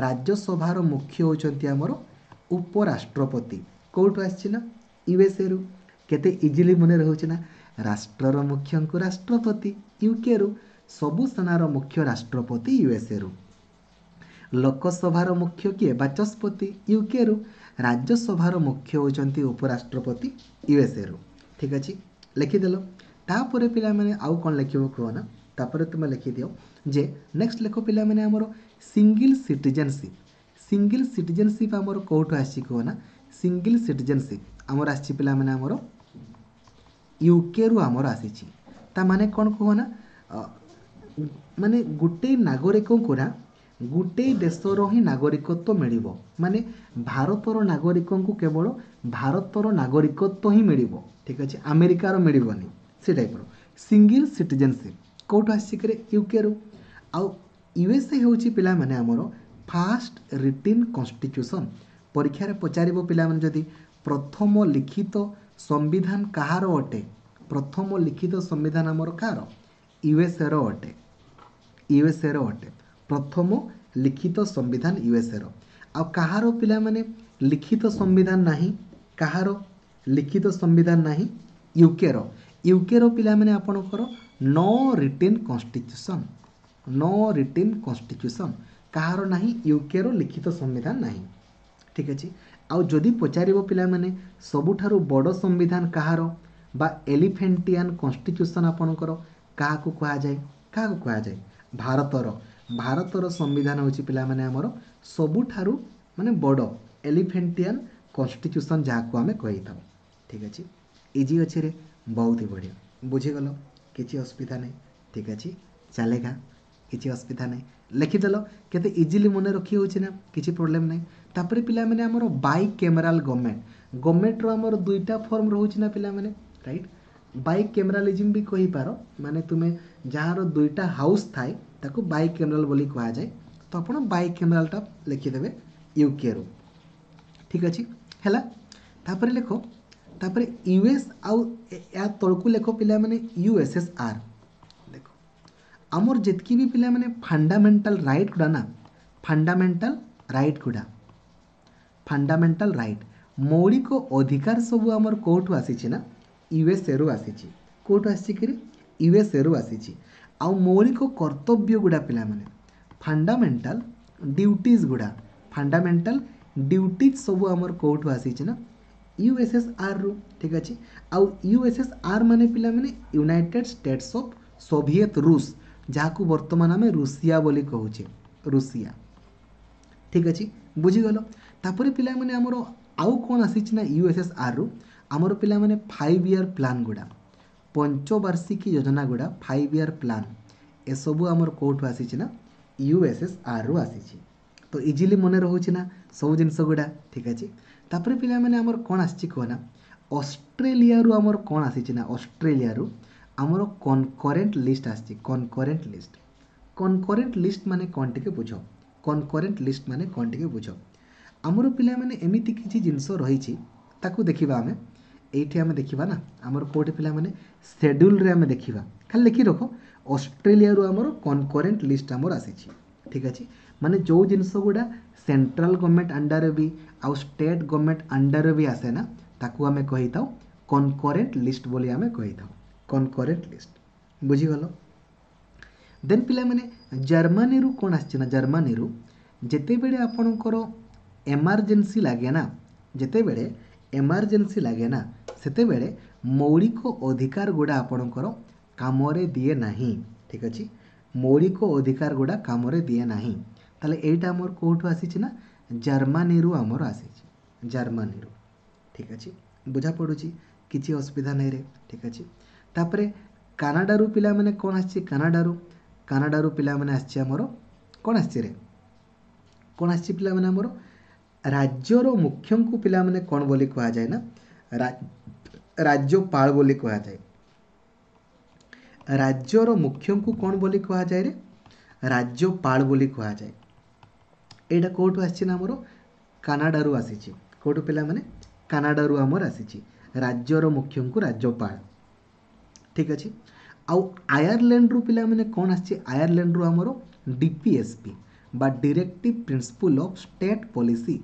ରାଜ୍ୟସଭାର ମୁଖ୍ୟ ହେଉଛନ୍ତି ଆମର ଉପରାଷ୍ଟ୍ରପତି। କେଉଁଠୁ ଆସିଛି ନା ୟୁଏସ୍ଏରୁ। କେତେ ଇଜିଲି ମନେ ରହୁଛି ନା? ରାଷ୍ଟ୍ରର ମୁଖ୍ୟଙ୍କୁ ରାଷ୍ଟ୍ରପତି ୟୁକେରୁ, ସବୁ ସେନାର ମୁଖ୍ୟ ରାଷ୍ଟ୍ରପତି ୟୁଏସ୍ଏରୁ, ଲୋକସଭାର ମୁଖ୍ୟ କିଏ? ବାଚସ୍ପତି ୟୁକେରୁ, ରାଜ୍ୟସଭାର ମୁଖ୍ୟ ହେଉଛନ୍ତି ଉପରାଷ୍ଟ୍ରପତି ୟୁଏସ୍ଏରୁ। ଠିକ୍ ଅଛି, ଲେଖିଦେଲ। ତାପରେ ପିଲାମାନେ ଆଉ କ'ଣ ଲେଖିବ କୁହ ନା? ତାପରେ ତୁମେ ଲେଖିଦିଅ ଯେ ନେକ୍ସଟ ଲେଖ ପିଲାମାନେ ଆମର ସିଙ୍ଗିଲ୍ ସିଟିଜେନସିପ୍। ସିଙ୍ଗିଲ୍ ସିଟିଜେନସିପ୍ ଆମର କେଉଁଠୁ ଆସିଛି କୁହ ନା? ସିଙ୍ଗିଲ୍ ସିଟିଜେନସିପ୍ ଆମର ଆସିଛି ପିଲାମାନେ ଆମର ୟୁକେରୁ ଆମର ଆସିଛି। ତା ମାନେ କ'ଣ କୁହ ନା? ମାନେ ଗୋଟେ ନାଗରିକଙ୍କୁ ନା ଗୋଟେ ଦେଶର ହିଁ ନାଗରିକତ୍ୱ ମିଳିବ। ମାନେ ଭାରତର ନାଗରିକଙ୍କୁ କେବଳ ଭାରତର ନାଗରିକତ୍ୱ ହିଁ ମିଳିବ। ଠିକ୍ ଅଛି, ଆମେରିକାର ମିଳିବନି। ସେ ଟାଇପ୍ର ସିଙ୍ଗିଲ୍ ସିଟିଜେନସିପ୍ କେଉଁଠୁ ଆସିଛି କିରେ? ୟୁକେରୁ। ଆଉ ୟୁଏସ୍ଏ ହେଉଛି ପିଲାମାନେ ଆମର ଫାଷ୍ଟ ରିଟିନ୍ କନଷ୍ଟିଟ୍ୟୁସନ୍। ପରୀକ୍ଷାରେ ପଚାରିବ ପିଲାମାନେ ଯଦି ପ୍ରଥମ ଲିଖିତ ସମ୍ବିଧାନ କାହାର ଅଟେ? ପ୍ରଥମ ଲିଖିତ ସମ୍ବିଧାନ ଆମର କାହାର? ୟୁଏସ୍ଏର ଅଟେ, ୟୁଏସ୍ଏର ଅଟେ ପ୍ରଥମ ଲିଖିତ ସମ୍ବିଧାନ ୟୁଏସ୍ଏର। ଆଉ କାହାର ପିଲାମାନେ ଲିଖିତ ସମ୍ବିଧାନ ନାହିଁ? କାହାର ଲିଖିତ ସମ୍ବିଧାନ ନାହିଁ? ୟୁକେର। ୟୁକେର ପିଲାମାନେ ଆପଣଙ୍କର no written constitution, no written constitution କାହାର ନାହିଁ? ୟୁକେର ଲିଖିତ ସମ୍ବିଧାନ ନାହିଁ। ଠିକ୍ ଅଛି, ଆଉ ଯଦି ପଚାରିବ ପିଲାମାନେ ସବୁଠାରୁ ବଡ଼ ସମ୍ବିଧାନ କାହାର ବା ଏଲିଫେଣ୍ଟିଆନ୍ କନଷ୍ଟିଟ୍ୟୁସନ୍ ଆପଣଙ୍କର କାହାକୁ କୁହାଯାଏ? କାହାକୁ କୁହାଯାଏ? ଭାରତର। ଭାରତର ସମ୍ବିଧାନ ହେଉଛି ପିଲାମାନେ ଆମର ସବୁଠାରୁ ମାନେ ବଡ଼ ଏଲିଫେଣ୍ଟିଆନ୍ କନଷ୍ଟିଟ୍ୟୁସନ୍ ଯାହାକୁ ଆମେ କହିଥାଉ। ଠିକ୍ ଅଛି, ଇଜି ଅଛି ରେ, ବହୁତ ହି ବଢ଼ିଆ। ବୁଝିଗଲ, କିଛି ଅସୁବିଧା ନାହିଁ। ଠିକ୍ ଅଛି, ଚାଲେଗା, କିଛି ଅସୁବିଧା ନାହିଁ। ଲେଖିଦେଲ, କେତେ ଇଜିଲି ମନେ ରଖି ହେଉଛି ନା, କିଛି ପ୍ରୋବ୍ଲେମ୍ ନାହିଁ। ତାପରେ ପିଲାମାନେ ଆମର ବାଇ କ୍ୟାମେରାଲ ଗଭର୍ଣ୍ଣମେଣ୍ଟ, ଗଭର୍ଣ୍ଣମେଣ୍ଟର ଆମର ଦୁଇଟା ଫର୍ମ ରହୁଛି ନା ପିଲାମାନେ, ରାଇଟ୍? ବାଇ କ୍ୟାମେରାଲିଜିମ୍ ବି କହିପାର, ମାନେ ତୁମେ ଯାହାର ଦୁଇଟା ହାଉସ୍ ଥାଏ ତାକୁ ବାଇ କ୍ୟାମେରାଲ ବୋଲି କୁହାଯାଏ। ତ ଆପଣ ବାଇ କ୍ୟାମେରାଲଟା ଲେଖିଦେବେ ୟୁକେରୁ। ଠିକ୍ ଅଛି, ହେଲା। ତାପରେ ଲେଖ, ତାପରେ ୟୁଏସ୍ ଆଉ ୟା ତଳକୁ ଲେଖ ପିଲାମାନେ ୟୁଏସ୍ଏସ୍ଆର୍। ଦେଖ ଆମର ଯେତିକି ବି ପିଲାମାନେ ଫଣ୍ଡାମେଣ୍ଟାଲ ରାଇଟ୍ ଗୁଡ଼ା ନା, ଫଣ୍ଡାମେଣ୍ଟାଲ ରାଇଟ୍ ଗୁଡ଼ା, ଫଣ୍ଡାମେଣ୍ଟାଲ ରାଇଟ୍, ମୌଳିକ ଅଧିକାର ସବୁ ଆମର କେଉଁଠୁ ଆସିଛି ନା ୟୁଏସ୍ଏରୁ ଆସିଛି। କେଉଁଠୁ ଆସିଛି କିରେ? ୟୁଏସ୍ଏରୁ ଆସିଛି। ଆଉ ମୌଳିକ କର୍ତ୍ତବ୍ୟ ଗୁଡ଼ା ପିଲାମାନେ, ଫଣ୍ଡାମେଣ୍ଟାଲ ଡ୍ୟୁଟିଜ୍ ଗୁଡ଼ା, ଫଣ୍ଡାମେଣ୍ଟାଲ ଡ୍ୟୁଟିଜ୍ ସବୁ ଆମର କେଉଁଠୁ ଆସିଛି ନା ୟୁଏସ୍ଏସ୍ଆର୍ରୁ। ଠିକ୍ ଅଛି। ଆଉ ୟୁଏସ୍ଏସ୍ଆର୍ ମାନେ ପିଲାମାନେ ୟୁନାଇଟେଡ୍ ଷ୍ଟେଟ୍ସ ଅଫ୍ ସୋଭିଏତ ରୁଷ, ଯାହାକୁ ବର୍ତ୍ତମାନ ଆମେ ରୁଷିଆ ବୋଲି କହୁଛେ, ରୁଷିଆ। ଠିକ୍ ଅଛି, ବୁଝିଗଲ। ତାପରେ ପିଲାମାନେ ଆମର ଆଉ କ'ଣ ଆସିଛି ନା ୟୁଏସ୍ଏସ୍ଆର୍ରୁ ଆମର ପିଲାମାନେ ଫାଇଭ୍ ଇୟର୍ ପ୍ଲାନ୍ ଗୁଡ଼ା, ପଞ୍ଚବାର୍ଷିକୀ ଯୋଜନା ଗୁଡ଼ା, ଫାଇଭ୍ ଇୟର୍ ପ୍ଲାନ୍, ଏସବୁ ଆମର କେଉଁଠୁ ଆସିଛି ନା ୟୁଏସ୍ଏସ୍ଆର୍ରୁ ଆସିଛି। ତ ଇଜିଲି ମନେ ରହୁଛି ନା ସବୁ ଜିନିଷ ଗୁଡ଼ା। ଠିକ୍ ଅଛି। ତାପରେ ପିଲାମାନେ ଆମର କ'ଣ ଆସିଛି କୁହ ନା ଅଷ୍ଟ୍ରେଲିଆରୁ ଆମର କ'ଣ ଆସିଛି ନା ଅଷ୍ଟ୍ରେଲିଆରୁ ଆମର କନକରେଣ୍ଟ ଲିଷ୍ଟ ଆସିଛି। କନକରେଣ୍ଟ ଲିଷ୍ଟ, କନକରେଣ୍ଟ ଲିଷ୍ଟ ମାନେ କ'ଣ ଟିକେ ବୁଝ। କନକରେଣ୍ଟ ଲିଷ୍ଟ ମାନେ କ'ଣ ଟିକେ ବୁଝ। ଆମର ପିଲାମାନେ ଏମିତି କିଛି ଜିନିଷ ରହିଛି, ତାକୁ ଦେଖିବା ଆମେ ଏଇଠି ଆମେ ଦେଖିବା ନା ଆମର କେଉଁଠି ପିଲାମାନେ ସେଡ୍ୟୁଲ୍ରେ ଆମେ ଦେଖିବା। ଖାଲି ଲେଖି ରଖ, ଅଷ୍ଟ୍ରେଲିଆରୁ ଆମର କନକରେଣ୍ଟ ଲିଷ୍ଟ ଆମର ଆସିଛି। ଠିକ୍ ଅଛି। ମାନେ ଯେଉଁ ଜିନିଷ ଗୁଡ଼ା ସେଣ୍ଟ୍ରାଲ ଗଭର୍ଣ୍ଣମେଣ୍ଟ ଅଣ୍ଡରରେ ବି ଆଉ ଷ୍ଟେଟ୍ ଗଭର୍ଣ୍ଣମେଣ୍ଟ ଅଣ୍ଡରରେ ବି ଆସେ ନା, ତାକୁ ଆମେ କହିଥାଉ କନକରେଣ୍ଟ ଲିଷ୍ଟ ବୋଲି ଆମେ କହିଥାଉ, କନକରେଣ୍ଟ ଲିଷ୍ଟ। ବୁଝିଗଲ। ଦେନ୍ ପିଲାମାନେ ଜର୍ମାନୀରୁ କ'ଣ ଆସିଛି ନା ଜର୍ମାନୀରୁ ଯେତେବେଳେ ଆପଣଙ୍କର ଏମର୍ଜେନ୍ସି ଲାଗେ ନା, ଯେତେବେଳେ ଏମର୍ଜେନ୍ସି ଲାଗେ ନା, ସେତେବେଳେ ମୌଳିକ ଅଧିକାର ଗୁଡ଼ା ଆପଣଙ୍କର କାମରେ ଦିଏ ନାହିଁ। ଠିକ୍ ଅଛି। ମୌଳିକ ଅଧିକାର ଗୁଡ଼ା କାମରେ ଦିଏ ନାହିଁ। ତାହେଲେ ଏଇଟା ଆମର କେଉଁଠୁ ଆସିଛି ନା ଜର୍ମାନୀରୁ ଆମର ଆସିଛି, ଜର୍ମାନୀରୁ। ଠିକ୍ ଅଛି, ବୁଝା ପଡ଼ୁଛି, କିଛି ଅସୁବିଧା ନାହିଁ ରେ। ଠିକ୍ ଅଛି। ତାପରେ କାନାଡ଼ାରୁ ପିଲାମାନେ କ'ଣ ଆସିଛି? କାନାଡ଼ାରୁ, କାନାଡ଼ାରୁ ପିଲାମାନେ ଆସିଛି ଆମର କ'ଣ ଆସିଛି ରେ? କ'ଣ ଆସିଛି ପିଲାମାନେ ଆମର ରାଜ୍ୟର ମୁଖ୍ୟଙ୍କୁ ପିଲାମାନେ କ'ଣ ବୋଲି କୁହାଯାଏ ନା ରାଜ୍ୟପାଳ ବୋଲି କୁହାଯାଏ। ରାଜ୍ୟର ମୁଖ୍ୟଙ୍କୁ କ'ଣ ବୋଲି କୁହାଯାଏ ରେ? ରାଜ୍ୟପାଳ ବୋଲି କୁହାଯାଏ। ଏଇଟା କେଉଁଠୁ ଆସିଛି ନା ଆମର କାନାଡ଼ାରୁ ଆସିଛି। କେଉଁଠୁ ପିଲାମାନେ? କାନାଡ଼ାରୁ ଆମର ଆସିଛି ରାଜ୍ୟର ମୁଖ୍ୟଙ୍କୁ ରାଜ୍ୟପାଳ। ଠିକ୍ ଅଛି। ଆଉ ଆୟାରଲ୍ୟାଣ୍ଡରୁ ପିଲାମାନେ କ'ଣ ଆସିଛି? ଆୟାରଲ୍ୟାଣ୍ଡରୁ ଆମର ଡିପିଏସ୍ପି ବା directive principle of state policy,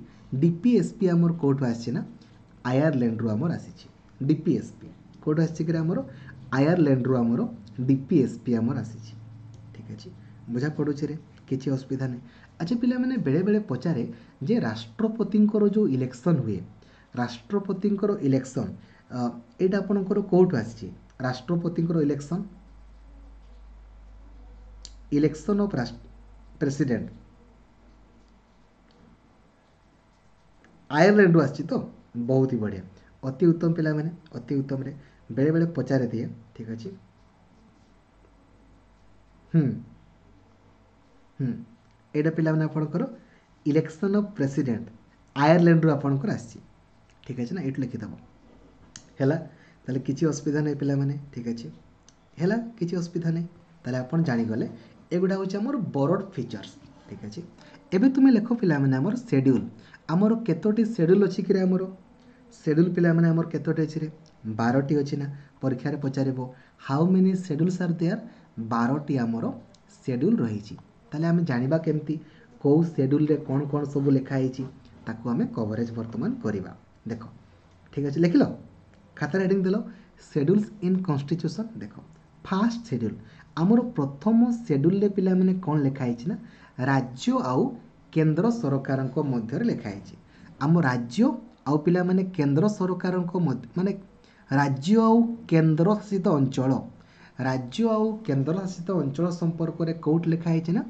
DPSP ଆମର କେଉଁଠୁ ଆସିଛି ନା ଆୟାରଲ୍ୟାଣ୍ଡରୁ ଆମର ଆସିଛି। ଡିପିଏସ୍ପି କେଉଁଠୁ ଆସିଛି କି ଆମର ଆୟାରଲ୍ୟାଣ୍ଡରୁ ଆମର ଡିପିଏସ୍ପି ଆମର ଆସିଛି। ଠିକ୍ ଅଛି, ବୁଝା ପଡ଼ୁଛି ରେ, କିଛି ଅସୁବିଧା ନାହିଁ। ଆଚ୍ଛା ପିଲାମାନେ ବେଳେବେଳେ ପଚାରେ ଯେ ରାଷ୍ଟ୍ରପତିଙ୍କର ଯେଉଁ ଇଲେକ୍ସନ୍ ହୁଏ, ରାଷ୍ଟ୍ରପତିଙ୍କର ଇଲେକ୍ସନ୍ ଏଇଟା ଆପଣଙ୍କର କେଉଁଠୁ ଆସିଛି? ରାଷ୍ଟ୍ରପତିଙ୍କର ଇଲେକ୍ସନ୍, ଇଲେକ୍ସନ୍ ଅଫ୍ ପ୍ରେସିଡେଣ୍ଟ ଆୟାରଲ୍ୟାଣ୍ଡରୁ ଆସିଛି ତ। ବହୁତ ହି ବଢ଼ିଆ, ଅତି ଉତ୍ତମ ପିଲାମାନେ, ଅତି ଉତ୍ତମରେ ବେଳେବେଳେ ପଚାରେ ଦିଏ। ଠିକ୍ ଅଛି। ହୁଁ ହୁଁ ଏଇଟା ପିଲାମାନେ ଆପଣଙ୍କର ଇଲେକ୍ସନ୍ ଅଫ୍ ପ୍ରେସିଡେଣ୍ଟ ଆୟାରଲ୍ୟାଣ୍ଡରୁ ଆପଣଙ୍କର ଆସିଛି। ଠିକ୍ ଅଛି ନା, ଏଇଠୁ ଲେଖିଦେବ ହେଲା। ତାହେଲେ କିଛି ଅସୁବିଧା ନାହିଁ ପିଲାମାନେ। ଠିକ୍ ଅଛି, ହେଲା, କିଛି ଅସୁବିଧା ନାହିଁ। ତାହେଲେ ଆପଣ ଜାଣିଗଲେ ଏଗୁଡ଼ା ହେଉଛି ଆମର ବରୋଡ଼ ଫିଚର୍ସ। ଠିକ୍ ଅଛି। ଏବେ ତୁମେ ଲେଖ ପିଲାମାନେ ଆମର ସେଡ୍ୟୁଲ୍, ଆମର କେତୋଟି ସେଡ୍ୟୁଲ୍ ଅଛି କିରେ? ଆମର ସେଡ୍ୟୁଲ୍ ପିଲାମାନେ ଆମର କେତୋଟି ଅଛି ରେ? ବାରଟି ଅଛି ନା। ପରୀକ୍ଷାରେ ପଚାରିବ how many schedules are there, ବାରଟି ଆମର ସେଡ୍ୟୁଲ୍ ରହିଛି। ତାହେଲେ ଆମେ ଜାଣିବା କେମିତି କେଉଁ ସେଡ୍ୟୁଲ୍ରେ କ'ଣ କ'ଣ ସବୁ ଲେଖା ହେଇଛି, ତାକୁ ଆମେ କଭରେଜ୍ ବର୍ତ୍ତମାନ କରିବା। ଦେଖ, ଠିକ୍ ଅଛି, ଲେଖିଲ ଖାତାରେ ହେଡ଼ିଂ ଦେଲ ସେଡ୍ୟୁଲ୍ସ ଇନ୍ କନଷ୍ଟିଚ୍ୟୁସନ୍। ଦେଖ ଫାର୍ଷ୍ଟ ସେଡ୍ୟୁଲ୍, ଆମର ପ୍ରଥମ ସେଡ୍ୟୁଲ୍ରେ ପିଲାମାନେ କ'ଣ ଲେଖା ହେଇଛି ନା ରାଜ୍ୟ ଆଉ କେନ୍ଦ୍ର ସରକାରଙ୍କ ମଧ୍ୟରେ ଲେଖା ହେଇଛି। ଆମ ରାଜ୍ୟ ଆଉ ପିଲାମାନେ କେନ୍ଦ୍ର ସରକାରଙ୍କ ମଧ୍ୟ, ମାନେ ରାଜ୍ୟ ଆଉ କେନ୍ଦ୍ର ଶାସିତ ଅଞ୍ଚଳ, ରାଜ୍ୟ ଆଉ କେନ୍ଦ୍ର ଶାସିତ ଅଞ୍ଚଳ ସମ୍ପର୍କରେ କେଉଁଠି ଲେଖା ହେଇଛି ନା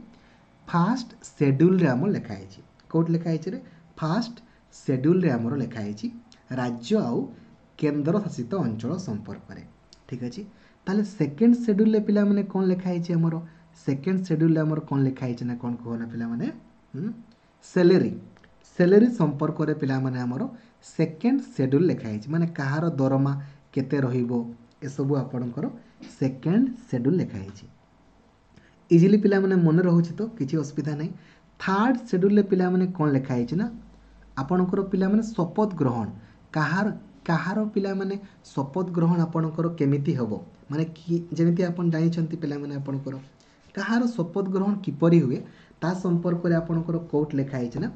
ଫାର୍ଷ୍ଟ ସେଡ୍ୟୁଲ୍ରେ ଆମର ଲେଖା ହେଇଛି। କେଉଁଠି ଲେଖା ହେଇଛି ରେ? ଫାର୍ଷ୍ଟ ସେଡ୍ୟୁଲ୍ରେ ଆମର ଲେଖା ହେଇଛି ରାଜ୍ୟ ଆଉ କେନ୍ଦ୍ର ଶାସିତ ଅଞ୍ଚଳ ସମ୍ପର୍କରେ। ଠିକ୍ ଅଛି। ତାହେଲେ ସେକେଣ୍ଡ ସେଡ୍ୟୁଲ୍ରେ ପିଲାମାନେ କ'ଣ ଲେଖା ହେଇଛି ଆମର? ସେକେଣ୍ଡ ସେଡ୍ୟୁଲ୍ରେ ଆମର କ'ଣ ଲେଖା ହେଇଛି ନା କ'ଣ କୁହ ନା ପିଲାମାନେ? ସେଲେରୀ, ସେଲେରୀ ସମ୍ପର୍କରେ ପିଲାମାନେ ଆମର ସେକେଣ୍ଡ ସେଡ୍ୟୁଲ୍ ଲେଖା ହେଇଛି। ମାନେ କାହାର ଦରମା କେତେ ରହିବ ଏସବୁ ଆପଣଙ୍କର ସେକେଣ୍ଡ ସେଡ୍ୟୁଲ୍ ଲେଖା ହେଇଛି। ଇଜିଲି ପିଲାମାନେ ମନେ ରହୁଛି ତ, କିଛି ଅସୁବିଧା ନାହିଁ। ଥାର୍ଡ଼ ସେଡ୍ୟୁଲ୍ରେ ପିଲାମାନେ କ'ଣ ଲେଖା ହେଇଛି ନା ଆପଣଙ୍କର ପିଲାମାନେ ଶପଥ ଗ୍ରହଣ, କାହାର କାହାର ପିଲାମାନେ ଶପଥ ଗ୍ରହଣ ଆପଣଙ୍କର କେମିତି ହେବ, ମାନେ କି ଯେମିତି ଆପଣ ଜାଣିଛନ୍ତି ପିଲାମାନେ ଆପଣଙ୍କର। କାହାର ଶପଥ ଗ୍ରହଣ କିପରି ହୁଏ ତା ସମ୍ପର୍କରେ ଆପଣଙ୍କର କୋଉଠି ଲେଖା ହେଇଛି ନା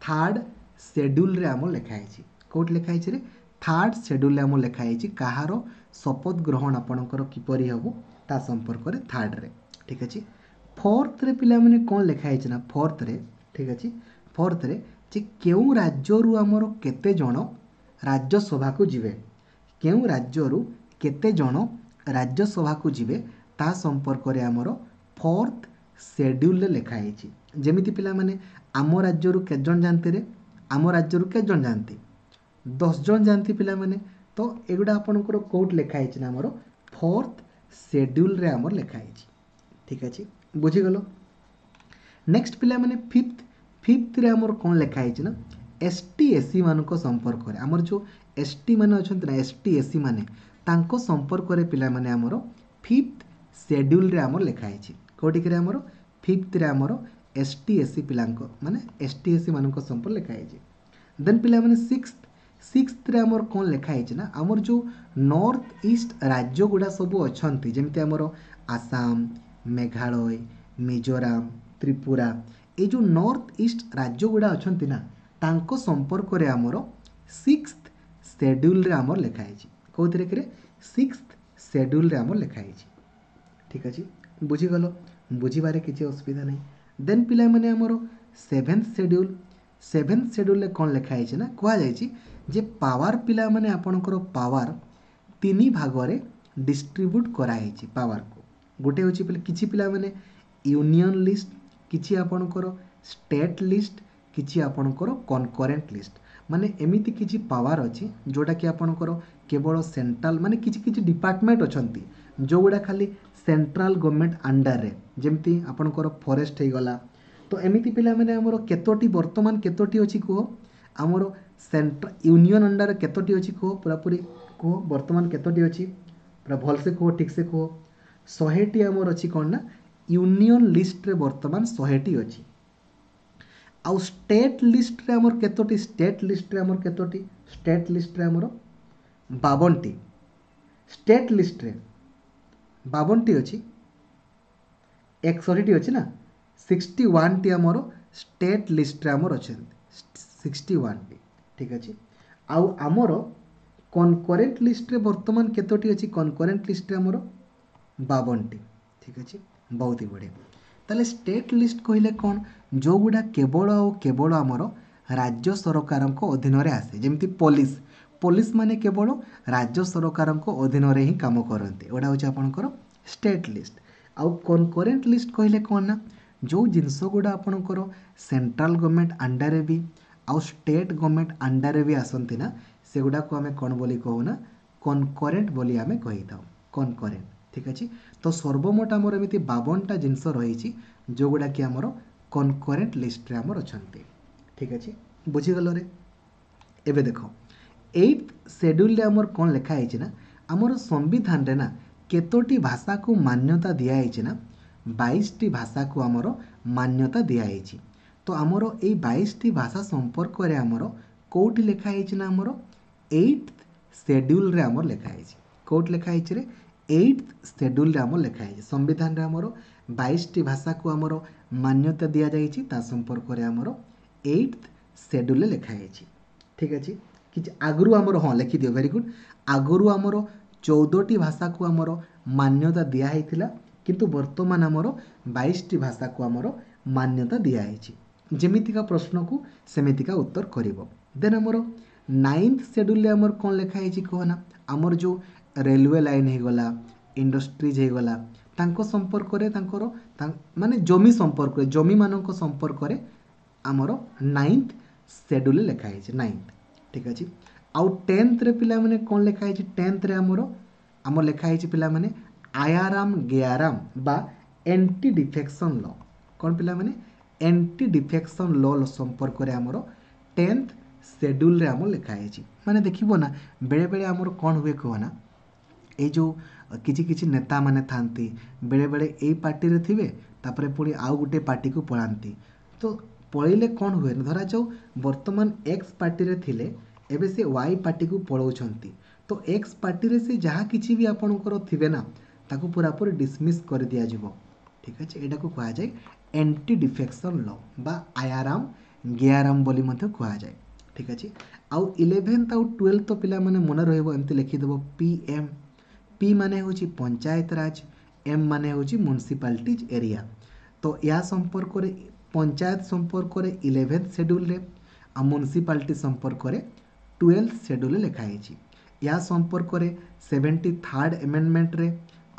ଥାର୍ଡ଼ ସେଡ୍ୟୁଲ୍ରେ ଆମର ଲେଖା ହେଇଛି। କୋଉଠି ଲେଖା ହେଇଛି ରେ? ଥାର୍ଡ଼ ସେଡ୍ୟୁଲ୍ରେ ଆମର ଲେଖା ହେଇଛି କାହାର ଶପଥ ଗ୍ରହଣ ଆପଣଙ୍କର କିପରି ହେବ ତା ସମ୍ପର୍କରେ ଥାର୍ଡ଼ରେ। ଠିକ୍ ଅଛି। ଫୋର୍ଥରେ ପିଲାମାନେ କ'ଣ ଲେଖା ହେଇଛି ନା ଫୋର୍ଥରେ, ଠିକ୍ ଅଛି, ଫୋର୍ଥରେ ଯେ କେଉଁ ରାଜ୍ୟରୁ ଆମର କେତେ ଜଣ ରାଜ୍ୟସଭାକୁ ଯିବେ, କେଉଁ ରାଜ୍ୟରୁ କେତେ ଜଣ ରାଜ୍ୟସଭାକୁ ଯିବେ ତା ସମ୍ପର୍କରେ ଆମର ଫୋର୍ଥ ସେଡ୍ୟୁଲ୍ରେ ଲେଖା ହେଇଛି। ଯେମିତି ପିଲାମାନେ ଆମ ରାଜ୍ୟରୁ କେତେ ଜଣ ଯାଆନ୍ତି ରେ? ଆମ ରାଜ୍ୟରୁ କେତେ ଜଣ ଯାଆନ୍ତି? ଦଶ ଜଣ ଯାଆନ୍ତି ପିଲାମାନେ। ତ ଏଗୁଡ଼ା ଆପଣଙ୍କର କୋଉଠି ଲେଖା ହେଇଛି ନା ଆମର ଫୋର୍ଥ ସେଡ୍ୟୁଲ୍ରେ ଆମର ଲେଖା ହେଇଛି। ଠିକ୍ ଅଛି, ବୁଝିଗଲ। ନେକ୍ସଟ ପିଲାମାନେ ଫିଫ୍ଥ, ଫିଫ୍ଥରେ ଆମର କ'ଣ ଲେଖା ହେଇଛି ନା ଏସ୍ ଟି ଏସ୍ ସି ମାନଙ୍କ ସମ୍ପର୍କରେ, ଆମର ଯେଉଁ ଏସ୍ ଟି ମାନେ ଅଛନ୍ତି ନା ଏସ୍ ଟି ଏସ୍ ସି ମାନେ, ତାଙ୍କ ସମ୍ପର୍କରେ ପିଲାମାନେ ଆମର ଫିଫ୍ଥ ସେଡ୍ୟୁଲ୍ରେ ଆମର ଲେଖା ହେଇଛି। କେଉଁଠିକିରେ ଆମର ଫିଫ୍ଥରେ ଆମର ଏସ୍ ଟି ଏସ୍ ସି ପିଲାଙ୍କ ମାନେ ଏସ୍ ଟି ଏସ୍ ସି ମାନଙ୍କ ସମ୍ପର୍କ ଲେଖା ହେଇଛି। ଦେନ୍ ପିଲାମାନେ ସିକ୍ସଥ, ସିକ୍ସଥରେ ଆମର କ'ଣ ଲେଖା ହେଇଛି ନା ଆମର ଯେଉଁ ନର୍ଥ ଇଷ୍ଟ ରାଜ୍ୟ ଗୁଡ଼ା ସବୁ ଅଛନ୍ତି, ଯେମିତି ଆମର ଆସାମ, ମେଘାଳୟ, ମିଜୋରାମ, ତ୍ରିପୁରା, ଏଇ ଯେଉଁ ନର୍ଥ ଇଷ୍ଟ ରାଜ୍ୟ ଗୁଡ଼ା ଅଛନ୍ତି ନା ତାଙ୍କ ସମ୍ପର୍କରେ ଆମର ସିକ୍ସଥ ସେଡ୍ୟୁଲ୍ରେ ଆମର ଲେଖା ହେଇଛି। କେଉଁଥିରେ କିରେ? ସିକ୍ସଥ ସେଡ୍ୟୁଲ୍ରେ ଆମର ଲେଖା ହେଇଛି। ଠିକ୍ ଅଛି, ବୁଝିଗଲ, ବୁଝିବାରେ କିଛି ଅସୁବିଧା ନାହିଁ। ଦେନ୍ ପିଲାମାନେ ଆମର ସେଭେନ୍ଥ ସେଡ୍ୟୁଲ୍, ସେଭେନ୍ଥ ସେଡ୍ୟୁଲ୍ରେ କ'ଣ ଲେଖା ହେଇଛି ନା କୁହାଯାଇଛି ଯେ ପାୱାର ପିଲାମାନେ ଆପଣଙ୍କର ପାୱାର ତିନି ଭାଗରେ ଡିଷ୍ଟ୍ରିବ୍ୟୁଟ୍ କରାହେଇଛି। ପାୱାରକୁ ଗୋଟେ ହେଉଛି କିଛି ପିଲାମାନେ ୟୁନିୟନ୍ ଲିଷ୍ଟ, କିଛି ଆପଣଙ୍କର ଷ୍ଟେଟ୍ ଲିଷ୍ଟ, କିଛି ଆପଣଙ୍କର କନକରେଣ୍ଟ ଲିଷ୍ଟ। ମାନେ ଏମିତି କିଛି ପାୱାର ଅଛି ଯେଉଁଟାକି ଆପଣଙ୍କର କେବଳ ସେଣ୍ଟ୍ରାଲ, ମାନେ କିଛି କିଛି ଡିପାର୍ଟମେଣ୍ଟ ଅଛନ୍ତି ଯେଉଁଗୁଡ଼ା ଖାଲି ସେଣ୍ଟ୍ରାଲ ଗଭର୍ଣ୍ଣମେଣ୍ଟ ଅଣ୍ଡରରେ, ଯେମିତି ଆପଣଙ୍କର ଫରେଷ୍ଟ ହେଇଗଲା। ତ ଏମିତି ପିଲାମାନେ ଆମର କେତୋଟି ବର୍ତ୍ତମାନ କେତୋଟି ଅଛି କୁହ? ଆମର ସେଣ୍ଟ୍ରା ୟୁନିୟନ୍ ଅଣ୍ଡରରେ କେତୋଟି ଅଛି କୁହ? ପୁରାପୁରି କୁହ ବର୍ତ୍ତମାନ କେତୋଟି ଅଛି, ପୁରା ଭଲସେ କୁହ, ଠିକ୍ସେ କୁହ। ଶହେଟି ଆମର ଅଛି କ'ଣ ନା ୟୁନିୟନ୍ ଲିଷ୍ଟରେ ବର୍ତ୍ତମାନ ଶହେଟି ଅଛି। ଆଉ ଷ୍ଟେଟ୍ ଲିଷ୍ଟରେ ଆମର କେତୋଟି? ଷ୍ଟେଟ୍ ଲିଷ୍ଟରେ ଆମର କେତୋଟି? ଷ୍ଟେଟ୍ ଲିଷ୍ଟରେ ଆମର ବାବନଟି। ଷ୍ଟେଟ୍ ଲିଷ୍ଟରେ ବାବନଟି ଅଛି, ଏକଷଠିଟି ଅଛି ନା, ସିକ୍ସଟି ୱାନ୍ଟି ଆମର ଷ୍ଟେଟ୍ ଲିଷ୍ଟରେ ଆମର ଅଛନ୍ତି, ସିକ୍ସଟି ୱାନ୍ଟି। ଠିକ୍ ଅଛି। ଆଉ ଆମର କନକରେଣ୍ଟ ଲିଷ୍ଟରେ ବର୍ତ୍ତମାନ କେତୋଟି ଅଛି? କନକରେଣ୍ଟ ଲିଷ୍ଟରେ ଆମର ବାବନଟି। ଠିକ୍ ଅଛି, ବହୁତ ହି ବଢ଼ିଆ। ତାହେଲେ ଷ୍ଟେଟ୍ ଲିଷ୍ଟ କହିଲେ କ'ଣ? ଯେଉଁଗୁଡ଼ା କେବଳ ଆଉ କେବଳ ଆମର ରାଜ୍ୟ ସରକାରଙ୍କ ଅଧୀନରେ ଆସେ, ଯେମିତି ପୋଲିସ, ପୋଲିସ ମାନେ କେବଳ ରାଜ୍ୟ ସରକାରଙ୍କ ଅଧୀନରେ ହିଁ କାମ କରନ୍ତି, ଏଗୁଡ଼ା ହେଉଛି ଆପଣଙ୍କର ଷ୍ଟେଟ୍ ଲିଷ୍ଟ। ଆଉ କନକରେଣ୍ଟ ଲିଷ୍ଟ କହିଲେ କ'ଣ ନା ଯେଉଁ ଜିନିଷ ଗୁଡ଼ା ଆପଣଙ୍କର ସେଣ୍ଟ୍ରାଲ ଗଭର୍ଣ୍ଣମେଣ୍ଟ ଅଣ୍ଡରରେ ବି ଆଉ ଷ୍ଟେଟ୍ ଗଭର୍ଣ୍ଣମେଣ୍ଟ ଅଣ୍ଡରରେ ବି ଆସନ୍ତି ନା, ସେଗୁଡ଼ାକୁ ଆମେ କ'ଣ ବୋଲି କହୁନା? କନକରେଣ୍ଟ ବୋଲି ଆମେ କହିଥାଉ, କନକରେଣ୍ଟ। ଠିକ୍ ଅଛି। ତ ସର୍ବମୋଟ ଆମର ଏମିତି ବାବନଟା ଜିନିଷ ରହିଛି ଯେଉଁଗୁଡ଼ାକି ଆମର କନକରେଣ୍ଟ ଲିଷ୍ଟରେ ଆମର ଅଛନ୍ତି। ଠିକ୍ ଅଛି, ବୁଝିଗଲରେ? ଏବେ ଦେଖ ଏଇଟ୍ ସେଡ୍ୟୁଲ୍ରେ ଆମର କ'ଣ ଲେଖା ହେଇଛି ନା ଆମର ସମ୍ବିଧାନରେ ନା କେତୋଟି ଭାଷାକୁ ମାନ୍ୟତା ଦିଆହେଇଛି ନା ବାଇଶଟି ଭାଷାକୁ ଆମର ମାନ୍ୟତା ଦିଆହେଇଛି। ତ ଆମର ଏଇ ବାଇଶଟି ଭାଷା ସମ୍ପର୍କରେ ଆମର କେଉଁଠି ଲେଖା ହେଇଛି ନା ଆମର ଏଇଟ୍ ସେଡ୍ୟୁଲ୍ରେ ଆମର ଲେଖା ହେଇଛି। କେଉଁଠି ଲେଖା ହେଇଛି ରେ? ଏଇଟ୍ ସେଡ୍ୟୁଲ୍ରେ ଆମର ଲେଖା ହେଇଛି। ସମ୍ବିଧାନରେ ଆମର ବାଇଶଟି ଭାଷାକୁ ଆମର ମାନ୍ୟତା ଦିଆଯାଇଛି, ତା ସମ୍ପର୍କରେ ଆମର ଏଇଟ୍ ସେଡ୍ୟୁଲ୍ରେ ଲେଖା ହେଇଛି। ଠିକ୍ ଅଛି। କିଛି ଆଗରୁ ଆମର, ହଁ ଲେଖିଦିଅ, ଭେରି ଗୁଡ୍, ଆଗରୁ ଆମର ଚଉଦଟି ଭାଷାକୁ ଆମର ମାନ୍ୟତା ଦିଆହେଇଥିଲା, କିନ୍ତୁ ବର୍ତ୍ତମାନ ଆମର ବାଇଶଟି ଭାଷାକୁ ଆମର ମାନ୍ୟତା ଦିଆହେଇଛି। ଯେମିତିକା ପ୍ରଶ୍ନକୁ ସେମିତିକା ଉତ୍ତର କରିବ। ଦେନ୍ ଆମର ନାଇନ୍ଥ ସେଡ୍ୟୁଲ୍ରେ ଆମର କ'ଣ ଲେଖା ହେଇଛି କୁହ ନା ଆମର ଯେଉଁ ରେଲୱେ ଲାଇନ୍ ହେଇଗଲା, ଇଣ୍ଡଷ୍ଟ୍ରିଜ୍ ହେଇଗଲା, ତାଙ୍କ ସମ୍ପର୍କରେ ତାଙ୍କର ମାନେ ଜମି ସମ୍ପର୍କରେ, ଜମିମାନଙ୍କ ସମ୍ପର୍କରେ ଆମର ନାଇନ୍ଥ ସେଡ୍ୟୁଲ୍ରେ ଲେଖା ହେଇଛି, ନାଇନ୍ଥ। ଠିକ୍ ଅଛି। ଆଉ ଟେନ୍ଥରେ ପିଲାମାନେ କ'ଣ ଲେଖା ହେଇଛି? ଟେନ୍ଥରେ ଆମର ଆମର ଲେଖା ହେଇଛି ପିଲାମାନେ ଆୟାରାମ ଗେୟାରାମ ବା ଏଣ୍ଟି ଡିଫେକ୍ସନ୍ ଲ। କ'ଣ ପିଲାମାନେ? ଏଣ୍ଟି ଡିଫେକ୍ସନ୍ ଲ ସମ୍ପର୍କରେ ଆମର ଟେନ୍ଥ ସେଡ୍ୟୁଲ୍ରେ ଆମର ଲେଖା ହେଇଛି। ମାନେ ଦେଖିବ ନା ବେଳେବେଳେ ଆମର କ'ଣ ହୁଏ କୁହ ନା, ଏଇ ଯେଉଁ କିଛି କିଛି ନେତାମାନେ ଥାନ୍ତି ବେଳେବେଳେ ଏଇ ପାର୍ଟିରେ ଥିବେ, ତାପରେ ପୁଣି ଆଉ ଗୋଟେ ପାର୍ଟିକୁ ପଳାନ୍ତି। ତ ପଳେଇଲେ କ'ଣ ହୁଏ ନା, ଧରାଯାଉ ବର୍ତ୍ତମାନ ଏକ୍ସ ପାର୍ଟିରେ ଥିଲେ, ଏବେ ସେ ୱାଇ ପାର୍ଟିକୁ ପଳାଉଛନ୍ତି। ତ ଏକ୍ସ ପାର୍ଟିରେ ସେ ଯାହା କିଛି ବି ଆପଣଙ୍କର ଥିବେ ନା, ତାକୁ ପୁରାପୁରି ଡିସମିସ୍ କରିଦିଆଯିବ। ଠିକ୍ ଅଛି ଏଇଟାକୁ କୁହାଯାଏ ଆଣ୍ଟି ଡିଫେକ୍ସନ୍ ଲ ବା ଆୟାରାମ ଗିଆରାମ ବୋଲି ମଧ୍ୟ କୁହାଯାଏ ଠିକ୍ ଅଛି ଆଉ ଇଲେଭେନ୍ଥ ଆଉ ଟୁଏଲ୍ଥ ତ ପିଲାମାନେ ମନେ ରହିବ ଏମିତି ଲେଖିଦେବ ପି ଏମ୍ ପି ମାନେ ହେଉଛି ପଞ୍ଚାୟତ ରାଜ ଏମ୍ ମାନେ ହେଉଛି ମ୍ୟୁନିସିପାଲିଟିଜ୍ ଏରିଆ ତ ଏହା ସମ୍ପର୍କରେ ପଞ୍ଚାୟତ ସମ୍ପର୍କରେ ଇଲେଭେନ୍ଥ ସେଡ୍ୟୁଲ୍ରେ ଆଉ ମ୍ୟୁନିସିପାଲିଟି ସମ୍ପର୍କରେ ଟୁଏଲ୍ଥ ସେଡ୍ୟୁଲ୍ରେ ଲେଖା ହେଇଛି ଏହା ସମ୍ପର୍କରେ ସେଭେଣ୍ଟି ଥାର୍ଡ଼ ଆମେଣ୍ଡମେଣ୍ଟରେ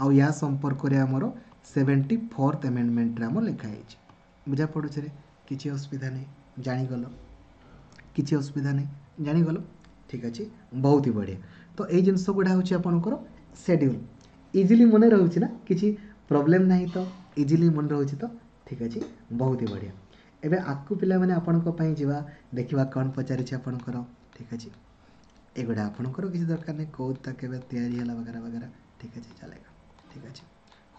ଆଉ ଏହା ସମ୍ପର୍କରେ ଆମର ସେଭେଣ୍ଟି ଫୋର୍ଥ ଆମେଣ୍ଡମେଣ୍ଟରେ ଆମର ଲେଖା ହେଇଛି ବୁଝା ପଡ଼ୁଛି ରେ କିଛି ଅସୁବିଧା ନାହିଁ ଜାଣିଗଲ କିଛି ଅସୁବିଧା ନାହିଁ ଜାଣିଗଲ ଠିକ୍ ଅଛି ବହୁତ ହି ବଢ଼ିଆ ତ ଏଇ ଜିନିଷ ଗୁଡ଼ା ହେଉଛି ଆପଣଙ୍କର ସେଡ୍ୟୁଲ୍ ଇଜିଲି ମନେ ରହୁଛି ନା କିଛି ପ୍ରୋବ୍ଲେମ୍ ନାହିଁ ତ ଇଜିଲି ମନେ ରହୁଛି ତ ଠିକ୍ ଅଛି ବହୁତ ହି ବଢ଼ିଆ ଏବେ ଆଗକୁ ପିଲାମାନେ ଆପଣଙ୍କ ପାଇଁ ଯିବା ଦେଖିବା କ'ଣ ପଚାରିଛି ଆପଣଙ୍କର ଠିକ୍ ଅଛି ଏଗୁଡ଼ା ଆପଣଙ୍କର କିଛି ଦରକାର ନାହିଁ କେଉଁଟା କେବେ ତିଆରି ହେଲା ବଗେରା ବଗେରା ଠିକ୍ ଅଛି चलेगा ଠିକ୍ ଅଛି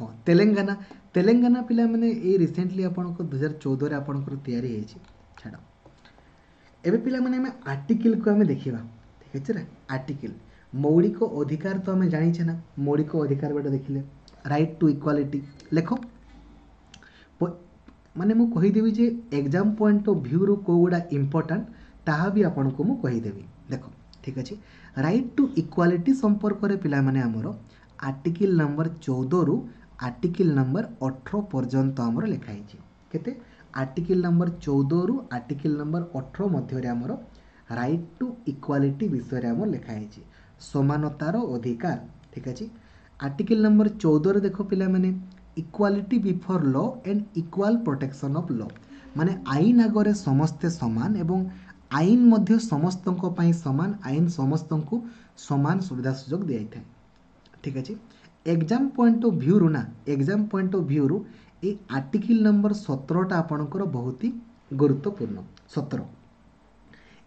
ହଁ ତେଲେଙ୍ଗାନା ତେଲେଙ୍ଗାନା ପିଲାମାନେ ଏଇ ରିସେଣ୍ଟଲି ଆପଣଙ୍କ ଦୁଇହଜାର ଚଉଦରେ ଆପଣଙ୍କର ତିଆରି ହେଇଛି ଛାଡ଼ ଏବେ ପିଲାମାନେ ଆମେ ଆର୍ଟିକିଲକୁ ଆମେ ଦେଖିବା ଠିକ୍ ଅଛି ନା ଆର୍ଟିକିଲ ମୌଳିକ ଅଧିକାର ତ ଆମେ ଜାଣିଛେ ନା ମୌଳିକ ଅଧିକାର ଗୋଟେ ଦେଖିଲେ ରାଇଟ୍ ଟୁ ଇକ୍ୱାଲିଟି ଲେଖ ମାନେ ମୁଁ କହିଦେବି ଯେ ଏକ୍ଜାମ୍ ପଏଣ୍ଟ ଅଫ୍ ଭ୍ୟୁରୁ କେଉଁଗୁଡ଼ା ଇମ୍ପୋର୍ଟାଣ୍ଟ ତାହା ବି ଆପଣଙ୍କୁ ମୁଁ କହିଦେବି ଦେଖ ଠିକ୍ ଅଛି ରାଇଟ୍ ଟୁ ଇକ୍ୱାଲିଟି ସମ୍ପର୍କରେ ପିଲାମାନେ ଆମର ଆର୍ଟିକିଲ ନମ୍ବର ଚଉଦରୁ ଆର୍ଟିକିଲ ନମ୍ବର ଅଠର ପର୍ଯ୍ୟନ୍ତ ଆମର ଲେଖା ହେଇଛି କେତେ ଆର୍ଟିକିଲ ନମ୍ବର ଚଉଦରୁ ଆର୍ଟିକିଲ ନମ୍ବର ଅଠର ମଧ୍ୟରେ ଆମର ରାଇଟ୍ ଟୁ ଇକ୍ୱାଲିଟି ବିଷୟରେ ଆମର ଲେଖା ହେଇଛି ସମାନତାର ଅଧିକାର ଠିକ୍ ଅଛି ଆର୍ଟିକିଲ ନମ୍ବର ଚଉଦରେ ଦେଖ ପିଲାମାନେ equality before law and equal protection of law ମାନେ ଆଇନ ଆଗରେ ସମସ୍ତେ ସମାନ ଏବଂ ଆଇନ ମଧ୍ୟ ସମସ୍ତଙ୍କ ପାଇଁ ସମାନ ଆଇନ ସମସ୍ତଙ୍କୁ ସମାନ ସୁବିଧା ସୁଯୋଗ ଦିଆଯାଇଥାଏ ଠିକ୍ ଅଛି ଏକ୍ଜାମ୍ ପଏଣ୍ଟ ଅଫ୍ ଭ୍ୟୁରୁ ନା ଏକ୍ଜାମ୍ ପଏଣ୍ଟ ଅଫ୍ ଭ୍ୟୁରୁ ଏଇ ଆର୍ଟିକିଲ ନମ୍ବର ସତରଟା ଆପଣଙ୍କର ବହୁତ ହି ଗୁରୁତ୍ୱପୂର୍ଣ୍ଣ ସତର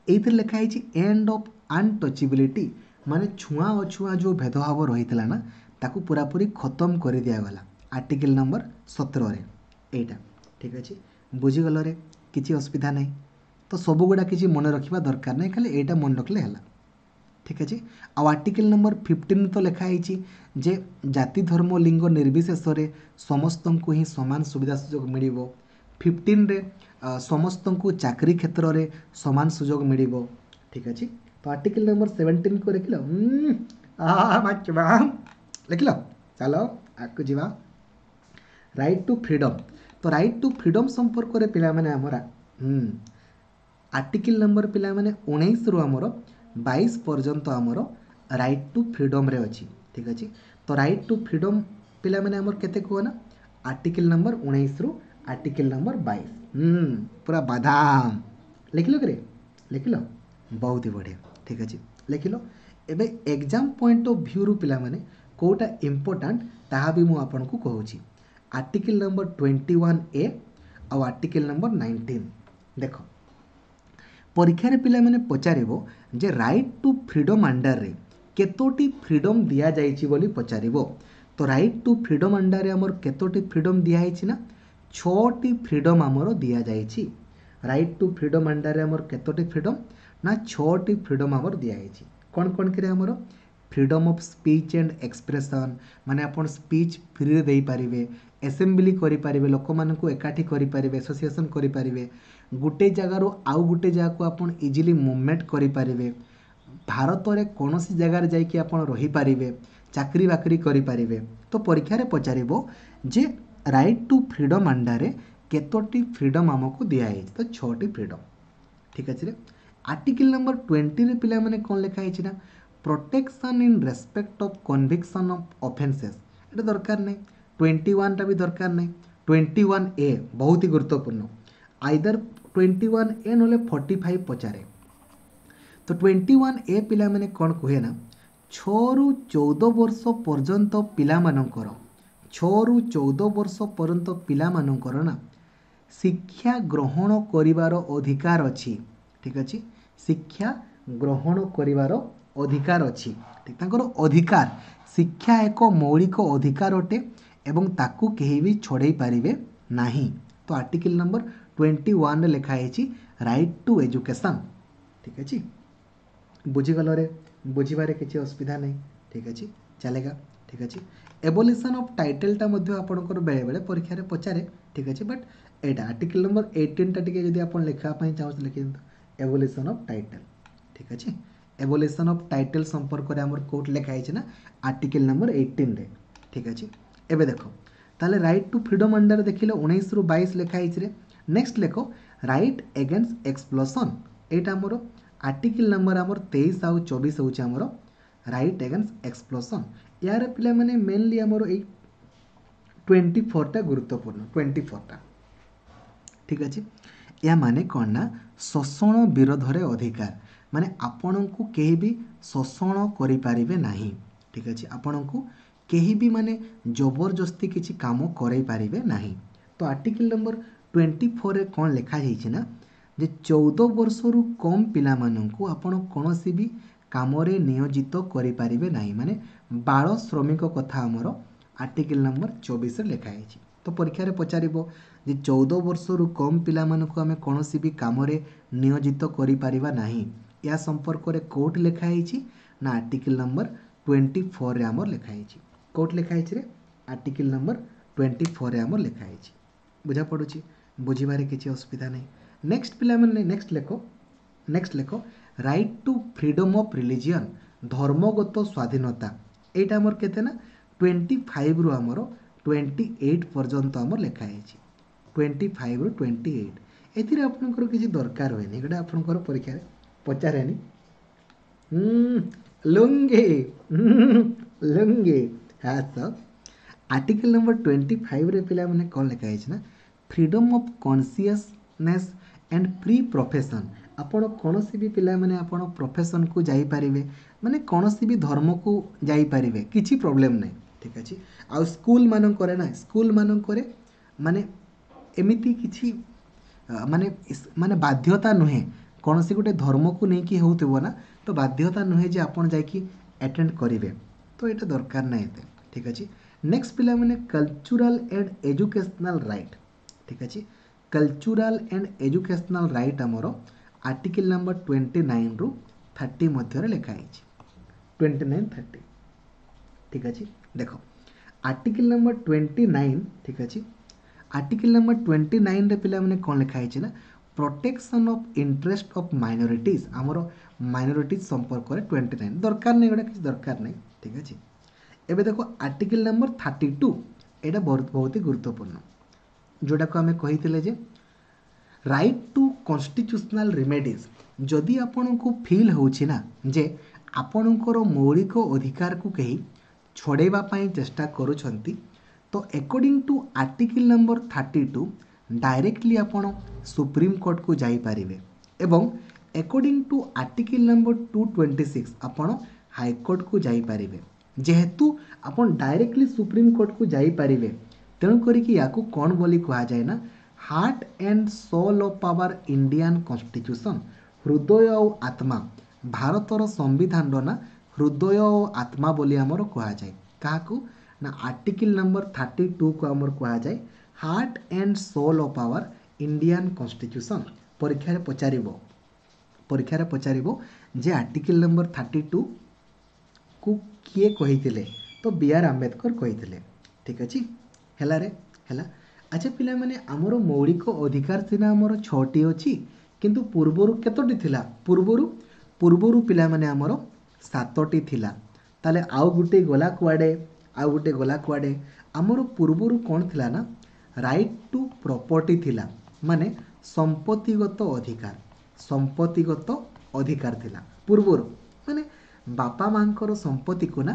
ଏଇଥିରେ ଲେଖା ହେଇଛି ଏଣ୍ଡ ଅଫ୍ ଅନଟଚେବିଲିଟି ମାନେ ଛୁଆଁ ଅଛୁଆଁ ଯେଉଁ ଭେଦଭାବ ରହିଥିଲା ନା ତାକୁ ପୁରାପୁରି ଖତମ କରିଦିଆଗଲା ଆର୍ଟିକିଲ ନମ୍ବର ସତରରେ ଏଇଟା ଠିକ୍ ଅଛି ବୁଝିଗଲରେ କିଛି ଅସୁବିଧା ନାହିଁ ତ ସବୁଗୁଡ଼ା କିଛି ମନେ ରଖିବା ଦରକାର ନାହିଁ ଖାଲି ଏଇଟା ମନେ ରଖିଲେ ହେଲା ଠିକ୍ ଅଛି ଆଉ ଆର୍ଟିକିଲ ନମ୍ବର ଫିଫ୍ଟିନ୍ ତ ଲେଖା ହେଇଛି ଯେ ଜାତି ଧର୍ମ ଲିଙ୍ଗ ନିର୍ବିଶେଷରେ ସମସ୍ତଙ୍କୁ ହିଁ ସମାନ ସୁବିଧା ସୁଯୋଗ ମିଳିବ ଫିଫ୍ଟିନ୍ରେ ସମସ୍ତଙ୍କୁ ଚାକିରି କ୍ଷେତ୍ରରେ ସମାନ ସୁଯୋଗ ମିଳିବ ଠିକ୍ ଅଛି ତ ଆର୍ଟିକିଲ ନମ୍ବର ସେଭେଣ୍ଟିନ୍କୁ ଲେଖିଲ ଲେଖିଲ ଚାଲ ଆଗକୁ ଯିବା ରାଇଟ୍ ଟୁ ଫ୍ରିଡ଼ମ୍ ତ ରାଇଟ୍ ଟୁ ଫ୍ରିଡ଼ମ୍ ସମ୍ପର୍କରେ ପିଲାମାନେ ଆମର ଆର୍ଟିକିଲ ନମ୍ବର ପିଲାମାନେ ଉଣେଇଶରୁ ଆମର ବାଇଶ ପର୍ଯ୍ୟନ୍ତ ଆମର ରାଇଟ୍ ଟୁ ଫ୍ରିଡ଼ମ୍ରେ ଅଛି ଠିକ୍ ଅଛି ତ ରାଇଟ୍ ଟୁ ଫ୍ରିଡ଼ମ୍ ପିଲାମାନେ ଆମର କେତେ କୁହ ନା ଆର୍ଟିକିଲ ନମ୍ବର ଉଣେଇଶରୁ ଆର୍ଟିକିଲ ନମ୍ବର ବାଇଶ ପୁରା ବାଦାମ ଲେଖିଲ କିରେ ଲେଖିଲ ବହୁତ ହି ବଢ଼ିଆ ଠିକ୍ ଅଛି ଲେଖିଲ ଏବେ ଏକ୍ଜାମ୍ ପଏଣ୍ଟ ଅଫ୍ ଭ୍ୟୁରୁ ପିଲାମାନେ କେଉଁଟା ଇମ୍ପୋର୍ଟାଣ୍ଟ ତାହା ବି ମୁଁ ଆପଣଙ୍କୁ କହୁଛି article number twenty one A ଆଉ ଆର୍ଟିକିଲ ନମ୍ବର ନାଇନଟିନ୍ ଦେଖ ପରୀକ୍ଷାରେ ପିଲାମାନେ ପଚାରିବ ଯେ ରାଇଟ୍ ଟୁ ଫ୍ରିଡ଼ମ୍ ଅଣ୍ଡରରେ କେତୋଟି ଫ୍ରିଡ଼ମ୍ ଦିଆଯାଇଛି ବୋଲି ପଚାରିବ ତ ରାଇଟ୍ ଟୁ ଫ୍ରିଡ଼ମ୍ ଅଣ୍ଡରରେ ଆମର କେତୋଟି ଫ୍ରିଡ଼ମ୍ ଦିଆହେଇଛି ନା ଛଅଟି ଫ୍ରିଡ଼ମ୍ ଆମର ଦିଆଯାଇଛି ରାଇଟ୍ ଟୁ ଫ୍ରିଡ଼ମ୍ ଅଣ୍ଡରରେ ଆମର କେତୋଟି ଫ୍ରିଡ଼ମ୍ ନା ଛଅଟି ଫ୍ରିଡ଼ମ୍ ଆମର ଦିଆହେଇଛି କ'ଣ କ'ଣ କିରେ ଆମର freedom of speech and expression ମାନେ ଆପଣ ସ୍ପିଚ୍ ଫ୍ରିରେ ଦେଇପାରିବେ ଆସେମ୍ବଲି କରିପାରିବେ ଲୋକମାନଙ୍କୁ ଏକାଠି କରିପାରିବେ ଆସୋସିଏସନ୍ କରିପାରିବେ ଗୋଟେ ଜାଗାରୁ ଆଉ ଗୋଟେ ଜାଗାକୁ ଆପଣ ଇଜିଲି ମୁଭମେଣ୍ଟ କରିପାରିବେ ଭାରତରେ କୌଣସି ଜାଗାରେ ଯାଇକି ଆପଣ ରହିପାରିବେ ଚାକିରି ବାକିରି କରିପାରିବେ ତ ପରୀକ୍ଷାରେ ପଚାରିବ ଯେ ରାଇଟ୍ ଟୁ ଫ୍ରିଡ଼ମ୍ ଅଣ୍ଡରରେ କେତୋଟି ଫ୍ରିଡ଼ମ୍ ଆମକୁ ଦିଆହେଇଛି ତ ଛଅଟି ଫ୍ରିଡ଼ମ୍ ଠିକ୍ ଅଛି ରେ ଆର୍ଟିକିଲ ନମ୍ବର ଟ୍ୱେଣ୍ଟିରେ ପିଲାମାନେ କ'ଣ ଲେଖା ହେଇଛି ନା protection in respect of conviction of offences ଏଇଟା ଦରକାର ନାହିଁ ଟ୍ୱେଣ୍ଟି ୱାନ୍ଟା ବି ଦରକାର ନାହିଁ ଟ୍ୱେଣ୍ଟି ୱାନ୍ ଏ ବହୁତ ହି ଗୁରୁତ୍ୱପୂର୍ଣ୍ଣ ଆଇଦର ଟ୍ୱେଣ୍ଟି ୱାନ୍ ଏ ନହେଲେ ଫର୍ଟି ଫାଇଭ୍ ପଚାରେ ତ ଟ୍ୱେଣ୍ଟି ୱାନ୍ ଏ ପିଲାମାନେ କ'ଣ କୁହେ ନା ଛଅରୁ ଚଉଦ ବର୍ଷ ପର୍ଯ୍ୟନ୍ତ ପିଲାମାନଙ୍କର ଛଅରୁ ଚଉଦ ବର୍ଷ ପର୍ଯ୍ୟନ୍ତ ପିଲାମାନଙ୍କର ନା ଶିକ୍ଷା ଗ୍ରହଣ କରିବାର ଅଧିକାର ଅଛି ଠିକ୍ ଅଛି ଶିକ୍ଷା ଗ୍ରହଣ କରିବାର ଅଧିକାର ଅଛି ଠିକ୍ ତାଙ୍କର ଅଧିକାର ଶିକ୍ଷା ଏକ ମୌଳିକ ଅଧିକାର ଅଟେ ଏବଂ ତାକୁ କେହି ବି ଛଡ଼େଇ ପାରିବେ ନାହିଁ ତ ଆର୍ଟିକିଲ ନମ୍ବର ଟ୍ୱେଣ୍ଟି ୱାନ୍ରେ ଲେଖା ହେଇଛି ରାଇଟ୍ ଟୁ ଏଜୁକେସନ୍ ଠିକ୍ ଅଛି ବୁଝିଗଲରେ ବୁଝିବାରେ କିଛି ଅସୁବିଧା ନାହିଁ ଠିକ୍ ଅଛି चलेगा ଠିକ୍ ଅଛି। ଏବୋଲିସନ୍ ଅଫ୍ ଟାଇଟେଲ୍ଟା ମଧ୍ୟ ଆପଣଙ୍କର ବେଳେବେଳେ ପରୀକ୍ଷାରେ ପଚାରେ, ଠିକ୍ ଅଛି। ବଟ୍ ଏଇଟା ଆର୍ଟିକଲ୍ ନମ୍ବର ଏଇଟିନ୍ଟା ଟିକେ ଯଦି ଆପଣ ଲେଖିବା ପାଇଁ ଚାହୁଁଛନ୍ତି, ଲେଖିଦିଅନ୍ତୁ ଏବୋଲିସନ୍ ଅଫ୍ ଟାଇଟେଲ୍, ଠିକ୍ ଅଛି। ଏବୋଲିସନ୍ ଅଫ୍ ଟାଇଟେଲ୍ ସମ୍ପର୍କରେ ଆମର କେଉଁଠି ଲେଖା ହେଇଛି ନା ଆର୍ଟିକଲ୍ ନମ୍ବର ଏଇଟିନ୍ରେ, ଠିକ୍ ଅଛି। ଏବେ ଦେଖ, ତାହେଲେ ରାଇଟ୍ ଟୁ ଫ୍ରିଡ଼ମ୍ ଅଣ୍ଡର ଦେଖିଲେ ଉଣେଇଶରୁ ବାଇଶ ଲେଖା ହେଇଛି ରେ। ନେକ୍ସଟ ଲେଖ ରାଇଟ୍ ଏଗେନ୍ଷ୍ଟ ଏକ୍ସପ୍ଲସନ୍। ଏଇଟା ଆମର ଆର୍ଟିକଲ୍ ନମ୍ବର ଆମର ତେଇଶ ଆଉ ଚବିଶ ହେଉଛି ଆମର ରାଇଟ୍ ଏଗେନ୍ଷ୍ଟ ଏକ୍ସପ୍ଲସନ୍। ଏହାର ପିଲାମାନେ ମେନଲି ଆମର ଏଇ ଟ୍ୱେଣ୍ଟି ଫୋର୍ଟା ଗୁରୁତ୍ୱପୂର୍ଣ୍ଣ, ଟ୍ୱେଣ୍ଟି ଫୋର୍ଟା, ଠିକ୍ ଅଛି। ଏହା ମାନେ କ'ଣ ନା ଶୋଷଣ ବିରୋଧରେ ଅଧିକାର, ମାନେ ଆପଣଙ୍କୁ କେହି ବି ଶୋଷଣ କରିପାରିବେ ନାହିଁ, ଠିକ୍ ଅଛି। ଆପଣଙ୍କୁ କେହି ବି ମାନେ ଜବରଦସ୍ତି କିଛି କାମ କରାଇ ପାରିବେ ନାହିଁ। ତ ଆର୍ଟିକଲ୍ ନମ୍ବର ଟ୍ୱେଣ୍ଟି ଫୋର୍ରେ କ'ଣ ଲେଖାଯାଇଛି ନା ଯେ ଚଉଦ ବର୍ଷରୁ କମ୍ ପିଲାମାନଙ୍କୁ ଆପଣ କୌଣସି ବି କାମରେ ନିୟୋଜିତ କରିପାରିବେ ନାହିଁ, ମାନେ ବାଳ ଶ୍ରମିକ କଥା ଆମର ଆର୍ଟିକଲ୍ ନମ୍ବର ଚବିଶରେ ଲେଖା ହେଇଛି। ତ ପରୀକ୍ଷାରେ ପଚାରିବ ଯେ ଚଉଦ ବର୍ଷରୁ କମ୍ ପିଲାମାନଙ୍କୁ ଆମେ କୌଣସି ବି କାମରେ ନିୟୋଜିତ କରିପାରିବା ନାହିଁ, ଏହା ସମ୍ପର୍କରେ କେଉଁଠି ଲେଖା ହେଇଛି ନା ଆର୍ଟିକଲ୍ ନମ୍ବର ଟ୍ୱେଣ୍ଟି ଫୋର୍ରେ ଆମର ଲେଖା ହେଇଛି। କେଉଁଠି ଲେଖା ହେଇଛି ରେ? ଆର୍ଟିକଲ୍ ନମ୍ବର ଟ୍ୱେଣ୍ଟି ଫୋର୍ରେ ଆମର ଲେଖା ହେଇଛି। ବୁଝା ପଡ଼ୁଛି? ବୁଝିବାରେ କିଛି ଅସୁବିଧା ନାହିଁ। ନେକ୍ସଟ ପିଲାମାନେ, ନେକ୍ସଟ ଲେଖ, ନେକ୍ସଟ ଲେଖ right to freedom of religion, ଧର୍ମଗତ ସ୍ୱାଧୀନତା। ଏଇଟା ଆମର କେତେ ନା ଟ୍ୱେଣ୍ଟି ଫାଇଭରୁ ଆମର ଟ୍ୱେଣ୍ଟି ଏଇଟ୍ ପର୍ଯ୍ୟନ୍ତ ଆମର ଲେଖା ହେଇଛି, ଟ୍ୱେଣ୍ଟି ଫାଇଭରୁ ଟ୍ୱେଣ୍ଟି ଏଇଟ୍। ଏଥିରେ ଆପଣଙ୍କର କିଛି ଦରକାର ହୁଏନି, ଏଗୁଡ଼ା ଆପଣଙ୍କର ପରୀକ୍ଷାରେ ପଚାରେନି। ଲୁଙ୍ଗି ଲୁଙ୍ଗି ହଁ। ତ ଆର୍ଟିକଲ୍ ନମ୍ବର ଟ୍ୱେଣ୍ଟି ଫାଇଭରେ ପିଲାମାନେ କ'ଣ ଲେଖା ହେଇଛି ନା freedom of consciousness and free profession. ଆପଣ କୌଣସି ବି ପିଲାମାନେ ଆପଣ ପ୍ରଫେସନ୍କୁ ଯାଇପାରିବେ, ମାନେ କୌଣସି ବି ଧର୍ମକୁ ଯାଇପାରିବେ, କିଛି ପ୍ରୋବ୍ଲେମ୍ ନାହିଁ, ଠିକ୍ ଅଛି। ଆଉ ସ୍କୁଲମାନଙ୍କରେ ନା, ସ୍କୁଲମାନଙ୍କରେ ମାନେ ଏମିତି କିଛି ମାନେ ମାନେ ବାଧ୍ୟତା ନୁହେଁ, କୌଣସି ଗୋଟେ ଧର୍ମକୁ ନେଇକି ହେଉଥିବ ନା, ତ ବାଧ୍ୟତା ନୁହେଁ ଯେ ଆପଣ ଯାଇକି ଆଟେଣ୍ଡ କରିବେ, ତ ଏଇଟା ଦରକାର ନାହିଁ ଏତେ, ଠିକ୍ ଅଛି। ନେକ୍ସଟ ପିଲାମାନେ କଲଚରାଲ୍ ଆଣ୍ଡ ଏଜୁକେସନାଲ୍ ରାଇଟ୍, ଠିକ୍ ଅଛି। କଲଚରାଲ୍ ଆଣ୍ଡ ଏଜୁକେସନାଲ୍ ରାଇଟ୍ ଆମର ଆର୍ଟିକଲ୍ ନମ୍ବର ଟ୍ୱେଣ୍ଟି ନାଇନ୍ରୁ ଥାର୍ଟି ମଧ୍ୟରେ ଲେଖା ହେଇଛି, ଟ୍ୱେଣ୍ଟି ନାଇନ୍ ଥାର୍ଟି, ଠିକ୍ ଅଛି। ଦେଖ ଆର୍ଟିକଲ୍ ନମ୍ବର ଟ୍ୱେଣ୍ଟି ନାଇନ୍, ଠିକ୍ ଅଛି। ଆର୍ଟିକଲ୍ ନମ୍ବର ଟ୍ୱେଣ୍ଟି ନାଇନ୍ରେ ପିଲାମାନେ କ'ଣ ଲେଖା ହେଇଛି ନା protection of interest of minorities, ଆମର ମାଇନରିଟିଜ୍ ସମ୍ପର୍କରେ ଟ୍ୱେଣ୍ଟି ନାଇନ୍ ଦରକାର ନାହିଁ, ଏଗୁଡ଼ା କିଛି ଦରକାର ନାହିଁ, ଠିକ୍ ଅଛି। ଏବେ ଦେଖ ଆର୍ଟିକଲ୍ ନମ୍ବର ଥାର୍ଟି ଟୁ, ଏଇଟା ବହୁତ ବହୁତ ଗୁରୁତ୍ୱପୂର୍ଣ୍ଣ, ଯେଉଁଟାକୁ ଆମେ କହିଥିଲେ ଯେ ରାଇଟ୍ ଟୁ କନଷ୍ଟିଚ୍ୟୁସନାଲ୍ ରିମେଡ଼ିଜ୍। ଯଦି ଆପଣଙ୍କୁ ଫିଲ୍ ହେଉଛି ନା ଯେ ଆପଣଙ୍କର ମୌଳିକ ଅଧିକାରକୁ କେହି ଛଡ଼େଇବା ପାଇଁ ଚେଷ୍ଟା କରୁଛନ୍ତି, ତ according to article number thirty two directly ଆପଣ ସୁପ୍ରିମକୋର୍ଟକୁ ଯାଇପାରିବେ, ଏବଂ according to article number two twenty six ଆପଣ ହାଇକୋର୍ଟକୁ ଯାଇପାରିବେ। ଯେହେତୁ ଆପଣ ଡାଇରେକ୍ଟଲି ସୁପ୍ରିମକୋର୍ଟକୁ ଯାଇପାରିବେ, ତେଣୁ କରିକି ୟାକୁ କ'ଣ ବୋଲି କୁହାଯାଏ ନା heart and soul of our Indian constitution, ହୃଦୟ ଆଉ ଆତ୍ମା, ଭାରତର ସମ୍ବିଧାନର ନା ହୃଦୟ ଓ ଆତ୍ମା ବୋଲି ଆମର କୁହାଯାଏ। କାହାକୁ ନା ଆର୍ଟିକଲ୍ ନମ୍ବର ଥାର୍ଟି ଟୁକୁ ଆମର କୁହାଯାଏ heart and soul of our Indian constitution. ପରୀକ୍ଷାରେ ପଚାରିବ, ପରୀକ୍ଷାରେ ପଚାରିବ ଯେ ଆର୍ଟିକଲ୍ ନମ୍ବର ଥାର୍ଟି ଟୁକୁ କିଏ କହିଥିଲେ, ତ ବି ଆର୍ ଆମ୍ବେଦକର କହିଥିଲେ, ଠିକ୍ ଅଛି। ହେଲା ରେ, ହେଲା। ଆଚ୍ଛା ପିଲାମାନେ, ଆମର ମୌଳିକ ଅଧିକାର ସିନା ଆମର ଛଅଟି ଅଛି, କିନ୍ତୁ ପୂର୍ବରୁ କେତୋଟି ଥିଲା? ପୂର୍ବରୁ ପୂର୍ବରୁ ପିଲାମାନେ ଆମର ସାତଟି ଥିଲା। ତାହେଲେ ଆଉ ଗୋଟେ ଗଲା କୁଆଡ଼େ? ଆଉ ଗୋଟେ ଗଲା କୁଆଡ଼େ? ଆମର ପୂର୍ବରୁ କ'ଣ ଥିଲା ନା ରାଇଟ୍ ଟୁ ପ୍ରପର୍ଟି ଥିଲା, ମାନେ ସମ୍ପତ୍ତିଗତ ଅଧିକାର, ସମ୍ପତ୍ତିଗତ ଅଧିକାର ଥିଲା ପୂର୍ବରୁ, ମାନେ ବାପା ମାଆଙ୍କର ସମ୍ପତ୍ତିକୁ ନା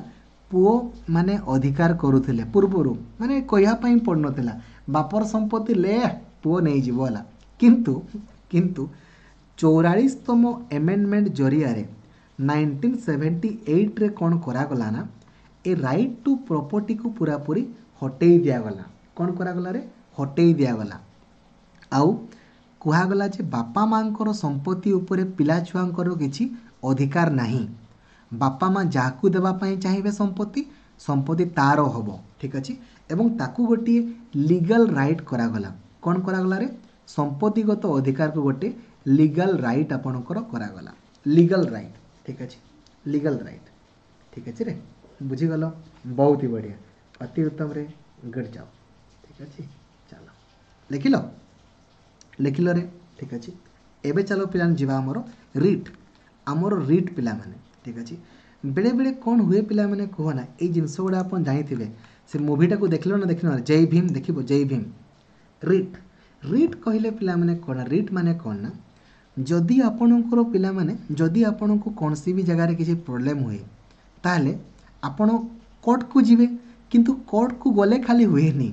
ପୁଅ ମାନେ ଅଧିକାର କରୁଥିଲେ ପୂର୍ବରୁ, ମାନେ କହିବା ପାଇଁ ପଡ଼ୁନଥିଲା ବାପର ସମ୍ପତ୍ତି ଲେ ପୁଅ ନେଇଯିବ, ହେଲା। କିନ୍ତୁ କିନ୍ତୁ ଚଉରାଳିଶତମ ଏମେଣ୍ଡମେଣ୍ଟ ଜରିଆରେ ନାଇନଟିନ୍ ସେଭେଣ୍ଟି ଏଇଟ୍ରେ କ'ଣ କରାଗଲା ନା ଏ ରାଇଟ୍ ଟୁ ପ୍ରପର୍ଟିକୁ ପୁରାପୁରି ହଟେଇ ଦିଆଗଲା। କ'ଣ କରାଗଲା ରେ? ହଟେଇ ଦିଆଗଲା। ଆଉ କୁହାଗଲା ଯେ ବାପା ମାଆଙ୍କର ସମ୍ପତ୍ତି ଉପରେ ପିଲା ଛୁଆଙ୍କର କିଛି ଅଧିକାର ନାହିଁ, ବାପା ମା ଯାହାକୁ ଦେବା ପାଇଁ ଚାହିଁବେ ସମ୍ପତ୍ତି, ସମ୍ପତ୍ତି ତାର ହେବ, ଠିକ୍ ଅଛି। ଏବଂ ତାକୁ ଗୋଟିଏ ଲିଗାଲ୍ ରାଇଟ୍ କରାଗଲା। କ'ଣ କରାଗଲା ରେ? ସମ୍ପତ୍ତିଗତ ଅଧିକାରକୁ ଗୋଟେ ଲିଗାଲ୍ ରାଇଟ୍ ଆପଣଙ୍କର କରାଗଲା, ଲିଗାଲ୍ ରାଇଟ୍, ଠିକ୍ ଅଛି, ଲିଗାଲ୍ ରାଇଟ୍, ଠିକ୍ ଅଛି ରେ। ବୁଝିଗଲ? ବହୁତ ହି ବଢ଼ିଆ, ଅତି ଉତ୍ତମରେ, ଗୁଡ୍ ଜବ୍। ଠିକ୍ ଅଛି, ଚାଲ ଲେଖିଲ, ଲେଖିଲ ରେ? ଠିକ୍ ଅଛି। ଏବେ ଚାଲ ପିଲାମାନେ ଯିବା ଆମର ରିଟ୍, ଆମର ରିଟ୍ ପିଲାମାନେ। ଠିକ୍ ଅଛି। ବେଳେବେଳେ କ'ଣ ହୁଏ ପିଲାମାନେ କୁହ ନା, ଏଇ ଜିନିଷ ଗୁଡ଼ା ଆପଣ ଜାଣିଥିବେ, ସେ ମୁଭିଟାକୁ ଦେଖିଲ ନା ଦେଖିନ? ଜୟ ଭୀମ ଦେଖିବ, ଜୟ ଭୀମ। ରିଟ୍, ରିଟ୍ କହିଲେ ପିଲାମାନେ କ'ଣ? ରିଟ୍ ମାନେ କ'ଣ ନା, ଯଦି ଆପଣଙ୍କର ପିଲାମାନେ, ଯଦି ଆପଣଙ୍କୁ କୌଣସି ବି ଜାଗାରେ କିଛି ପ୍ରୋବ୍ଲେମ୍ ହୁଏ, ତାହେଲେ ଆପଣ କୋର୍ଟକୁ ଯିବେ। କିନ୍ତୁ କୋର୍ଟକୁ ଗଲେ ଖାଲି ହୁଏନି,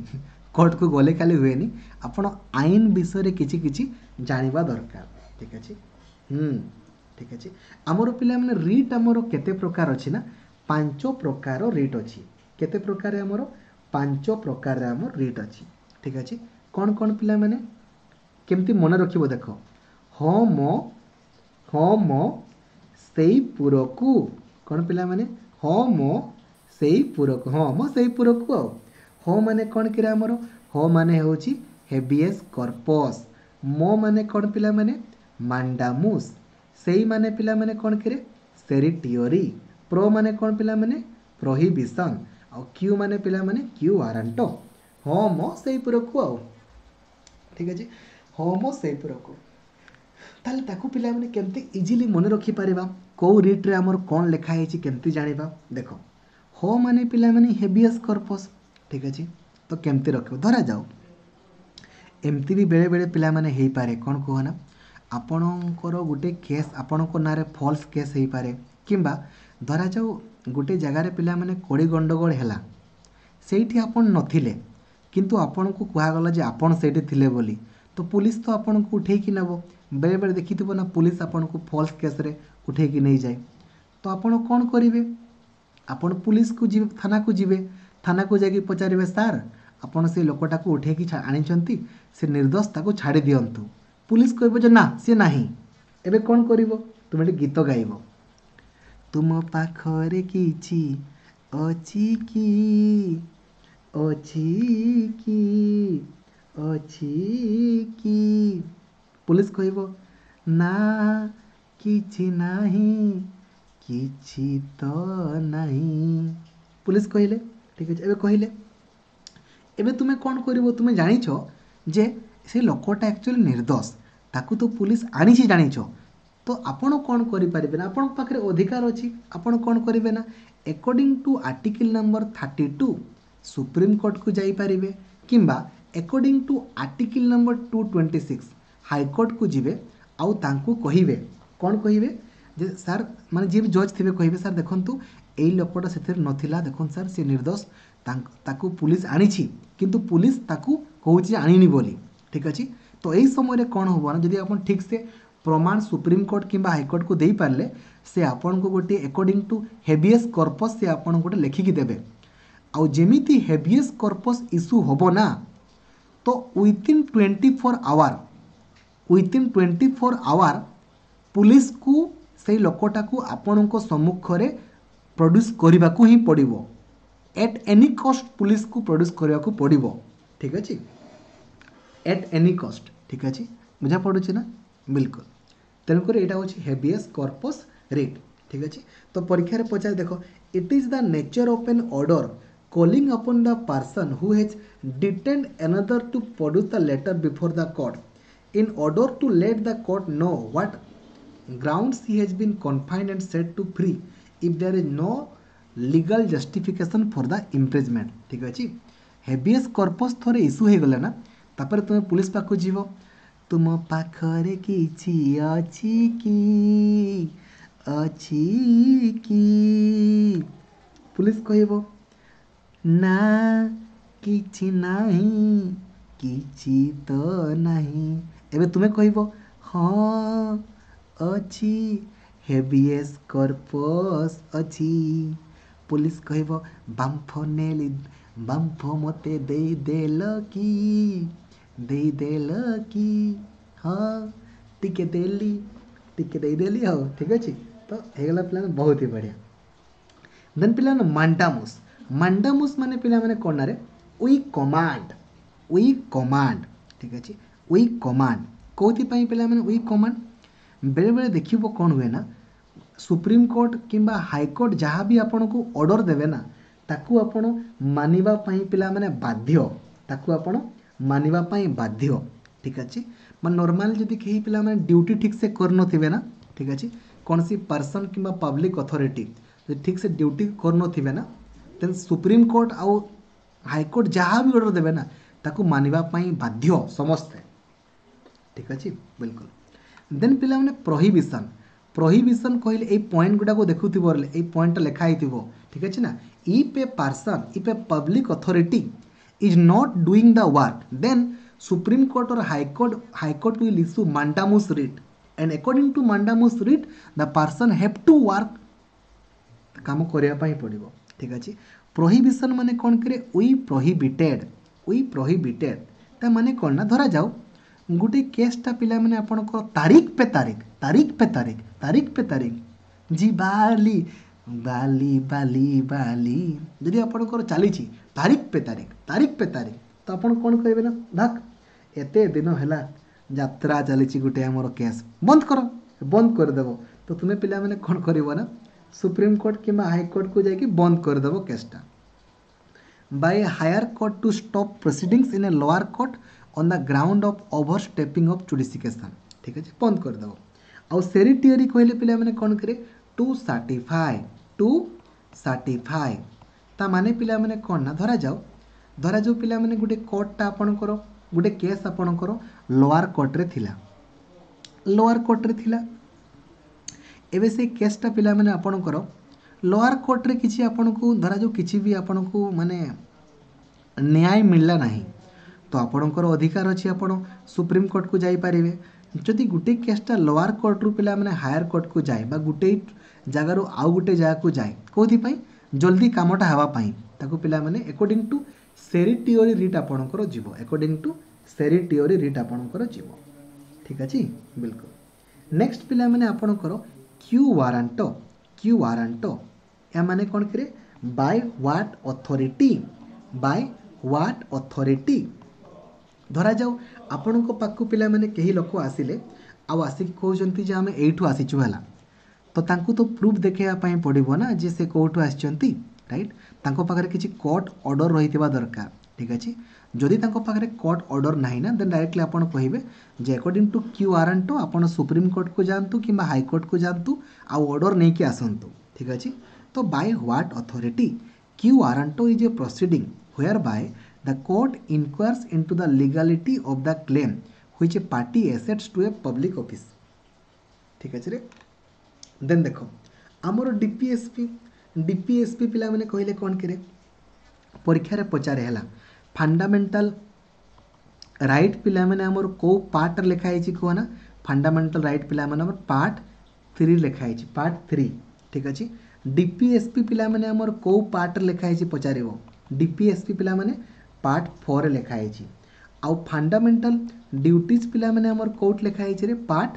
କୋର୍ଟକୁ ଗଲେ ଖାଲି ହୁଏନି, ଆପଣ ଆଇନ ବିଷୟରେ କିଛି କିଛି ଜାଣିବା ଦରକାର। ଠିକ୍ ଅଛି। ହୁଁ, ଠିକ୍ ଅଛି। ଆମର ପିଲାମାନେ ରିଟ୍ ଆମର କେତେ ପ୍ରକାର ଅଛି ନା, ପାଞ୍ଚ ପ୍ରକାର ରିଟ୍ ଅଛି। କେତେ ପ୍ରକାର ଆମର? ପାଞ୍ଚ ପ୍ରକାରର ଆମର ରିଟ୍ ଅଛି। ଠିକ୍ ଅଛି। କ'ଣ କ'ଣ ପିଲାମାନେ କେମିତି ମନେ ରଖିବ ଦେଖ, ହଁ ମ, ହଁ ମ ସେଇ ପୁରକୁ, କ'ଣ ପିଲାମାନେ? ହଁ ମ ସେଇ ପୁରକୁ, ହଁ ମ ସେଇ ପୁରକୁ। ଆଉ ହଁ ମାନେ କ'ଣ କିରେ ଆମର? ହଁ ମାନେ ହେଉଛି ହେବିଏସ୍ କର୍ପସ୍, ମ ମାନେ କ'ଣ ପିଲାମାନେ? ମାଣ୍ଡାମୁସ୍, ସେଇ ମାନେ ପିଲାମାନେ କ'ଣ କିରେ? ସେରିଟିଓରି, ପ୍ରୋ ମାନେ କ'ଣ ପିଲାମାନେ? ପ୍ରୋହିବିସନ୍, ଆଉ କ୍ୟୁ ମାନେ ପିଲାମାନେ କ୍ୟୁ ୱାରାଣ୍ଟୋ। ହଁ ମ ସେଇ ପୁରକୁ ଆଉ। ଠିକ୍ ଅଛି, ହଁ ମ ସେଇ ପୁରକୁ। ତାହେଲେ ତାକୁ ପିଲାମାନେ କେମିତି ଇଜିଲି ମନେ ରଖିପାରିବା, କେଉଁ ରିଟ୍ରେ ଆମର କ'ଣ ଲେଖା ହେଇଛି କେମିତି ଜାଣିବା? ଦେଖ, ହଁ ମାନେ ପିଲାମାନେ ହେବିଏସ୍ କର୍ପସ୍। ଠିକ୍ ଅଛି, ତ କେମିତି ରଖିବ? ଧରାଯାଉ ଏମିତି ବି ବେଳେବେଳେ ପିଲାମାନେ ହେଇପାରେ, କ'ଣ କୁହ ନା, ଆପଣଙ୍କର ଗୋଟେ କେସ୍ ଆପଣଙ୍କ ନାଁରେ ଫଲ୍ସ କେସ୍ ହେଇପାରେ, କିମ୍ବା ଧରାଯାଉ ଗୋଟେ ଜାଗାରେ ପିଲାମାନେ କଳି ଗଣ୍ଡଗୋଳ ହେଲା, ସେଇଠି ଆପଣ ନଥିଲେ, କିନ୍ତୁ ଆପଣଙ୍କୁ କୁହାଗଲା ଯେ ଆପଣ ସେଇଠି ଥିଲେ ବୋଲି, ତ ପୋଲିସ ତ ଆପଣଙ୍କୁ ଉଠେଇକି ନେବ। ବେଳେବେଳେ ଦେଖିଥିବ ନା, ପୋଲିସ ଆପଣଙ୍କୁ ଫଲ୍ସ କେସ୍ରେ ଉଠେଇକି ନେଇଯାଏ। ତ ଆପଣ କ'ଣ କରିବେ? ଆପଣ ପୋଲିସକୁ ଯିବେ, ଥାନାକୁ ଯିବେ, ଥାନାକୁ ଯାଇକି ପଚାରିବେ, ସାର୍ ଆପଣ ସେଇ ଲୋକଟାକୁ ଉଠେଇକି ଆଣିଛନ୍ତି, ସେ ନିର୍ଦ୍ଦୋଷ, ତାକୁ ଛାଡ଼ି ଦିଅନ୍ତୁ। ପୋଲିସ କହିବ ଯେ ନା ସେ ନାହିଁ। ଏବେ କ'ଣ କରିବ? ତୁମେ ଏଠି ଗୀତ ଗାଇବ, ତୁମ ପାଖରେ କିଛି ଅଛି କି, ଅଛି କି, ଅଛି କି? ପୋଲିସ କହିବ ନା କିଛି ନାହିଁ, କିଛି ତ ନାହିଁ। ପୋଲିସ କହିଲେ ଠିକ୍ ଅଛି। ଏବେ କହିଲେ, ଏବେ ତୁମେ କ'ଣ କରିବ? ତୁମେ ଜାଣିଛ ଯେ ସେ ଲୋକଟା ଆକ୍ଚୁଆଲି ନିର୍ଦ୍ଦୋଷ, ତାକୁ ତ ପୋଲିସ ଆଣିଛି ଜାଣିଛ, ତ ଆପଣ କ'ଣ କରିପାରିବେ ନା, ଆପଣଙ୍କ ପାଖରେ ଅଧିକାର ଅଛି, ଆପଣ କ'ଣ କରିବେ ନା, according to article number thirty two ସୁପ୍ରିମକୋର୍ଟକୁ ଯାଇପାରିବେ, କିମ୍ବା according to article number two twenty six ହାଇକୋର୍ଟକୁ ଯିବେ, ଆଉ ତାଙ୍କୁ କହିବେ, କ'ଣ କହିବେ ଯେ ସାର୍, ମାନେ ଯିଏ ବି ଜଜ୍ ଥିବେ କହିବେ, ସାର୍ ଦେଖନ୍ତୁ ଏଇ ଲୋକଟା ସେଥିରେ ନଥିଲା, ଦେଖନ୍ତୁ ସାର୍ ସେ ନିର୍ଦ୍ଦୋଷ, ତାକୁ ପୋଲିସ ଆଣିଛି, କିନ୍ତୁ ପୋଲିସ ତାକୁ କହୁଛି ଆଣିନି ବୋଲି। ଠିକ୍ ଅଛି। ତ ଏଇ ସମୟରେ କ'ଣ ହେବ ନା, ଯଦି ଆପଣ ଠିକ୍ସେ ପ୍ରମାଣ ସୁପ୍ରିମକୋର୍ଟ କିମ୍ବା ହାଇକୋର୍ଟକୁ ଦେଇପାରିଲେ, ସେ ଆପଣଙ୍କୁ ଗୋଟିଏ ଆକର୍ଡ଼ିଂ ଟୁ ହେବିଏସ୍ କର୍ପସ୍ ସେ ଆପଣଙ୍କୁ ଗୋଟେ ଲେଖିକି ଦେବେ। ଆଉ ଯେମିତି ହେବିଏସ୍ କର୍ପସ୍ ଇସ୍ୟୁ ହେବ ନା, ତ within twenty four hour, within twenty four hour ପୁଲିସକୁ ସେଇ ଲୋକଟାକୁ ଆପଣଙ୍କ ସମ୍ମୁଖରେ ପ୍ରଡ୍ୟୁସ୍ କରିବାକୁ ହିଁ ପଡ଼ିବ। ଏଟ୍ ଏନି କଷ୍ଟ ପୁଲିସକୁ ପ୍ରଡ୍ୟୁସ୍ କରିବାକୁ ପଡ଼ିବ। ଠିକ୍ ଅଛି, ଏଟ୍ ଏନି କଷ୍ଟ। ଠିକ୍ ଅଛି, ବୁଝା ପଡ଼ୁଛି ନା? ବିଲକୁଲ। ତେଣୁକରି ଏଇଟା ହେଉଛି ହେବିଏସ୍ କର୍ପସ୍ ରିଟ୍। ଠିକ୍ ଅଛି। ତ ପରୀକ୍ଷାରେ ପଚାରେ ଦେଖ, it is the nature of an order calling upon the person who has detained another to produce the letter before the court in order to let the court know what grounds he has been confined and set to free if there is no legal justification for the imprisonment। ଠିକ୍ ଅଛି। ହେବିଏସ୍ କର୍ପସ୍ ଥରେ ଇସ୍ୟୁ ହେଇଗଲା ନା, ତାପରେ ତୁମେ ପୁଲିସ ପାଖକୁ ଯିବ, ତୁମ ପାଖରେ କିଛି ଅଛି କି, ଅଛି କି? ପୁଲିସ କହିବ ନା କିଛି ନାହିଁ, କିଛି ତ ନାହିଁ। ଏବେ ତୁମେ କହିବ ହଁ ଅଛି, ହେବିଏସ୍ କର୍ପସ୍ ଅଛି। ପୋଲିସ କହିବ ବାମ୍ଫ ନେଲି, ବାମ୍ଫ ମୋତେ ଦେଇଦେଲ କି, ଦେଇଦେଲ କି? ହଁ ଟିକେ ଦେଲି, ଟିକେ ଦେଇଦେଲି। ହଉ ଠିକ୍ ଅଛି, ତ ହେଇଗଲା ପିଲାମାନେ, ବହୁତ ହି ବଢ଼ିଆ। ଦେନ୍ ପିଲାମାନେ ମାଣ୍ଡାମୁସ୍, ମାଣ୍ଡାମୁସ୍ ମାନେ ପିଲାମାନେ କ'ଣ ନାରେ, we command, we command. ଠିକ୍ ଅଛି, we command କେଉଁଥିପାଇଁ ପିଲାମାନେ? We command ବେଳେବେଳେ ଦେଖିବ କ'ଣ ହୁଏ ନା, ସୁପ୍ରିମକୋର୍ଟ କିମ୍ବା ହାଇକୋର୍ଟ ଯାହା ବି ଆପଣଙ୍କୁ ଅର୍ଡ଼ର ଦେବେ ନା, ତାକୁ ଆପଣ ମାନିବା ପାଇଁ ପିଲାମାନେ ବାଧ୍ୟ, ତାକୁ ଆପଣ ମାନିବା ପାଇଁ ବାଧ୍ୟ। ଠିକ୍ ଅଛି? ମାନେ ନର୍ମାଲି ଯଦି କେହି ପିଲାମାନେ ଡ୍ୟୁଟି ଠିକ୍ସେ କରିନଥିବେ ନା, ଠିକ୍ ଅଛି, କୌଣସି ପର୍ସନ୍ କିମ୍ବା ପବ୍ଲିକ୍ ଅଥରିଟି ଯଦି ଠିକ୍ସେ ଡ୍ୟୁଟି କରୁନଥିବେ ନା, ଦେନ୍ ସୁପ୍ରିମକୋର୍ଟ ଆଉ ହାଇକୋର୍ଟ ଯାହା ବି ଅର୍ଡ଼ର ଦେବେ ନା, ତାକୁ ମାନିବା ପାଇଁ ବାଧ୍ୟ ସମସ୍ତେ। ଠିକ୍ ଅଛି? ବିଲକୁଲ। ଦେନ୍ ପିଲାମାନେ ପ୍ରହିବିସନ୍। ପ୍ରହିବିସନ୍ କହିଲେ ଏଇ ପଏଣ୍ଟ ଗୁଡ଼ାକୁ ଦେଖୁଥିବ, ଏଇ ପଏଣ୍ଟଟା ଲେଖା ହେଇଥିବ। ଠିକ୍ ଅଛି ନା? If a person, if a public authority is not doing the work, then Supreme Court or High Court High Court will issue mandamus writ, and according to mandamus writ the person have to work, କାମ କରିବା ପାଇଁ ପଡ଼ିବ। ଠିକ୍ ଅଛି? ପ୍ରୋହିବିସନ୍ ମାନେ କ'ଣ କରେ? We prohibited, we prohibited. ତା ମାନେ କ'ଣ ନା, ଧରାଯାଉ ଗୋଟେ କେସ୍ଟା ପିଲାମାନେ ଆପଣଙ୍କର ତାରିଖ ପେ ତାରିଖ, ତାରିଖ ପେ ତାରିଖ, ତାରିଖ ପେ ତାରିଖ, ଜି ବାଲି ବାଲି ବାଲି ବାଲି, ଯଦି ଆପଣଙ୍କର ଚାଲିଛି ତାରିଖ ପେ ତାରିଖ, ତାରିଖ ପେ ତାରିଖ, ତ ଆପଣ କ'ଣ କହିବେ ନା, ଭାକ୍, ଏତେ ଦିନ ହେଲା ଯାତ୍ରା ଚାଲିଛି ଗୋଟେ ଆମର କେସ୍, ବନ୍ଦ କର, ବନ୍ଦ କରିଦେବ। ତ ତୁମେ ପିଲାମାନେ କ'ଣ କରିବ ନା, ସୁପ୍ରିମକୋର୍ଟ କିମ୍ବା ହାଇକୋର୍ଟକୁ ଯାଇକି ବନ୍ଦ କରିଦେବ କେସ୍ଟା। By a higher court to stop proceedings in a lower court on the ground of overstepping of jurisdiction। ଠିକ୍ ଅଛି? ବନ୍ଦ କରିଦେବ। ଆଉ ସେରିଟିଅରି କହିଲେ ପିଲାମାନେ କ'ଣ କରେ? To certify, to certify. ତା ମାନେ ପିଲାମାନେ କ'ଣ ନା, ଧରାଯାଉ ଧରାଯାଉ ପିଲାମାନେ ଗୋଟେ କୋର୍ଟଟା ଆପଣଙ୍କର, ଗୋଟେ କେସ୍ ଆପଣଙ୍କର ଲୋଆର କୋର୍ଟରେ ଥିଲା, ଲୋଆର କୋର୍ଟରେ ଥିଲା। ଏବେ ସେଇ କେସ୍ଟା ପିଲାମାନେ ଆପଣଙ୍କର ଲୋଆର କୋର୍ଟରେ କିଛି ଆପଣଙ୍କୁ ଧରାଯାଉ କିଛି ବି ଆପଣଙ୍କୁ ମାନେ ନ୍ୟାୟ ମିଳିଲା ନାହିଁ, ତ ଆପଣଙ୍କର ଅଧିକାର ଅଛି, ଆପଣ ସୁପ୍ରିମକୋର୍ଟକୁ ଯାଇପାରିବେ। ଯଦି ଗୋଟେ କେସ୍ଟା ଲୋଆର କୋର୍ଟରୁ ପିଲାମାନେ ହାୟର କୋର୍ଟକୁ ଯାଏ ବା ଗୋଟେ ଜାଗାରୁ ଆଉ ଗୋଟେ ଜାଗାକୁ ଯାଏ, କେଉଁଥିପାଇଁ? ଜଲ୍ଦି କାମଟା ହେବା ପାଇଁ, ତାକୁ ପିଲାମାନେ ଆକର୍ଡ଼ିଂ ଟୁ ସେରିଟିଓରି ରିଟ୍ ଆପଣଙ୍କର ଯିବ, ଆକର୍ଡ଼ିଂ ଟୁ ସେରିଟିଓରି ରିଟ୍ ଆପଣଙ୍କର ଯିବ। ଠିକ୍ ଅଛି? ବିଲକୁଲ। ନେକ୍ସଟ ପିଲାମାନେ ଆପଣଙ୍କର କ୍ୟୁ ୱାରାଣ୍ଟ। କ୍ୟୁ ୱାରାଣ୍ଟ ଏହା ମାନେ କ'ଣ କରେ? By what authority, by what authority. ଧରାଯାଉ ଆପଣଙ୍କ ପାଖକୁ ପିଲାମାନେ କେହି ଲୋକ ଆସିଲେ ଆଉ ଆସିକି କହୁଛନ୍ତି ଯେ ଆମେ ଏଇଠୁ ଆସିଛୁ, ହେଲା, ତ ତାଙ୍କୁ ତ ପ୍ରୁଫ୍ ଦେଖାଇବା ପାଇଁ ପଡ଼ିବ ନା ଯେ ସେ କେଉଁଠୁ ଆସିଛନ୍ତି, ରାଇଟ୍? ତାଙ୍କ ପାଖରେ କିଛି କୋର୍ଟ ଅର୍ଡ଼ର ରହିଥିବା ଦରକାର। ଠିକ୍ ଅଛି? ଯଦି ତାଙ୍କ ପାଖରେ କୋର୍ଟ ଅର୍ଡ଼ର ନାହିଁ ନା, ଦେନ୍ ଡାଇରେକ୍ଟଲି ଆପଣ କହିବେ ଯେ ଆକର୍ଡ଼ିଂ ଟୁ କ୍ୟୁ ୱାରାଣ୍ଟ ଆପଣ ସୁପ୍ରିମକୋର୍ଟକୁ ଯାଆନ୍ତୁ କିମ୍ବା ହାଇକୋର୍ଟକୁ ଯାଆନ୍ତୁ ଆଉ ଅର୍ଡ଼ର ନେଇକି ଆସନ୍ତୁ। ଠିକ୍ ଅଛି? ତ by what authority? Quo warranto is a proceeding whereby the court inquires into the legality of the claim which a party asserts to a public office। ଠିକ୍ ଅଛି ରେ? ଦେନ୍ ଦେଖ ଆମର ଡିପିଏସ୍ପି। ଡିପିଏସ୍ପି ପିଲାମାନେ କହିଲେ କ'ଣ କିରେ? ପରୀକ୍ଷାରେ ପଚାରେ, ହେଲା, ଫଣ୍ଡାମେଣ୍ଟାଲ ରାଇଟ୍ ପିଲାମାନେ ଆମର କେଉଁ ପାର୍ଟରେ ଲେଖା ହେଇଛି କୁହ ନା? ଫଣ୍ଡାମେଣ୍ଟାଲ ରାଇଟ୍ ପିଲାମାନେ ଆମର ପାର୍ଟ ଥ୍ରୀ ଲେଖା ହେଇଛି, ପାର୍ଟ ଥ୍ରୀ। ଠିକ୍ ଅଛି? ଡିପିଏସ୍ପି ପିଲାମାନେ ଆମର କେଉଁ ପାର୍ଟରେ ଲେଖା ହେଇଛି ପଚାରିବ। ଡିପିଏସ୍ପି ପିଲାମାନେ ପାର୍ଟ ଫୋର୍ରେ ଲେଖା ହେଇଛି। ଆଉ ଫଣ୍ଡାମେଣ୍ଟାଲ ଡ୍ୟୁଟିଜ୍ ପିଲାମାନେ ଆମର କେଉଁଠି ଲେଖା ହେଇଛି ରେ? ପାର୍ଟ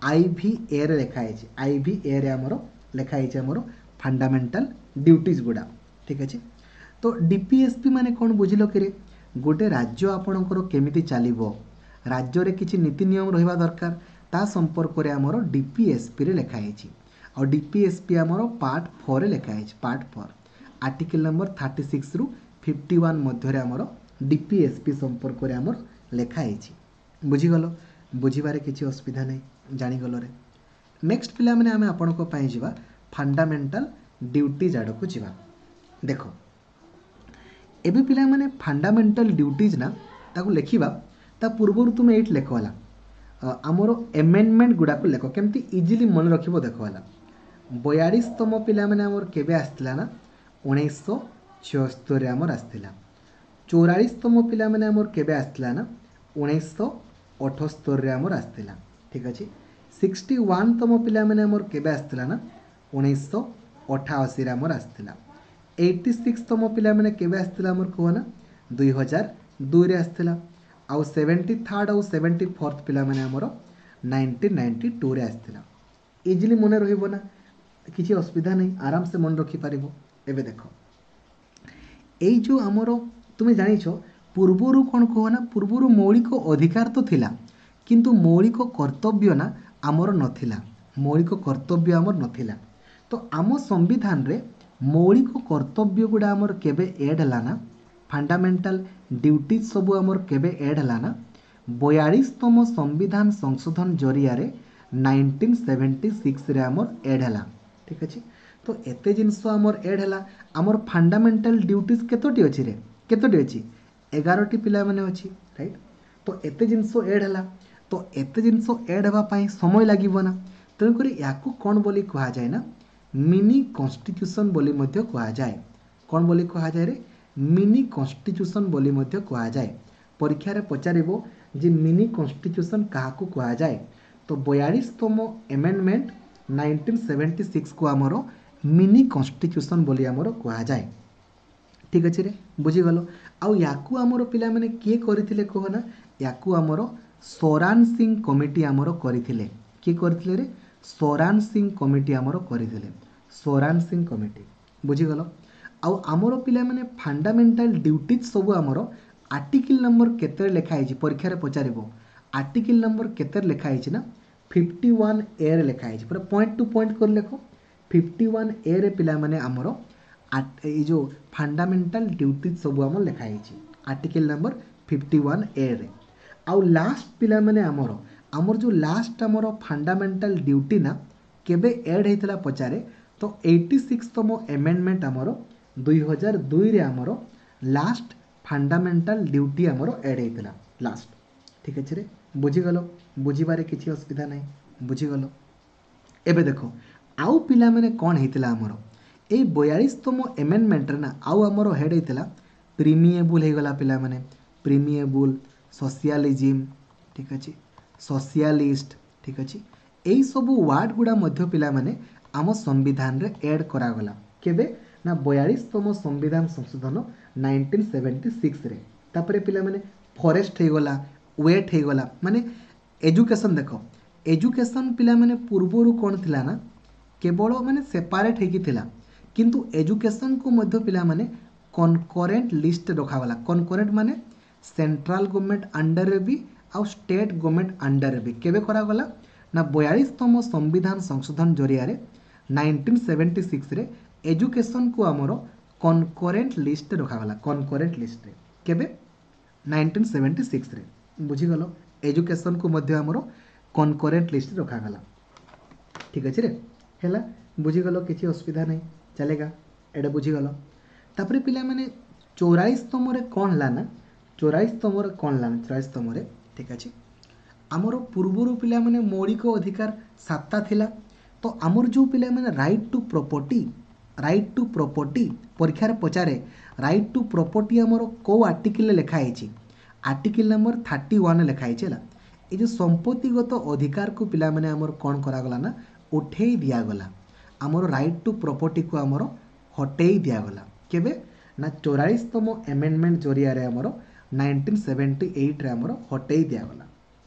I V ଏରେ ଲେଖା ହେଇଛି। I V ଏରେ ଆମର ଲେଖା ହେଇଛି ଆମର ଫଣ୍ଡାମେଣ୍ଟାଲ ଡ୍ୟୁଟିଜ୍ ଗୁଡ଼ା। ଠିକ୍ ଅଛି? ତ ଡିପିଏସ୍ପି ମାନେ କ'ଣ ବୁଝିଲ କିରେ? ଗୋଟେ ରାଜ୍ୟ ଆପଣଙ୍କର କେମିତି ଚାଲିବ, ରାଜ୍ୟରେ କିଛି ନୀତି ନିୟମ ରହିବା ଦରକାର, ତା ସମ୍ପର୍କରେ ଆମର ଡିପିଏସ୍ପିରେ ଲେଖା ହେଇଛି। ଆଉ ଡିପିଏସ୍ପି ଆମର ପାର୍ଟ ଫୋର୍ରେ ଲେଖା ହେଇଛି, part four, article number thirty ସିକ୍ସରୁ fifty one ମଧ୍ୟରେ ଆମର ଡିପିଏସ୍ପି ସମ୍ପର୍କରେ ଆମର ଲେଖା ହେଇଛି। ବୁଝିଗଲ? ବୁଝିବାରେ କିଛି ଅସୁବିଧା ନାହିଁ, ଜାଣିଗଲରେ? ନେକ୍ସଟ ପିଲାମାନେ ଆମେ ଆପଣଙ୍କ ପାଇଁ ଯିବା, ଫଣ୍ଡାମେଣ୍ଟାଲ ଡ୍ୟୁଟିଜ୍ ଆଡ଼କୁ ଯିବା। ଦେଖ ଏବେ ପିଲାମାନେ ଫଣ୍ଡାମେଣ୍ଟାଲ ଡ୍ୟୁଟିଜ୍ ନା, ତାକୁ ଲେଖିବା ତା ପୂର୍ବରୁ ତୁମେ ଏଇଠି ଲେଖ, ହେଲା, ଆମର ଏମେଣ୍ଡମେଣ୍ଟ ଗୁଡ଼ାକୁ ଲେଖ, କେମିତି ଇଜିଲି ମନେ ରଖିବ। ଦେଖ, ହେଲା, ବୟାଳିଶତମ ପିଲାମାନେ ଆମର କେବେ ଆସିଥିଲା ନା, ଉଣେଇଶହ ଛଅସ୍ତରୀରେ ଆମର ଆସିଥିଲା। ଚଉରାଳିଶତମ ପିଲାମାନେ ଆମର କେବେ ଆସିଥିଲା ନା, ଉଣେଇଶହ ଅଠସ୍ତରୀରେ ଆମର ଆସିଥିଲା। ଠିକ୍ ଅଛି? ସିକ୍ସଟି ୱାନ୍ତମ ପିଲାମାନେ ଆମର କେବେ ଆସିଥିଲା ନା, ଉଣେଇଶହ ଅଠାଅଶୀରେ ଆମର ଆସିଥିଲା। ଏଇଟି ସିକ୍ସତମ ପିଲାମାନେ କେବେ ଆସିଥିଲା ଆମର କୁହ ନା, ଦୁଇ ହଜାର ଦୁଇରେ ଆସିଥିଲା। ଆଉ ସେଭେଣ୍ଟି ଥାର୍ଡ଼ ଆଉ ସେଭେଣ୍ଟି ଫୋର୍ଥ ପିଲାମାନେ ଆମର ନାଇନଟିନ୍ ନାଇଣ୍ଟି ଟୁରେ ଆସିଥିଲା। ଇଜିଲି ମନେ ରହିବ ନା? କିଛି ଅସୁବିଧା ନାହିଁ, ଆରାମସେ ମନେ ରଖିପାରିବ। ଏବେ ଦେଖ, ଏଇ ଯେଉଁ ଆମର ତୁମେ ଜାଣିଛ ପୂର୍ବରୁ କ'ଣ କୁହ ନା, ପୂର୍ବରୁ ମୌଳିକ ଅଧିକାର ତ ଥିଲା, କିନ୍ତୁ ମୌଳିକ କର୍ତ୍ତବ୍ୟ ନା ଆମର ନଥିଲା। ମୌଳିକ କର୍ତ୍ତବ୍ୟ ଆମର ନଥିଲା। ତ ଆମ ସମ୍ବିଧାନରେ ମୌଳିକ କର୍ତ୍ତବ୍ୟ ଗୁଡ଼ା ଆମର କେବେ ଏଡ୍ ହେଲା ନା, ଫଣ୍ଡାମେଣ୍ଟାଲ ଡ୍ୟୁଟିଜ୍ ସବୁ ଆମର କେବେ ଏଡ୍ ହେଲା ନା, ବୟାଳିଶତମ ସମ୍ବିଧାନ ସଂଶୋଧନ ଜରିଆରେ ନାଇନଟିନ୍ ସେଭେଣ୍ଟି ସିକ୍ସରେ ଆମର ଏଡ୍ ହେଲା। ଠିକ୍ ଅଛି, ତ ଏତେ ଜିନିଷ ଆମର ଏଡ୍ ହେଲା। ଆମର ଫଣ୍ଡାମେଣ୍ଟାଲ ଡ୍ୟୁଟିଜ୍ କେତୋଟି ଅଛି ରେ? କେତୋଟି ଅଛି? ଏଗାରଟି ପିଲାମାନେ ଅଛି, ରାଇଟ୍? ତ ଏତେ ଜିନିଷ ଏଡ୍ ହେଲା, ତ ଏତେ ଜିନିଷ ଏଡ୍ ହେବା ପାଇଁ ସମୟ ଲାଗିବ ନା, ତେଣୁକରି ୟାକୁ କ'ଣ ବୋଲି କୁହାଯାଏ ନା, ମିନି କନଷ୍ଟିଟ୍ୟୁସନ୍ ବୋଲି ମଧ୍ୟ କୁହାଯାଏ। କ'ଣ ବୋଲି କୁହାଯାଏ ରେ? ମିନି କନଷ୍ଟିଟ୍ୟୁସନ୍ ବୋଲି ମଧ୍ୟ କୁହାଯାଏ। ପରୀକ୍ଷାରେ ପଚାରିବ ଯେ ମିନି କନଷ୍ଟିଟ୍ୟୁସନ୍ କାହାକୁ କୁହାଯାଏ, ତ ବୟାଳିଶତମ ଆମେଣ୍ଡମେଣ୍ଟ ନାଇନଟିନ୍ ସେଭେଣ୍ଟି ସିକ୍ସକୁ ଆମର ମିନି କନଷ୍ଟିଟ୍ୟୁସନ୍ ବୋଲି ଆମର କୁହାଯାଏ। ଠିକ୍ ଅଛି ରେ, ବୁଝିଗଲ? ଆଉ ୟାକୁ ଆମର ପିଲାମାନେ କିଏ କରିଥିଲେ କୁହ ନା, ୟାକୁ ଆମର ସରାନ ସିଂ କମିଟି ଆମର କରିଥିଲେ। କିଏ କରିଥିଲେ ରେ? ସରାନ ସିଂ କମିଟି ଆମର କରିଥିଲେ, ସରାନ ସିଂ କମିଟି। ବୁଝିଗଲ? ଆଉ ଆମର ପିଲାମାନେ ଫଣ୍ଡାମେଣ୍ଟାଲ ଡ୍ୟୁଟିଜ୍ ସବୁ ଆମର ଆର୍ଟିକିଲ୍ ନମ୍ବର କେତେରେ ଲେଖା ହେଇଛି? ପରୀକ୍ଷାରେ ପଚାରିବ ଆର୍ଟିକିଲ୍ ନମ୍ବର କେତେରେ ଲେଖା ହେଇଛି ନା, ଫିଫ୍ଟି ୱାନ୍ ଏରେ ଲେଖା ହେଇଛି। ପୁରା ପଏଣ୍ଟ ଟୁ ପଏଣ୍ଟ କରି ଲେଖ। ଫିଫ୍ଟି ୱାନ୍ ଏରେ ପିଲାମାନେ ଆମର ଏଇ ଯେଉଁ ଫଣ୍ଡାମେଣ୍ଟାଲ ଡ୍ୟୁଟିଜ୍ ସବୁ ଆମର ଲେଖା ହେଇଛି ଆର୍ଟିକିଲ୍ ନମ୍ବର ଫିଫ୍ଟି ୱାନ୍ ଏରେ। ଆଉ ଲାଷ୍ଟ ପିଲାମାନେ ଆମର ଆମର ଯେଉଁ ଲାଷ୍ଟ ଆମର ଫଣ୍ଡାମେଣ୍ଟାଲ ଡ୍ୟୁଟି ନା କେବେ ଏଡ୍ ହେଇଥିଲା ପଚାରେ, ତ ଏଇଟି ସିକ୍ସତମ ଆମେଣ୍ଡମେଣ୍ଟ ଆମର ଦୁଇ ହଜାର ଦୁଇରେ ଆମର ଲାଷ୍ଟ ଫଣ୍ଡାମେଣ୍ଟାଲ ଡ୍ୟୁଟି ଆମର ଏଡ୍ ହେଇଥିଲା ଲାଷ୍ଟ। ଠିକ୍ ଅଛି ରେ, ବୁଝିଗଲ? ବୁଝିବାରେ କିଛି ଅସୁବିଧା ନାହିଁ, ବୁଝିଗଲ? ଏବେ ଦେଖ ଆଉ ପିଲାମାନେ କ'ଣ ହେଇଥିଲା ଆମର ଏଇ ବୟାଳିଶତମ ଆମେଣ୍ଡମେଣ୍ଟରେ ନା, ଆଉ ଆମର ହେଡ଼୍ ହେଇଥିଲା ପ୍ରିମିଏବୁଲ୍ ହେଇଗଲା ପିଲାମାନେ, ପ୍ରିମିଏବୁଲ୍, ସୋସିଆଲିଜିମ୍, ଠିକ୍ ଅଛି, ସୋସିଆଲିଷ୍ଟ, ଠିକ୍ ଅଛି, ଏଇସବୁ ୱାର୍ଡ଼ ଗୁଡ଼ା ମଧ୍ୟ ପିଲାମାନେ ଆମ ସମ୍ବିଧାନରେ ଏଡ୍ କରାଗଲା। କେବେ ନା ବୟାଳିଶତମ ସମ୍ବିଧାନ ସଂଶୋଧନ ନାଇନଟିନ୍ ସେଭେଣ୍ଟି ସିକ୍ସରେ। ତାପରେ ପିଲାମାନେ ଫରେଷ୍ଟ ହେଇଗଲା, ୱେଟ୍ ହେଇଗଲା, ମାନେ ଏଜୁକେସନ୍। ଦେଖ ଏଜୁକେସନ୍ ପିଲାମାନେ ପୂର୍ବରୁ କ'ଣ ଥିଲା ନା, କେବଳ ମାନେ ସେପାରେଟ୍ ହେଇକି ଥିଲା, କିନ୍ତୁ ଏଜୁକେସନ୍କୁ ମଧ୍ୟ ପିଲାମାନେ କନକରେଣ୍ଟ ଲିଷ୍ଟ ରଖାଗଲା। କନକରେଣ୍ଟ ମାନେ ସେଣ୍ଟ୍ରାଲ ଗଭର୍ଣ୍ଣମେଣ୍ଟ ଅଣ୍ଡରରେ ବି ଆଉ ଷ୍ଟେଟ୍ ଗଭର୍ଣ୍ଣମେଣ୍ଟ ଅଣ୍ଡରରେ ବି। କେବେ କରାଗଲା ନା ବୟାଳିଶତମ ସମ୍ବିଧାନ ସଂଶୋଧନ ଜରିଆରେ ନାଇନଟିନ୍ ସେଭେଣ୍ଟି ସିକ୍ସରେ ଏଜୁକେସନ୍କୁ ଆମର କନକରେଣ୍ଟ ଲିଷ୍ଟ ରଖାଗଲା। କନକରେଣ୍ଟ ଲିଷ୍ଟରେ କେବେ? Nineteen seventy ସିକ୍ସରେ। ବୁଝିଗଲ? ଏଜୁକେସନ୍କୁ ମଧ୍ୟ ଆମର କନକରେଣ୍ଟ ଲିଷ୍ଟରେ ରଖାଗଲା। ଠିକ୍ ଅଛି ରେ, ହେଲା, ବୁଝିଗଲ? କିଛି ଅସୁବିଧା ନାହିଁ, ଚାଲେଗା, ଏଇଟା ବୁଝିଗଲ? ତାପରେ ପିଲାମାନେ ଚଉରାଳିଶତମରେ କ'ଣ ହେଲା ନା, ଚଉରାଳିଶତମରେ କ'ଣ ହେଲା ନା, ଚଉରାଳିଶତମରେ, ଠିକ୍ ଅଛି, ଆମର ପୂର୍ବରୁ ପିଲାମାନେ ମୌଳିକ ଅଧିକାର ସାତଟା ଥିଲା। ତ ଆମର ଯେଉଁ ପିଲାମାନେ right to property, right to property ପରୀକ୍ଷାରେ ପଚାରେ, ରାଇଟ୍ ଟୁ ପ୍ରପର୍ଟି ଆମର କେଉଁ ଆର୍ଟିକିଲରେ ଲେଖା ହେଇଛି? ଆର୍ଟିକିଲ୍ ନମ୍ବର ଥାର୍ଟି ୱାନ୍ରେ ଲେଖା ହେଇଛି। ହେଲା, ଏଇ ଯେଉଁ ସମ୍ପତ୍ତିଗତ ଅଧିକାରକୁ ପିଲାମାନେ ଆମର କ'ଣ କରାଗଲା ନା, ଉଠେଇ ଦିଆଗଲା। ଆମର ରାଇଟ୍ ଟୁ ପ୍ରପର୍ଟିକୁ ଆମର ହଟେଇ ଦିଆଗଲା। କେବେ ନା ଚଉରାଳିଶତମ ଆମେଣ୍ଡମେଣ୍ଟ ଜରିଆରେ ଆମର ନାଇନଟିନ୍ ସେଭେଣ୍ଟି ଏଇଟରେ ଆମର ହଟେଇ ଦିଆଗଲା।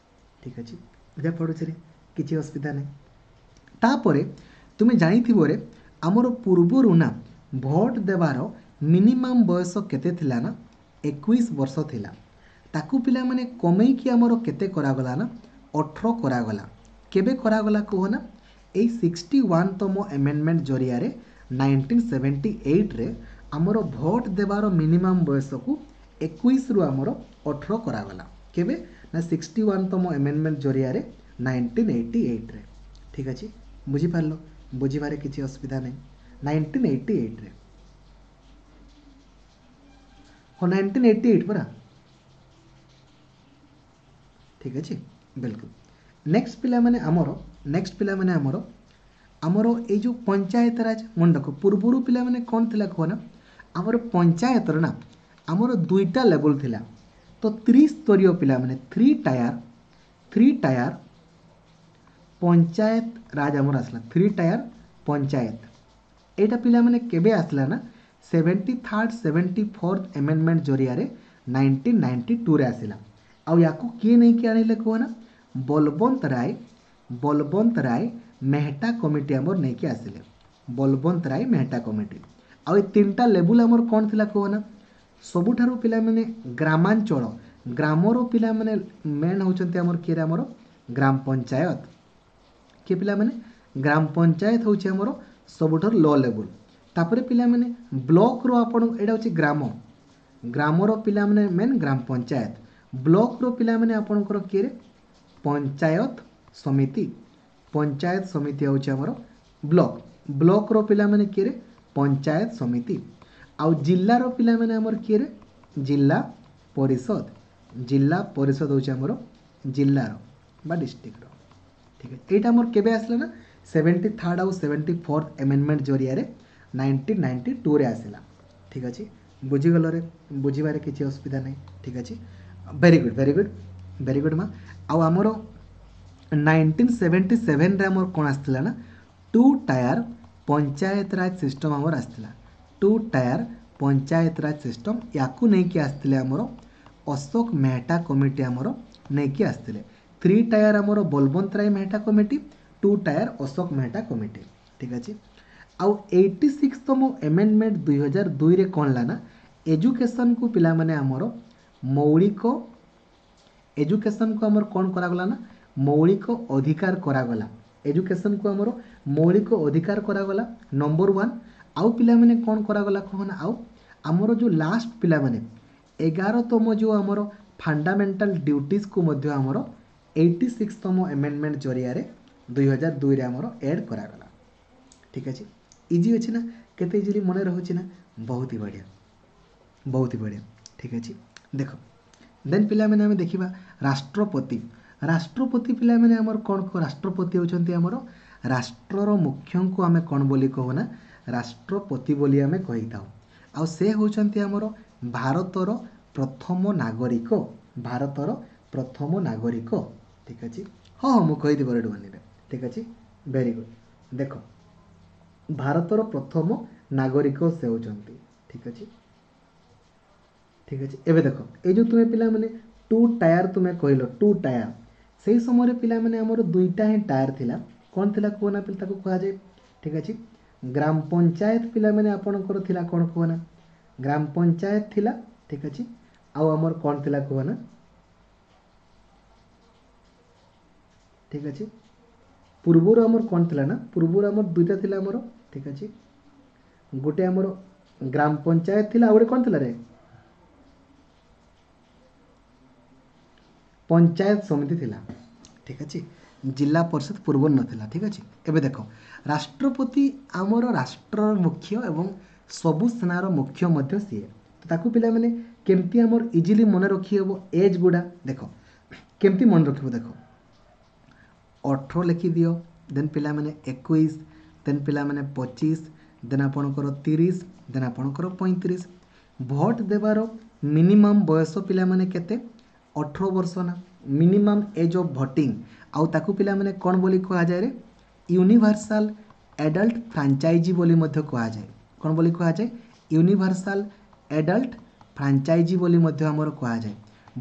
ଠିକ୍ ଅଛି, ବୁଝା ପଡ଼ୁଛି ରେ? କିଛି ଅସୁବିଧା ନାହିଁ। ତାପରେ ତୁମେ ଜାଣିଥିବ ରେ, ଆମର ପୂର୍ବରୁ ନା ଭୋଟ ଦେବାର ମିନିମମ୍ ବୟସ କେତେ ଥିଲା ନା, ଏକୋଇଶ ବର୍ଷ ଥିଲା। ତାକୁ ପିଲାମାନେ କମେଇକି ଆମର କେତେ କରାଗଲା ନା, ଅଠର କରାଗଲା। କେବେ କରାଗଲା କୁହ ନା, ଏଇ ସିକ୍ସଟି ୱାନ୍ତମ ଆମେଣ୍ଡମେଣ୍ଟ ଜରିଆରେ ନାଇନଟିନ୍ ସେଭେଣ୍ଟି ଏଇଟରେ ଆମର ଭୋଟ ଦେବାର ମିନିମମ୍ ବୟସକୁ ଏକୋଇଶରୁ ଆମର ଅଠର କରାଗଲା। କେବେ ନା ସିକ୍ସଟି ୱାନ୍ତମ ଆମେଣ୍ଡମେଣ୍ଟ ଜରିଆରେ ନାଇନଟିନ୍ ଏଇଟି ଏଇଟରେ। ଠିକ୍ ଅଛି, ବୁଝିପାରିଲ? ବୁଝିବାରେ କିଛି ଅସୁବିଧା ନାହିଁ। ନାଇନଟିନ୍ ଏଇଟି ଏଇଟରେ, ହଁ, ନାଇନଟିନ୍ ଏଇଟି ଏଇଟ୍ ପରା। ଠିକ୍ ଅଛି, ବିଲକୁଲ। ନେକ୍ସଟ ପିଲାମାନେ ଆମର, ନେକ୍ସଟ ପିଲାମାନେ ଆମର ଆମର ଏଇ ଯେଉଁ ପଞ୍ଚାୟତ ରାଜ ମଣ୍ଡକ, ପୂର୍ବରୁ ପିଲାମାନେ କ'ଣ ଥିଲା କୁହ ନା, ଆମର ପଞ୍ଚାୟତର ନା ଆମର ଦୁଇଟା ଲେବୁଲ୍ ଥିଲା। ତ ତ୍ରିସ୍ତରୀୟ ପିଲାମାନେ three tier, three tier panchayat raj ଆମର ଆସିଲା, ଥ୍ରୀ ଟାୟାର ପଞ୍ଚାୟତ। ଏଇଟା ପିଲାମାନେ କେବେ ଆସିଲା ନା, seventy third seventy fourth amendment ଜରିଆରେ ନାଇନଟିନ୍ ନାଇଣ୍ଟି ଟୁରେ ଆସିଲା। ଆଉ ୟାକୁ କିଏ ନେଇକି ଆଣିଲେ କୁହ ନା, ବଲବନ୍ତ ରାୟ, ବଲବନ୍ତ ରାୟ ମେହଟା କମିଟି ଆମର ନେଇକି ଆସିଲେ, ବଲବନ୍ତ ରାୟ ମେହଟା କମିଟି। ଆଉ ଏ ତିନିଟା ଲେବୁଲ୍ ଆମର କ'ଣ ଥିଲା କୁହ ନା, ସବୁଠାରୁ ପିଲାମାନେ ଗ୍ରାମାଞ୍ଚଳ, ଗ୍ରାମର ପିଲାମାନେ ମେନ୍ ହେଉଛନ୍ତି ଆମର କିଏ? ଆମର ଗ୍ରାମ ପଞ୍ଚାୟତ। କିଏ ପିଲାମାନେ? ଗ୍ରାମ ପଞ୍ଚାୟତ ହେଉଛି ଆମର ସବୁଠାରୁ ଲୋ ଲେବୁଲ୍। ତାପରେ ପିଲାମାନେ ବ୍ଲକର ଆପଣ, ଏଇଟା ହେଉଛି ଗ୍ରାମ, ଗ୍ରାମର ପିଲାମାନେ ମେନ୍ ଗ୍ରାମ ପଞ୍ଚାୟତ। ବ୍ଲକର ପିଲାମାନେ ଆପଣଙ୍କର କିଏରେ? ପଞ୍ଚାୟତ ସମିତି। ପଞ୍ଚାୟତ ସମିତି ହେଉଛି ଆମର ବ୍ଲକ। ବ୍ଲକର ପିଲାମାନେ କିଏରେ? ପଞ୍ଚାୟତ ସମିତି। ଆଉ ଜିଲ୍ଲାର ପିଲାମାନେ ଆମର କିଏରେ? ଜିଲ୍ଲା ପରିଷଦ। ଜିଲ୍ଲା ପରିଷଦ ହେଉଛି ଆମର ଜିଲ୍ଲାର ବା ଡିଷ୍ଟ୍ରିକ୍ଟର। ଠିକ୍ ଅଛି। ଏଇଟା ଆମର କେବେ ଆସିଲା ନା ସେଭେଣ୍ଟି ଥାର୍ଡ଼ ଆଉ ସେଭେଣ୍ଟି ଫୋର୍ଥ ଆମେଣ୍ଡମେଣ୍ଟ ଜରିଆରେ ନାଇନଟିନ୍ ନାଇଣ୍ଟି ଟୁରେ ଆସିଲା। ଠିକ୍ ଅଛି, ବୁଝିଗଲରେ? ବୁଝିବାରେ କିଛି ଅସୁବିଧା ନାହିଁ। ଠିକ୍ ଅଛି, very good, very good, very good ମା। ଆଉ ଆମର ନାଇନଟିନ୍ ସେଭେଣ୍ଟି ସେଭେନରେ ଆମର କ'ଣ ଆସିଥିଲା ନା ଟୁ ଟାୟାର ପଞ୍ଚାୟତ ରାଜ ସିଷ୍ଟମ୍ ଆମର ଆସିଥିଲା। ଟୁ ଟାୟାର ପଞ୍ଚାୟତ ରାଜ ସିଷ୍ଟମ୍ ୟାକୁ ନେଇକି ଆସିଥିଲେ ଆମର ଅଶୋକ ମେହଟା କମିଟି, ଆମର ନେଇକି ଆସିଥିଲେ। ଥ୍ରୀ ଟାୟାର ଆମର Balwant Rai Mehta committee, two tier Ashok Mehta committee. ଠିକ୍ ଅଛି। ଆଉ ଏଇଟି ସିକ୍ସତମ ଆମେଣ୍ଡମେଣ୍ଟ ଦୁଇ ହଜାର ଦୁଇରେ କ'ଣ ହେଲା ନା ଏଜୁକେସନ୍କୁ ପିଲାମାନେ ଆମର ମୌଳିକ, ଏଜୁକେସନ୍କୁ ଆମର କ'ଣ କରାଗଲା ନା ମୌଳିକ ଅଧିକାର କରାଗଲା। ଏଜୁକେସନ୍କୁ ଆମର ମୌଳିକ ଅଧିକାର କରାଗଲା ନମ୍ବର ୱାନ୍। ଆଉ ପିଲାମାନେ କ'ଣ କରାଗଲା କହ ନା, ଆଉ ଆମର ଯେଉଁ ଲାଷ୍ଟ ପିଲାମାନେ ଏଗାରତମ ଯେଉଁ ଆମର ଫଣ୍ଡାମେଣ୍ଟାଲ ଡ୍ୟୁଟିଜ୍କୁ ମଧ୍ୟ ଆମର ଏଇଟି ସିକ୍ସତମ ଆମେଣ୍ଡମେଣ୍ଟ ଜରିଆରେ ଦୁଇ ହଜାର ଦୁଇରେ ଆମର ଏଡ଼୍ କରାଗଲା। ଠିକ୍ ଅଛି, ଇଜି ଅଛି ନା? କେତେ ଇଜିଲି ମନେ ରହୁଛି ନା? ବହୁତ ହି ବଢ଼ିଆ, ବହୁତ ହି ବଢ଼ିଆ। ଠିକ୍ ଅଛି, ଦେଖ ଦେନ୍ ପିଲାମାନେ ଆମେ ଦେଖିବା ରାଷ୍ଟ୍ରପତି। ରାଷ୍ଟ୍ରପତି ପିଲାମାନେ ଆମର କ'ଣ? ରାଷ୍ଟ୍ରପତି ହେଉଛନ୍ତି ଆମର ରାଷ୍ଟ୍ରର ମୁଖ୍ୟଙ୍କୁ ଆମେ କ'ଣ ବୋଲି କହୁନା? ରାଷ୍ଟ୍ରପତି ବୋଲି ଆମେ କହିଥାଉ। ଆଉ ସେ ହେଉଛନ୍ତି ଆମର ଭାରତର ପ୍ରଥମ ନାଗରିକ, ଭାରତର ପ୍ରଥମ ନାଗରିକ। ଠିକ୍ ଅଛି, ହଁ ହଁ, ମୁଁ କହିଦେବି ରେଡ଼ୁଆନିରେ। ଠିକ୍ ଅଛି, ଭେରି ଗୁଡ୍। ଦେଖ ଭାରତର ପ୍ରଥମ ନାଗରିକ ସେ ହେଉଛନ୍ତି। ଠିକ୍ ଅଛି, ଠିକ୍ ଅଛି। ଏବେ ଦେଖ ଏଇ ଯେଉଁ ତୁମେ ପିଲାମାନେ ଟୁ ଟାୟାର ତୁମେ କହିଲ, ଟୁ ଟାୟାର, ସେଇ ସମୟରେ ପିଲାମାନେ ଆମର ଦୁଇଟା ହିଁ ଟାୟାର ଥିଲା। କ'ଣ ଥିଲା କୁହ ନା ତାକୁ କୁହାଯାଏ? ଠିକ୍ ଅଛି, ଗ୍ରାମ ପଞ୍ଚାୟତ ପିଲାମାନେ ଆପଣଙ୍କର ଥିଲା କ'ଣ କୁହ ନା? ଗ୍ରାମ ପଞ୍ଚାୟତ ଥିଲା। ଠିକ୍ ଅଛି, ଆଉ ଆମର କ'ଣ ଥିଲା କୁହ ନା? ଠିକ୍ ଅଛି, ପୂର୍ବରୁ ଆମର କ'ଣ ଥିଲା ନା, ପୂର୍ବରୁ ଆମର ଦୁଇଟା ଥିଲା ଆମର। ଠିକ୍ ଅଛି, ଗୋଟେ ଆମର ଗ୍ରାମ ପଞ୍ଚାୟତ ଥିଲା, ଆଉ ଗୋଟେ କ'ଣ ଥିଲା ରେ? ପଞ୍ଚାୟତ ସମିତି ଥିଲା। ଠିକ୍ ଅଛି, ଜିଲ୍ଲା ପରିଷଦ ପୂର୍ବରୁ ନଥିଲା। ଠିକ୍ ଅଛି, ଏବେ ଦେଖ ରାଷ୍ଟ୍ରପତି ଆମର ରାଷ୍ଟ୍ରର ମୁଖ୍ୟ ଏବଂ ସବୁ ସେନାର ମୁଖ୍ୟ ମଧ୍ୟ ସିଏ। ତ ତାକୁ ପିଲାମାନେ କେମିତି ଆମର ଇଜିଲି ମନେ ରଖିହେବ ଏଜ୍ ଗୁଡ଼ା ଦେଖ କେମିତି ମନେ ରଖିବ। ଦେଖ ଅଠର ଲେଖିଦିଅ, ଦେନ୍ ପିଲାମାନେ ଏକୋଇଶ, ଦେନ୍ ପିଲାମାନେ ପଚିଶ, ଦେନ୍ ଆପଣଙ୍କର ତିରିଶ, ଦେନ୍ ଆପଣଙ୍କର ପଇଁତିରିଶ। ଭୋଟ ଦେବାର ମିନିମମ୍ ବୟସ ପିଲାମାନେ କେତେ? ଅଠର ବର୍ଷ ନା ମିନିମମ୍ ଏଜ୍ ଅଫ୍ ଭୋଟିଂ। ଆଉ ତାକୁ ପିଲାମାନେ କ'ଣ ବୋଲି କୁହାଯାଏ ରେ? ୟୁନିଭର୍ସାଲ ଆଡଲ୍ଟ ଫ୍ରାଞ୍ଚାଇଜି ବୋଲି ମଧ୍ୟ କୁହାଯାଏ। କ'ଣ ବୋଲି କୁହାଯାଏ? ୟୁନିଭର୍ସାଲ ଆଡଲ୍ଟ ଫ୍ରାଞ୍ଚାଇଜି ବୋଲି ମଧ୍ୟ ଆମର କୁହାଯାଏ।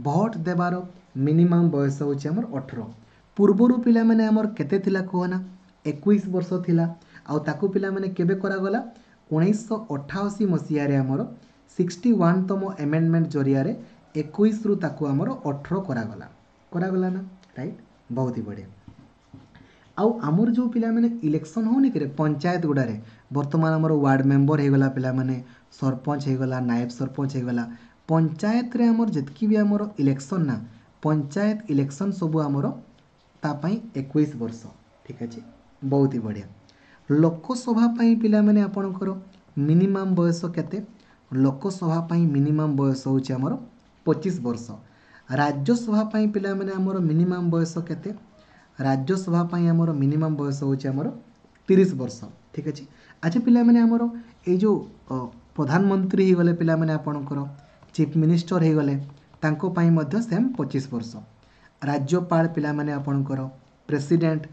ଭୋଟ ଦେବାର ମିନିମମ୍ ବୟସ ହେଉଛି ଆମର ଅଠର। ପୂର୍ବରୁ ପିଲାମାନେ ଆମର କେତେ ଥିଲା କୁହ ନା? ଏକୋଇଶ ବର୍ଷ ଥିଲା। ଆଉ ତାକୁ ପିଲାମାନେ କେବେ କରାଗଲା? ଉଣେଇଶହ ଅଠାଅଶୀ ମସିହାରେ ଆମର ସିକ୍ସଟି ୱାନ୍ତମ ଆମେଣ୍ଡମେଣ୍ଟ ଜରିଆରେ ଏକୋଇଶରୁ ତାକୁ ଆମର ଅଠର କରାଗଲା, କରାଗଲା ନା? ରାଇଟ୍, ବହୁତ ହି ବଢ଼ିଆ। ଆଉ ଆମର ଯେଉଁ ପିଲାମାନେ ଇଲେକ୍ସନ୍ ହେଉନି କିରେ ପଞ୍ଚାୟତ ଗୁଡ଼ାରେ, ବର୍ତ୍ତମାନ ଆମର ୱାର୍ଡ଼ ମେମ୍ବର ହେଇଗଲା ପିଲାମାନେ, ସରପଞ୍ଚ ହେଇଗଲା, ନାୟବ ସରପଞ୍ଚ ହେଇଗଲା। ପଞ୍ଚାୟତରେ ଆମର ଯେତିକି ବି ଆମର ଇଲେକ୍ସନ୍ ନା, ପଞ୍ଚାୟତ ଇଲେକ୍ସନ୍ ସବୁ ଆମର ତା ପାଇଁ ଏକୋଇଶ ବର୍ଷ। ଠିକ୍ ଅଛି, ବହୁତ ହି ବଢ଼ିଆ। ଲୋକସଭା ପାଇଁ ପିଲାମାନେ ଆପଣଙ୍କର ମିନିମମ୍ ବୟସ କେତେ? ଲୋକସଭା ପାଇଁ ମିନିମମ୍ ବୟସ ହେଉଛି ଆମର ପଚିଶ ବର୍ଷ। ରାଜ୍ୟସଭା ପାଇଁ ପିଲାମାନେ ଆମର ମିନିମମ୍ ବୟସ କେତେ? ରାଜ୍ୟସଭା ପାଇଁ ଆମର ମିନିମମ୍ ବୟସ ହେଉଛି ଆମର ତିରିଶ ବର୍ଷ। ଠିକ୍ ଅଛି। ଆଚ୍ଛା ପିଲାମାନେ ଆମର ଏଇ ଯେଉଁ ପ୍ରଧାନମନ୍ତ୍ରୀ ହେଇଗଲେ ପିଲାମାନେ ଆପଣଙ୍କର ଚିଫ୍ ମିନିଷ୍ଟର ହେଇଗଲେ, ତାଙ୍କ ପାଇଁ ମଧ୍ୟ ସେମ୍ ପଚିଶ ବର୍ଷ। ରାଜ୍ୟପାଳ ପିଲାମାନେ ଆପଣଙ୍କର ପ୍ରେସିଡେଣ୍ଟ,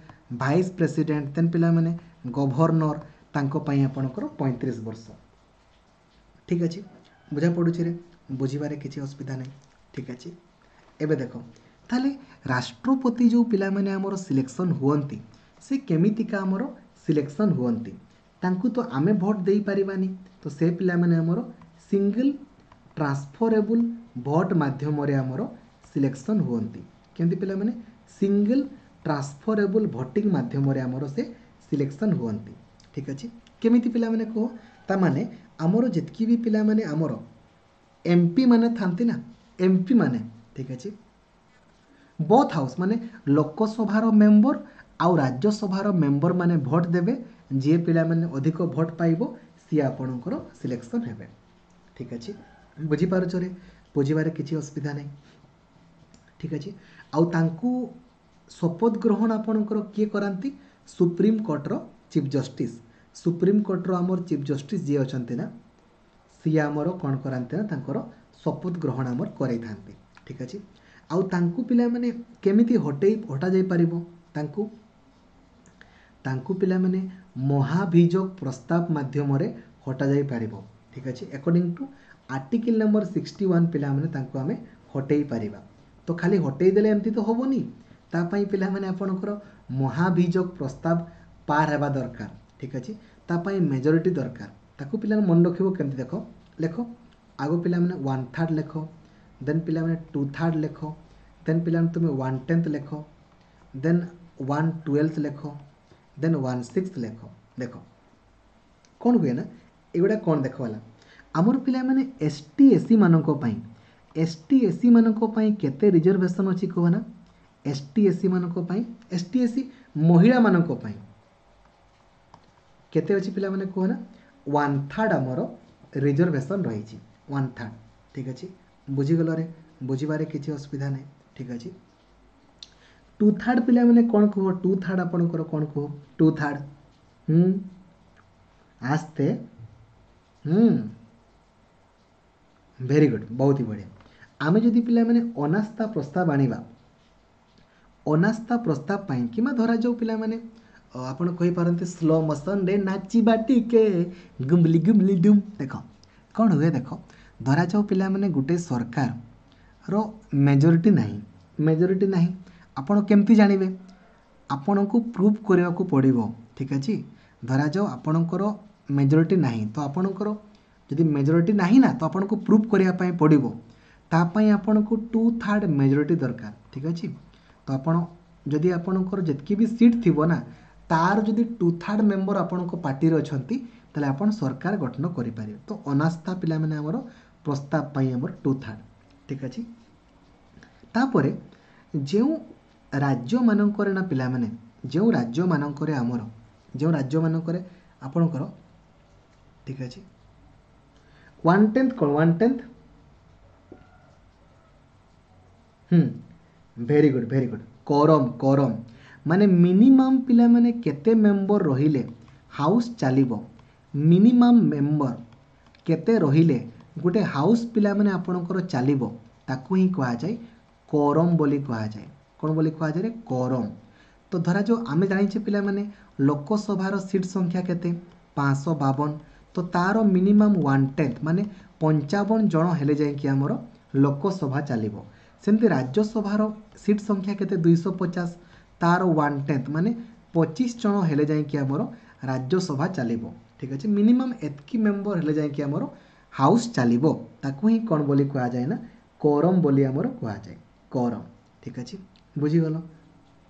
ଭାଇସ୍ ପ୍ରେସିଡେଣ୍ଟ, ଦେନ୍ ପିଲାମାନେ ଗଭର୍ଣ୍ଣର, ତାଙ୍କ ପାଇଁ ଆପଣଙ୍କର ପଇଁତିରିଶ ବର୍ଷ। ଠିକ୍ ଅଛି, ବୁଝା ପଡ଼ୁଛି ରେ? ବୁଝିବାରେ କିଛି ଅସୁବିଧା ନାହିଁ। ଠିକ୍ ଅଛି, ଏବେ ଦେଖ ତାହେଲେ ରାଷ୍ଟ୍ରପତି ଯେଉଁ ପିଲାମାନେ ଆମର ସିଲେକ୍ସନ୍ ହୁଅନ୍ତି, ସେ କେମିତିକା ଆମର ସିଲେକ୍ସନ୍ ହୁଅନ୍ତି? ତାଙ୍କୁ ତ ଆମେ ଭୋଟ ଦେଇପାରିବାନି, ତ ସେ ପିଲାମାନେ ଆମର ସିଙ୍ଗଲ୍ ଟ୍ରାନ୍ସଫରେବୁଲ୍ ଭୋଟ ମାଧ୍ୟମରେ ଆମର ସିଲେକ୍ସନ୍ ହୁଅନ୍ତି। କେମିତି ପିଲାମାନେ? ସିଙ୍ଗଲ୍ ଟ୍ରାନ୍ସଫରେବୁଲ୍ ଭୋଟିଂ ମାଧ୍ୟମରେ ଆମର ସେ ସିଲେକ୍ସନ୍ ହୁଅନ୍ତି। ଠିକ୍ ଅଛି, କେମିତି ପିଲାମାନେ କୁହ? ତାମାନେ ଆମର ଯେତିକି ବି ପିଲାମାନେ ଆମର ଏମ୍ ପି ମାନେ ଥାନ୍ତି ନା, ଏମ୍ ପି ମାନେ, ଠିକ୍ ଅଛି, ବୋଥ୍ ହାଉସ୍ ମାନେ ଲୋକସଭାର ମେମ୍ବର ଆଉ ରାଜ୍ୟସଭାର ମେମ୍ବର ମାନେ ଭୋଟ୍ ଦେବେ। ଯିଏ ପିଲାମାନେ ଅଧିକ ଭୋଟ୍ ପାଇବ ସିଏ ଆପଣଙ୍କର ସିଲେକ୍ସନ୍ ହେବେ। ଠିକ୍ ଅଛି, ବୁଝିପାରୁଛରେ? ବୁଝିବାରେ କିଛି ଅସୁବିଧା ନାହିଁ। ଠିକ୍ ଅଛି, ଆଉ ତାଙ୍କୁ ଶପଥ ଗ୍ରହଣ ଆପଣଙ୍କର କିଏ କରାନ୍ତି? ସୁପ୍ରିମକୋର୍ଟର ଚିଫ୍ ଜଷ୍ଟିସ୍। ସୁପ୍ରିମକୋର୍ଟର ଆମର ଚିଫ୍ ଜଷ୍ଟିସ୍ ଯିଏ ଅଛନ୍ତି ନା, ସିଏ ଆମର କ'ଣ କରାନ୍ତି ନା, ତାଙ୍କର ଶପଥ ଗ୍ରହଣ ଆମର କରାଇଥାନ୍ତି। ଠିକ୍ ଅଛି, ଆଉ ତାଙ୍କୁ ପିଲାମାନେ କେମିତି ହଟେଇ ହଟାଯାଇପାରିବ? ତାଙ୍କୁ ତାଙ୍କୁ ପିଲାମାନେ ମହାଭିଯୋଗ ପ୍ରସ୍ତାବ ମାଧ୍ୟମରେ ହଟାଯାଇପାରିବ। ଠିକ୍ ଅଛି, according to article number sixty one ପିଲାମାନେ ତାଙ୍କୁ ଆମେ ହଟେଇ ପାରିବା। ତ ଖାଲି ହଟେଇ ଦେଲେ ଏମିତି ତ ହେବନି, ତା ପାଇଁ ପିଲାମାନେ ଆପଣଙ୍କର ମହାଭିଯୋଗ ପ୍ରସ୍ତାବ ପାର ହେବା ଦରକାର। ଠିକ୍ ଅଛି, ତା ପାଇଁ ମେଜରିଟି ଦରକାର। ତାକୁ ପିଲାମାନେ ମନେ ରଖିବ କେମିତି? ଦେଖ, ଲେଖ ଆଗ ପିଲାମାନେ ୱାନ୍ ଥାର୍ଡ଼ ଲେଖ, ଦେନ୍ ପିଲାମାନେ ଟୁ ଥାର୍ଡ଼ ଲେଖ, ଦେନ୍ ପିଲାମାନେ ତୁମେ ୱାନ୍ ଟେନ୍ଥ ଲେଖ, ଦେନ୍ ୱାନ୍ ଟୁଏଲ୍ଥ ଲେଖ, ଦେନ୍ ୱାନ୍ ସିକ୍ସ ଲେଖ। ଦେଖ କ'ଣ ହୁଏ ନା, ଏଗୁଡ଼ା କ'ଣ ଦେଖ ହେଲା, ଆମର ପିଲାମାନେ ଏସ୍ ଟି ଏସ୍ ସି ମାନଙ୍କ ପାଇଁ, ଏସ୍ ଟି ଏସ୍ ସି ମାନଙ୍କ ପାଇଁ କେତେ ରିଜର୍ଭେସନ୍ ଅଛି କୁହ ନା? ଏସ୍ ଟି ଏସ୍ ସି ମାନଙ୍କ ପାଇଁ, ଏସ୍ ଟି ଏସ୍ ସି ମହିଳାମାନଙ୍କ ପାଇଁ କେତେ ଅଛି ପିଲାମାନେ କୁହ ନା? ୱାନ୍ ଥାର୍ଡ଼ ଆମର ରିଜର୍ଭେସନ୍ ରହିଛି, ୱାନ୍ ଥାର୍ଡ଼। ଠିକ୍ ଅଛି, ବୁଝିଗଲରେ? ବୁଝିବାରେ କିଛି ଅସୁବିଧା ନାହିଁ। ଠିକ୍ ଅଛି, ଟୁ ଥାର୍ଡ଼ ପିଲାମାନେ କ'ଣ କୁହ? ଟୁ ଥାର୍ଡ଼ ଆପଣଙ୍କର କ'ଣ କୁହ? ଟୁ ଥାର୍ଡ଼, ହୁଁ ଆସ୍ତେ, ହୁଁ ଭେରି ଗୁଡ୍, ବହୁତ ହି ବଢ଼ିଆ। ଆମେ ଯଦି ପିଲାମାନେ ଅନାସ୍ଥା ପ୍ରସ୍ତାବ ଆଣିବା, ଅନାସ୍ଥା ପ୍ରସ୍ତାବ ପାଇଁ କିମ୍ବା ଧରାଯାଉ ପିଲାମାନେ ଆପଣ କହିପାରନ୍ତି ସ୍ଲୋ ମୋସନ୍ରେ ନାଚିବା ଟିକେ ଗୁମ୍ଲି ଗୁମ୍ଲି ଡୁମ୍। ଦେଖ କ'ଣ ହୁଏ, ଦେଖ ଧରାଯାଉ ପିଲାମାନେ ଗୋଟେ ସରକାରର ମେଜରିଟି ନାହିଁ, ମେଜରିଟି ନାହିଁ, ଆପଣ କେମିତି ଜାଣିବେ? ଆପଣଙ୍କୁ ପ୍ରୁଭ୍ କରିବାକୁ ପଡ଼ିବ। ଠିକ୍ ଅଛି, ଧରାଯାଉ ଆପଣଙ୍କର ମେଜରିଟି ନାହିଁ, ତ ଆପଣଙ୍କର ଯଦି ମେଜରିଟି ନାହିଁ ନା, ତ ଆପଣଙ୍କୁ ପ୍ରୁଭ୍ କରିବା ପାଇଁ ପଡ଼ିବ। ତା ପାଇଁ ଆପଣଙ୍କୁ ଟୁ ଥାର୍ଡ଼ ମେଜରିଟି ଦରକାର। ଠିକ୍ ଅଛି, ତ ଆପଣ ଯଦି ଆପଣଙ୍କର ଯେତିକି ବି ସିଟ୍ ଥିବ ନା, ତାର ଯଦି ଟୁ ଥାର୍ଡ଼ ମେମ୍ବର ଆପଣଙ୍କ ପାର୍ଟିରେ ଅଛନ୍ତି, ତାହେଲେ ଆପଣ ସରକାର ଗଠନ କରିପାରିବେ। ତ ଅନାସ୍ଥା ପିଲାମାନେ ଆମର ପ୍ରସ୍ତାବ ପାଇଁ ଆମର ଟୁ ଥାର୍ଡ଼। ଠିକ୍ ଅଛି, ତାପରେ ଯେଉଁ ରାଜ୍ୟମାନଙ୍କରେ ନା ପିଲାମାନେ, ଯେଉଁ ରାଜ୍ୟମାନଙ୍କରେ ଆମର, ଯେଉଁ ରାଜ୍ୟମାନଙ୍କରେ ଆପଣଙ୍କର, ଠିକ୍ ଅଛି, ୱାନ୍ ଟେନ୍ଥ କ'ଣ? One tenth, ହୁଁ very good very good, quorum, quorum ମାନେ ମିନିମମ୍ ପିଲାମାନେ କେତେ ମେମ୍ବର ରହିଲେ ହାଉସ୍ ଚାଲିବ? ମିନିମମ୍ ମେମ୍ବର କେତେ ରହିଲେ ଗୋଟେ ହାଉସ୍ ପିଲାମାନେ ଆପଣଙ୍କର ଚାଲିବ, ତାକୁ ହିଁ କୁହାଯାଏ କୋରମ୍ ବୋଲି କୁହାଯାଏ। କ'ଣ ବୋଲି କୁହାଯାଏ? କୋରମ୍। ତ ଧରାଯାଉ ଆମେ ଜାଣିଛେ ପିଲାମାନେ ଲୋକସଭାର ସିଟ୍ ସଂଖ୍ୟା କେତେ? ପାଞ୍ଚଶହ ବାବନ। ତ ତାର ମିନିମମ୍ ୱାନ୍ ଟେନ୍ଥ ମାନେ ପଞ୍ଚାବନ ଜଣ ହେଲେ ଯାଇକି ଆମର ଲୋକସଭା ଚାଲିବ। ସେମିତି ରାଜ୍ୟସଭାର ସିଟ୍ ସଂଖ୍ୟା କେତେ? ଦୁଇଶହ ପଚାଶ, ତାର ୱାନ୍ ଟେନ୍ଥ ମାନେ ପଚିଶ ଜଣ ହେଲେ ଯାଇକି ଆମର ରାଜ୍ୟସଭା ଚାଲିବ। ଠିକ୍ ଅଛି, ମିନିମମ୍ ଏତିକି ମେମ୍ବର ହେଲେ ଯାଇକି ଆମର ହାଉସ୍ ଚାଲିବ। ତାକୁ ହିଁ କ'ଣ ବୋଲି କୁହାଯାଏ ନା, କୋରମ୍ ବୋଲି ଆମର କୁହାଯାଏ, କୋରମ୍। ଠିକ୍ ଅଛି, ବୁଝିଗଲ?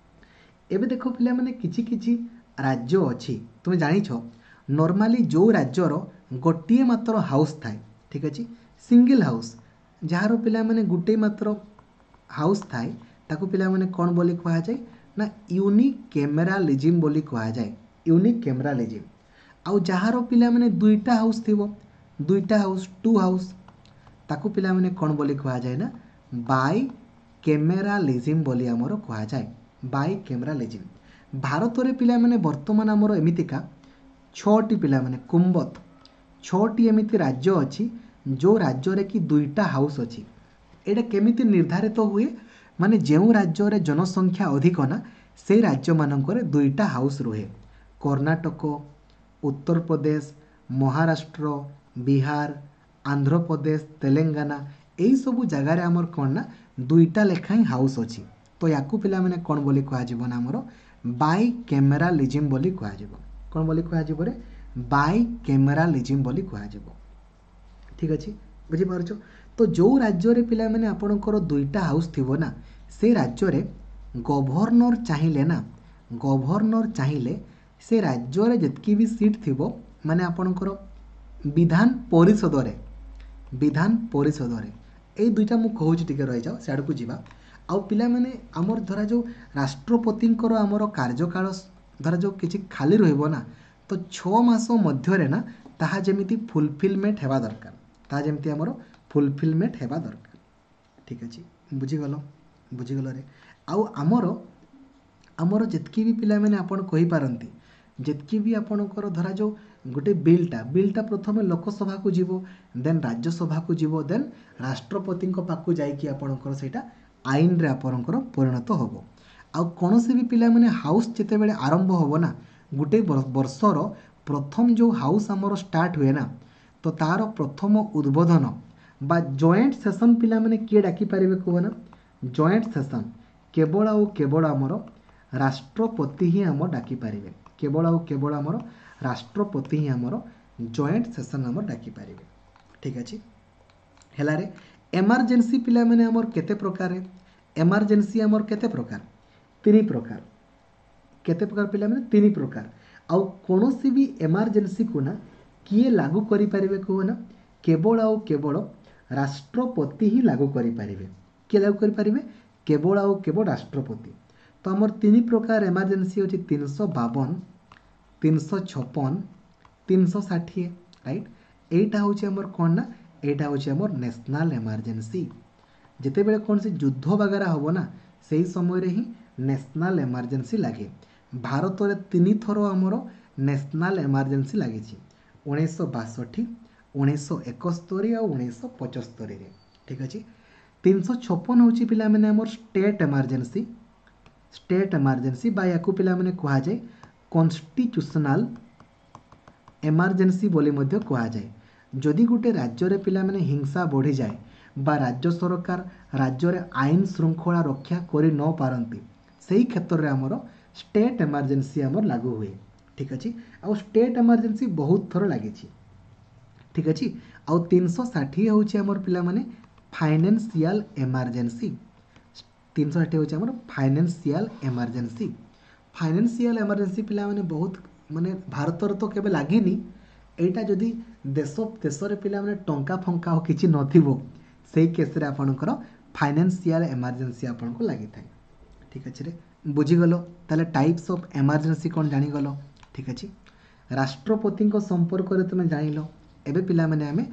ଏବେ ଦେଖ ପିଲାମାନେ କିଛି କିଛି ରାଜ୍ୟ ଅଛି, ତୁମେ ଜାଣିଛ ନର୍ମାଲି ଯେଉଁ ରାଜ୍ୟର ଗୋଟିଏ ମାତ୍ର ହାଉସ୍ ଥାଏ, ଠିକ୍ ଅଛି, ସିଙ୍ଗିଲ୍ ହାଉସ୍, ଯାହାର ପିଲାମାନେ ଗୋଟିଏ ମାତ୍ର ହାଉସ୍ ଥାଏ, ତାକୁ ପିଲାମାନେ କ'ଣ ବୋଲି କୁହାଯାଏ ନା ୟୁନିକ୍ୟାମେରାଲିଜିମ୍ ବୋଲି କୁହାଯାଏ, ୟୁନିକ୍ୟାମେରାଲିଜିମ୍। ଆଉ ଯାହାର ପିଲାମାନେ ଦୁଇଟା ହାଉସ୍ ଥିବ, ଦୁଇଟା ହାଉସ୍, ଟୁ ହାଉସ୍, ତାକୁ ପିଲାମାନେ କ'ଣ ବୋଲି କୁହାଯାଏ ନା ବାଇ କ୍ୟାମେରାଲିଜିମ୍ ବୋଲି ଆମର କୁହାଯାଏ, ବାଇ କ୍ୟାମେରାଲିଜିମ୍। ଭାରତରେ ପିଲାମାନେ ବର୍ତ୍ତମାନ ଆମର ଏମିତିକା ଛଅଟି ପିଲାମାନେ କୁମ୍ବତ ଛଅଟି ଏମିତି ରାଜ୍ୟ ଅଛି ଯେଉଁ ରାଜ୍ୟରେ କି ଦୁଇଟା ହାଉସ୍ ଅଛି। ଏଇଟା କେମିତି ନିର୍ଦ୍ଧାରିତ ହୁଏ? ମାନେ ଯେଉଁ ରାଜ୍ୟରେ ଜନସଂଖ୍ୟା ଅଧିକ ନା, ସେଇ ରାଜ୍ୟମାନଙ୍କରେ ଦୁଇଟା ହାଉସ୍ ରୁହେ। କର୍ଣ୍ଣାଟକ, ଉତ୍ତରପ୍ରଦେଶ, ମହାରାଷ୍ଟ୍ର, ବିହାର, ଆନ୍ଧ୍ରପ୍ରଦେଶ, ତେଲେଙ୍ଗାନା, ଏଇସବୁ ଜାଗାରେ ଆମର କ'ଣ ନା ଦୁଇଟା ଲେଖାଏଁ ହାଉସ୍ ଅଛି। ତ ୟାକୁ ପିଲାମାନେ କ'ଣ ବୋଲି କୁହାଯିବ ନା ଆମର ବାଇ କ୍ୟାମେରାଲିଜିମ୍ ବୋଲି କୁହାଯିବ। କ'ଣ ବୋଲି କୁହାଯିବ ରେ? ବାଇ କ୍ୟାମେରାଲିଜିମ୍ ବୋଲି କୁହାଯିବ। ଠିକ୍ ଅଛି, ବୁଝିପାରୁଛ? ତ ଯେଉଁ ରାଜ୍ୟରେ ପିଲାମାନେ ଆପଣଙ୍କର ଦୁଇଟା ହାଉସ୍ ଥିବ ନା, ସେ ରାଜ୍ୟରେ ଗଭର୍ଣ୍ଣର ଚାହିଁଲେ ନା, ଗଭର୍ଣ୍ଣର ଚାହିଁଲେ ସେ ରାଜ୍ୟରେ ଯେତିକି ବି ସିଟ୍ ଥିବ, ମାନେ ଆପଣଙ୍କର ବିଧାନ ପରିଷଦରେ, ବିଧାନ ପରିଷଦରେ, ଏଇ ଦୁଇଟା ମୁଁ କହୁଛି, ଟିକେ ରହିଯାଅ, ସିଆଡ଼କୁ ଯିବା। ଆଉ ପିଲାମାନେ, ଆମର ଧରାଯାଉ ରାଷ୍ଟ୍ରପତିଙ୍କର ଆମର କାର୍ଯ୍ୟକାଳ ଧରାଯାଉ କିଛି ଖାଲି ରହିବ ନା, ତ ଛଅ ମାସ ମଧ୍ୟରେ ନା ତାହା ଯେମିତି ଫୁଲଫିଲମେଣ୍ଟ ହେବା ଦରକାର, ତାହା ଯେମିତି ଆମର ଫୁଲଫିଲମେଣ୍ଟ ହେବା ଦରକାର। ଠିକ୍ ଅଛି, ବୁଝିଗଲ? ବୁଝିଗଲରେ? ଆଉ ଆମର ଆମର ଯେତିକି ବି ପିଲାମାନେ ଆପଣ କହିପାରନ୍ତି, ଯେତିକି ବି ଆପଣଙ୍କର ଧରାଯାଉ ଗୋଟେ ବିଲ୍ଟା ବିଲ୍ଟା ପ୍ରଥମେ ଲୋକସଭାକୁ ଯିବ, ଦେନ୍ ରାଜ୍ୟସଭାକୁ ଯିବ, ଦେନ୍ ରାଷ୍ଟ୍ରପତିଙ୍କ ପାଖକୁ ଯାଇକି ଆପଣଙ୍କର ସେଇଟା ଆଇନରେ ଆପଣଙ୍କର ପରିଣତ ହେବ। ଆଉ କୌଣସି ବି ପିଲାମାନେ ହାଉସ୍ ଯେତେବେଳେ ଆରମ୍ଭ ହେବ ନା, ଗୋଟେ ବର୍ଷର ପ୍ରଥମ ଯେଉଁ ହାଉସ୍ ଆମର ଷ୍ଟାର୍ଟ ହୁଏ ନା, ତ ତା'ର ପ୍ରଥମ ଉଦ୍ବୋଧନ ବା ଜଏଣ୍ଟ ସେସନ୍ ପିଲାମାନେ କିଏ ଡାକିପାରିବେ କୁହ ନା? ଜଏଣ୍ଟ ସେସନ୍ କେବଳ ଆଉ କେବଳ ଆମର ରାଷ୍ଟ୍ରପତି ହିଁ ଆମର ଡାକିପାରିବେ। କେବଳ ଆଉ କେବଳ ଆମର ରାଷ୍ଟ୍ରପତି ହିଁ ଆମର ଜଏଣ୍ଟ ସେସନ୍ ଆମର ଡାକିପାରିବେ। ଠିକ୍ ଅଛି, ହେଲାରେ? ଏମର୍ଜେନ୍ସି ପିଲାମାନେ ଆମର କେତେ ପ୍ରକାର? ଏମର୍ଜେନ୍ସି ଆମର କେତେ ପ୍ରକାର? ତିନି ପ୍ରକାର। କେତେ ପ୍ରକାର ପିଲାମାନେ? ତିନି ପ୍ରକାର। ଆଉ କୌଣସି ବି ଏମର୍ଜେନ୍ସିକୁ ନା କିଏ ଲାଗୁ କରିପାରିବେ କୁହ ନା? କେବଳ ଆଉ କେବଳ ରାଷ୍ଟ୍ରପତି ହିଁ ଲାଗୁ କରିପାରିବେ। କିଏ ଲାଗୁ କରିପାରିବେ? କେବଳ ଆଉ କେବଳ ରାଷ୍ଟ୍ରପତି। ତ ଆମର ତିନି ପ୍ରକାର ଏମର୍ଜେନ୍ସି ଅଛି, ତିନିଶହ ବାବନ, ତିନିଶହ ଛପନ, ତିନିଶହ ଷାଠିଏ, ରାଇଟ୍? ଏଇଟା ହେଉଛି ଆମର କ'ଣ ନା, ଏଇଟା ହେଉଛି ଆମର ନ୍ୟାସନାଲ୍ ଏମର୍ଜେନ୍ସି। ଯେତେବେଳେ କୌଣସି ଯୁଦ୍ଧ ବଗେରା ହେବ ନା, ସେଇ ସମୟରେ ହିଁ ନ୍ୟାସନାଲ୍ ଏମର୍ଜେନ୍ସି ଲାଗେ। ଭାରତରେ ତିନିଥର ଆମର ନ୍ୟାସନାଲ୍ ଏମର୍ଜେନ୍ସି ଲାଗିଛି, ଉଣେଇଶହ ବାଷଠି, ଉଣେଇଶହ ଏକସ୍ତରୀ ଆଉ ଉଣେଇଶହ ପଚସ୍ତରୀରେ। ଠିକ୍ ଅଛି। ତିନିଶହ ଛପନ ହେଉଛି ପିଲାମାନେ ଆମର ଷ୍ଟେଟ୍ ଏମର୍ଜେନ୍ସି, ଷ୍ଟେଟ୍ ଏମର୍ଜେନ୍ସି ବା ୟାକୁ ପିଲାମାନେ କୁହାଯାଏ କନଷ୍ଟିଚ୍ୟୁସନାଲ୍ ଏମର୍ଜେନ୍ସି ବୋଲି ମଧ୍ୟ କୁହାଯାଏ। ଯଦି ଗୋଟେ ରାଜ୍ୟରେ ପିଲାମାନେ ହିଂସା ବଢ଼ିଯାଏ ବା ରାଜ୍ୟ ସରକାର ରାଜ୍ୟରେ ଆଇନ ଶୃଙ୍ଖଳା ରକ୍ଷା କରି ନ ପାରନ୍ତି, ସେଇ କ୍ଷେତ୍ରରେ ଆମର ଷ୍ଟେଟ୍ ଏମର୍ଜେନ୍ସି ଆମର ଲାଗୁ ହୁଏ। ଠିକ୍ ଅଛି। ଆଉ ଷ୍ଟେଟ୍ ଏମର୍ଜେନ୍ସି ବହୁତ ଥର ଲାଗିଛି। ଠିକ୍ ଅଛି। ଆଉ ତିନିଶହ ଷାଠିଏ ହେଉଛି ଆମର ପିଲାମାନେ ଫାଇନାନ୍ସିଆଲ ଏମର୍ଜେନ୍ସି। ତିନିଶହ ଷାଠିଏ ହେଉଛି ଆମର ଫାଇନାନ୍ସିଆଲ ଏମର୍ଜେନ୍ସି। ଫାଇନାନ୍ସିଆଲ ଏମର୍ଜେନ୍ସି ପିଲାମାନେ ବହୁତ ମାନେ ଭାରତରେ ତ କେବେ ଲାଗିନି ଏଇଟା। ଯଦି ଦେଶ ଦେଶରେ ପିଲାମାନେ ଟଙ୍କା ଫଙ୍କା ଆଉ କିଛି ନଥିବ, ସେଇ କେସ୍ରେ ଆପଣଙ୍କର ଫାଇନାନ୍ସିଆଲ ଏମର୍ଜେନ୍ସି ଆପଣଙ୍କୁ ଲାଗିଥାଏ। ଠିକ୍ ଅଛି ରେ, ବୁଝିଗଲ? ତାହେଲେ ଟାଇପ୍ସ ଅଫ୍ ଏମର୍ଜେନ୍ସି କ'ଣ ଜାଣିଗଲ। ଠିକ୍ ଅଛି, ରାଷ୍ଟ୍ରପତିଙ୍କ ସମ୍ପର୍କରେ ତୁମେ ଜାଣିଲ। ଏବେ ପିଲାମାନେ ଆମେ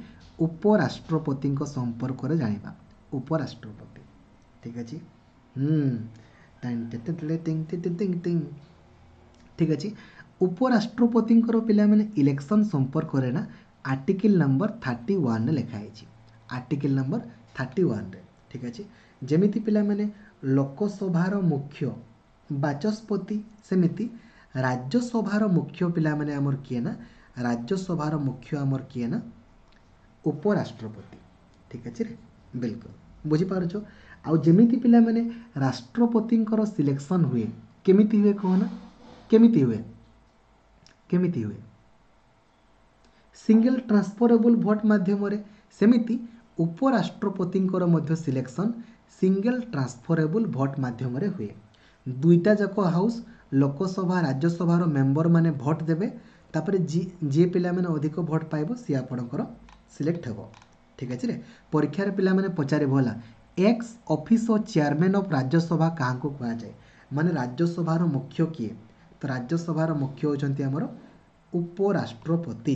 ଉପରାଷ୍ଟ୍ରପତିଙ୍କ ସମ୍ପର୍କରେ ଜାଣିବା। ଉପରାଷ୍ଟ୍ରପତି, ଠିକ୍ ଅଛି। ହୁଁ ଠିକ୍ ଅଛି। ଉପରାଷ୍ଟ୍ରପତିଙ୍କର ପିଲାମାନେ ଇଲେକ୍ସନ୍ ସମ୍ପର୍କରେ ନା ଆର୍ଟିକିଲ୍ ନମ୍ବର ଥାର୍ଟି ୱାନ୍ରେ ଲେଖା ହେଇଛି, ଆର୍ଟିକିଲ୍ ନମ୍ବର ଥାର୍ଟି ୱାନ୍ରେ। ଠିକ୍ ଅଛି। ଯେମିତି ପିଲାମାନେ ଲୋକସଭାର ମୁଖ୍ୟ ବାଚସ୍ପତି, ସେମିତି ରାଜ୍ୟସଭାର ମୁଖ୍ୟ ପିଲାମାନେ ଆମର କିଏ ନା, ରାଜ୍ୟସଭାର ମୁଖ୍ୟ ଆମର କିଏ ନା ଉପରାଷ୍ଟ୍ରପତି। ଠିକ୍ ଅଛି ରେ, ବିଲକୁଲ ବୁଝିପାରୁଛ? ଆଉ ଯେମିତି ପିଲାମାନେ ରାଷ୍ଟ୍ରପତିଙ୍କର ସିଲେକ୍ସନ୍ ହୁଏ, କେମିତି ହୁଏ କୁହ ନା? କେମିତି ହୁଏ? କେମିତି ହୁଏ? ସିଙ୍ଗଲ ଟ୍ରାନ୍ସଫରେବୁଲ୍ ଭୋଟ୍ ମାଧ୍ୟମରେ। ସେମିତି ଉପରାଷ୍ଟ୍ରପତିଙ୍କର ମଧ୍ୟ ସିଲେକ୍ସନ୍ ସିଙ୍ଗଲ ଟ୍ରାନ୍ସଫରେବୁଲ୍ ଭୋଟ୍ ମାଧ୍ୟମରେ ହୁଏ। ଦୁଇଟା ଯାକ ହାଉସ୍, ଲୋକସଭା ରାଜ୍ୟସଭାର ମେମ୍ବରମାନେ ଭୋଟ୍ ଦେବେ, ତାପରେ ଯିଏ ପିଲାମାନେ ଅଧିକ ଭୋଟ୍ ପାଇବ ସିଏ ଆପଣଙ୍କର ସିଲେକ୍ଟ ହେବ। ଠିକ୍ ଅଛି ରେ? ପରୀକ୍ଷାରେ ପିଲାମାନେ ପଚାରିବ ହେଲା, ଏକ୍ସ ଅଫିସୋ ଚେୟାରମ୍ୟାନ୍ ଅଫ୍ ରାଜ୍ୟସଭା କାହାକୁ କୁହାଯାଏ? ମାନେ ରାଜ୍ୟସଭାର ମୁଖ୍ୟ କିଏ? ତ ରାଜ୍ୟସଭାର ମୁଖ୍ୟ ହେଉଛନ୍ତି ଆମର ଉପରାଷ୍ଟ୍ରପତି।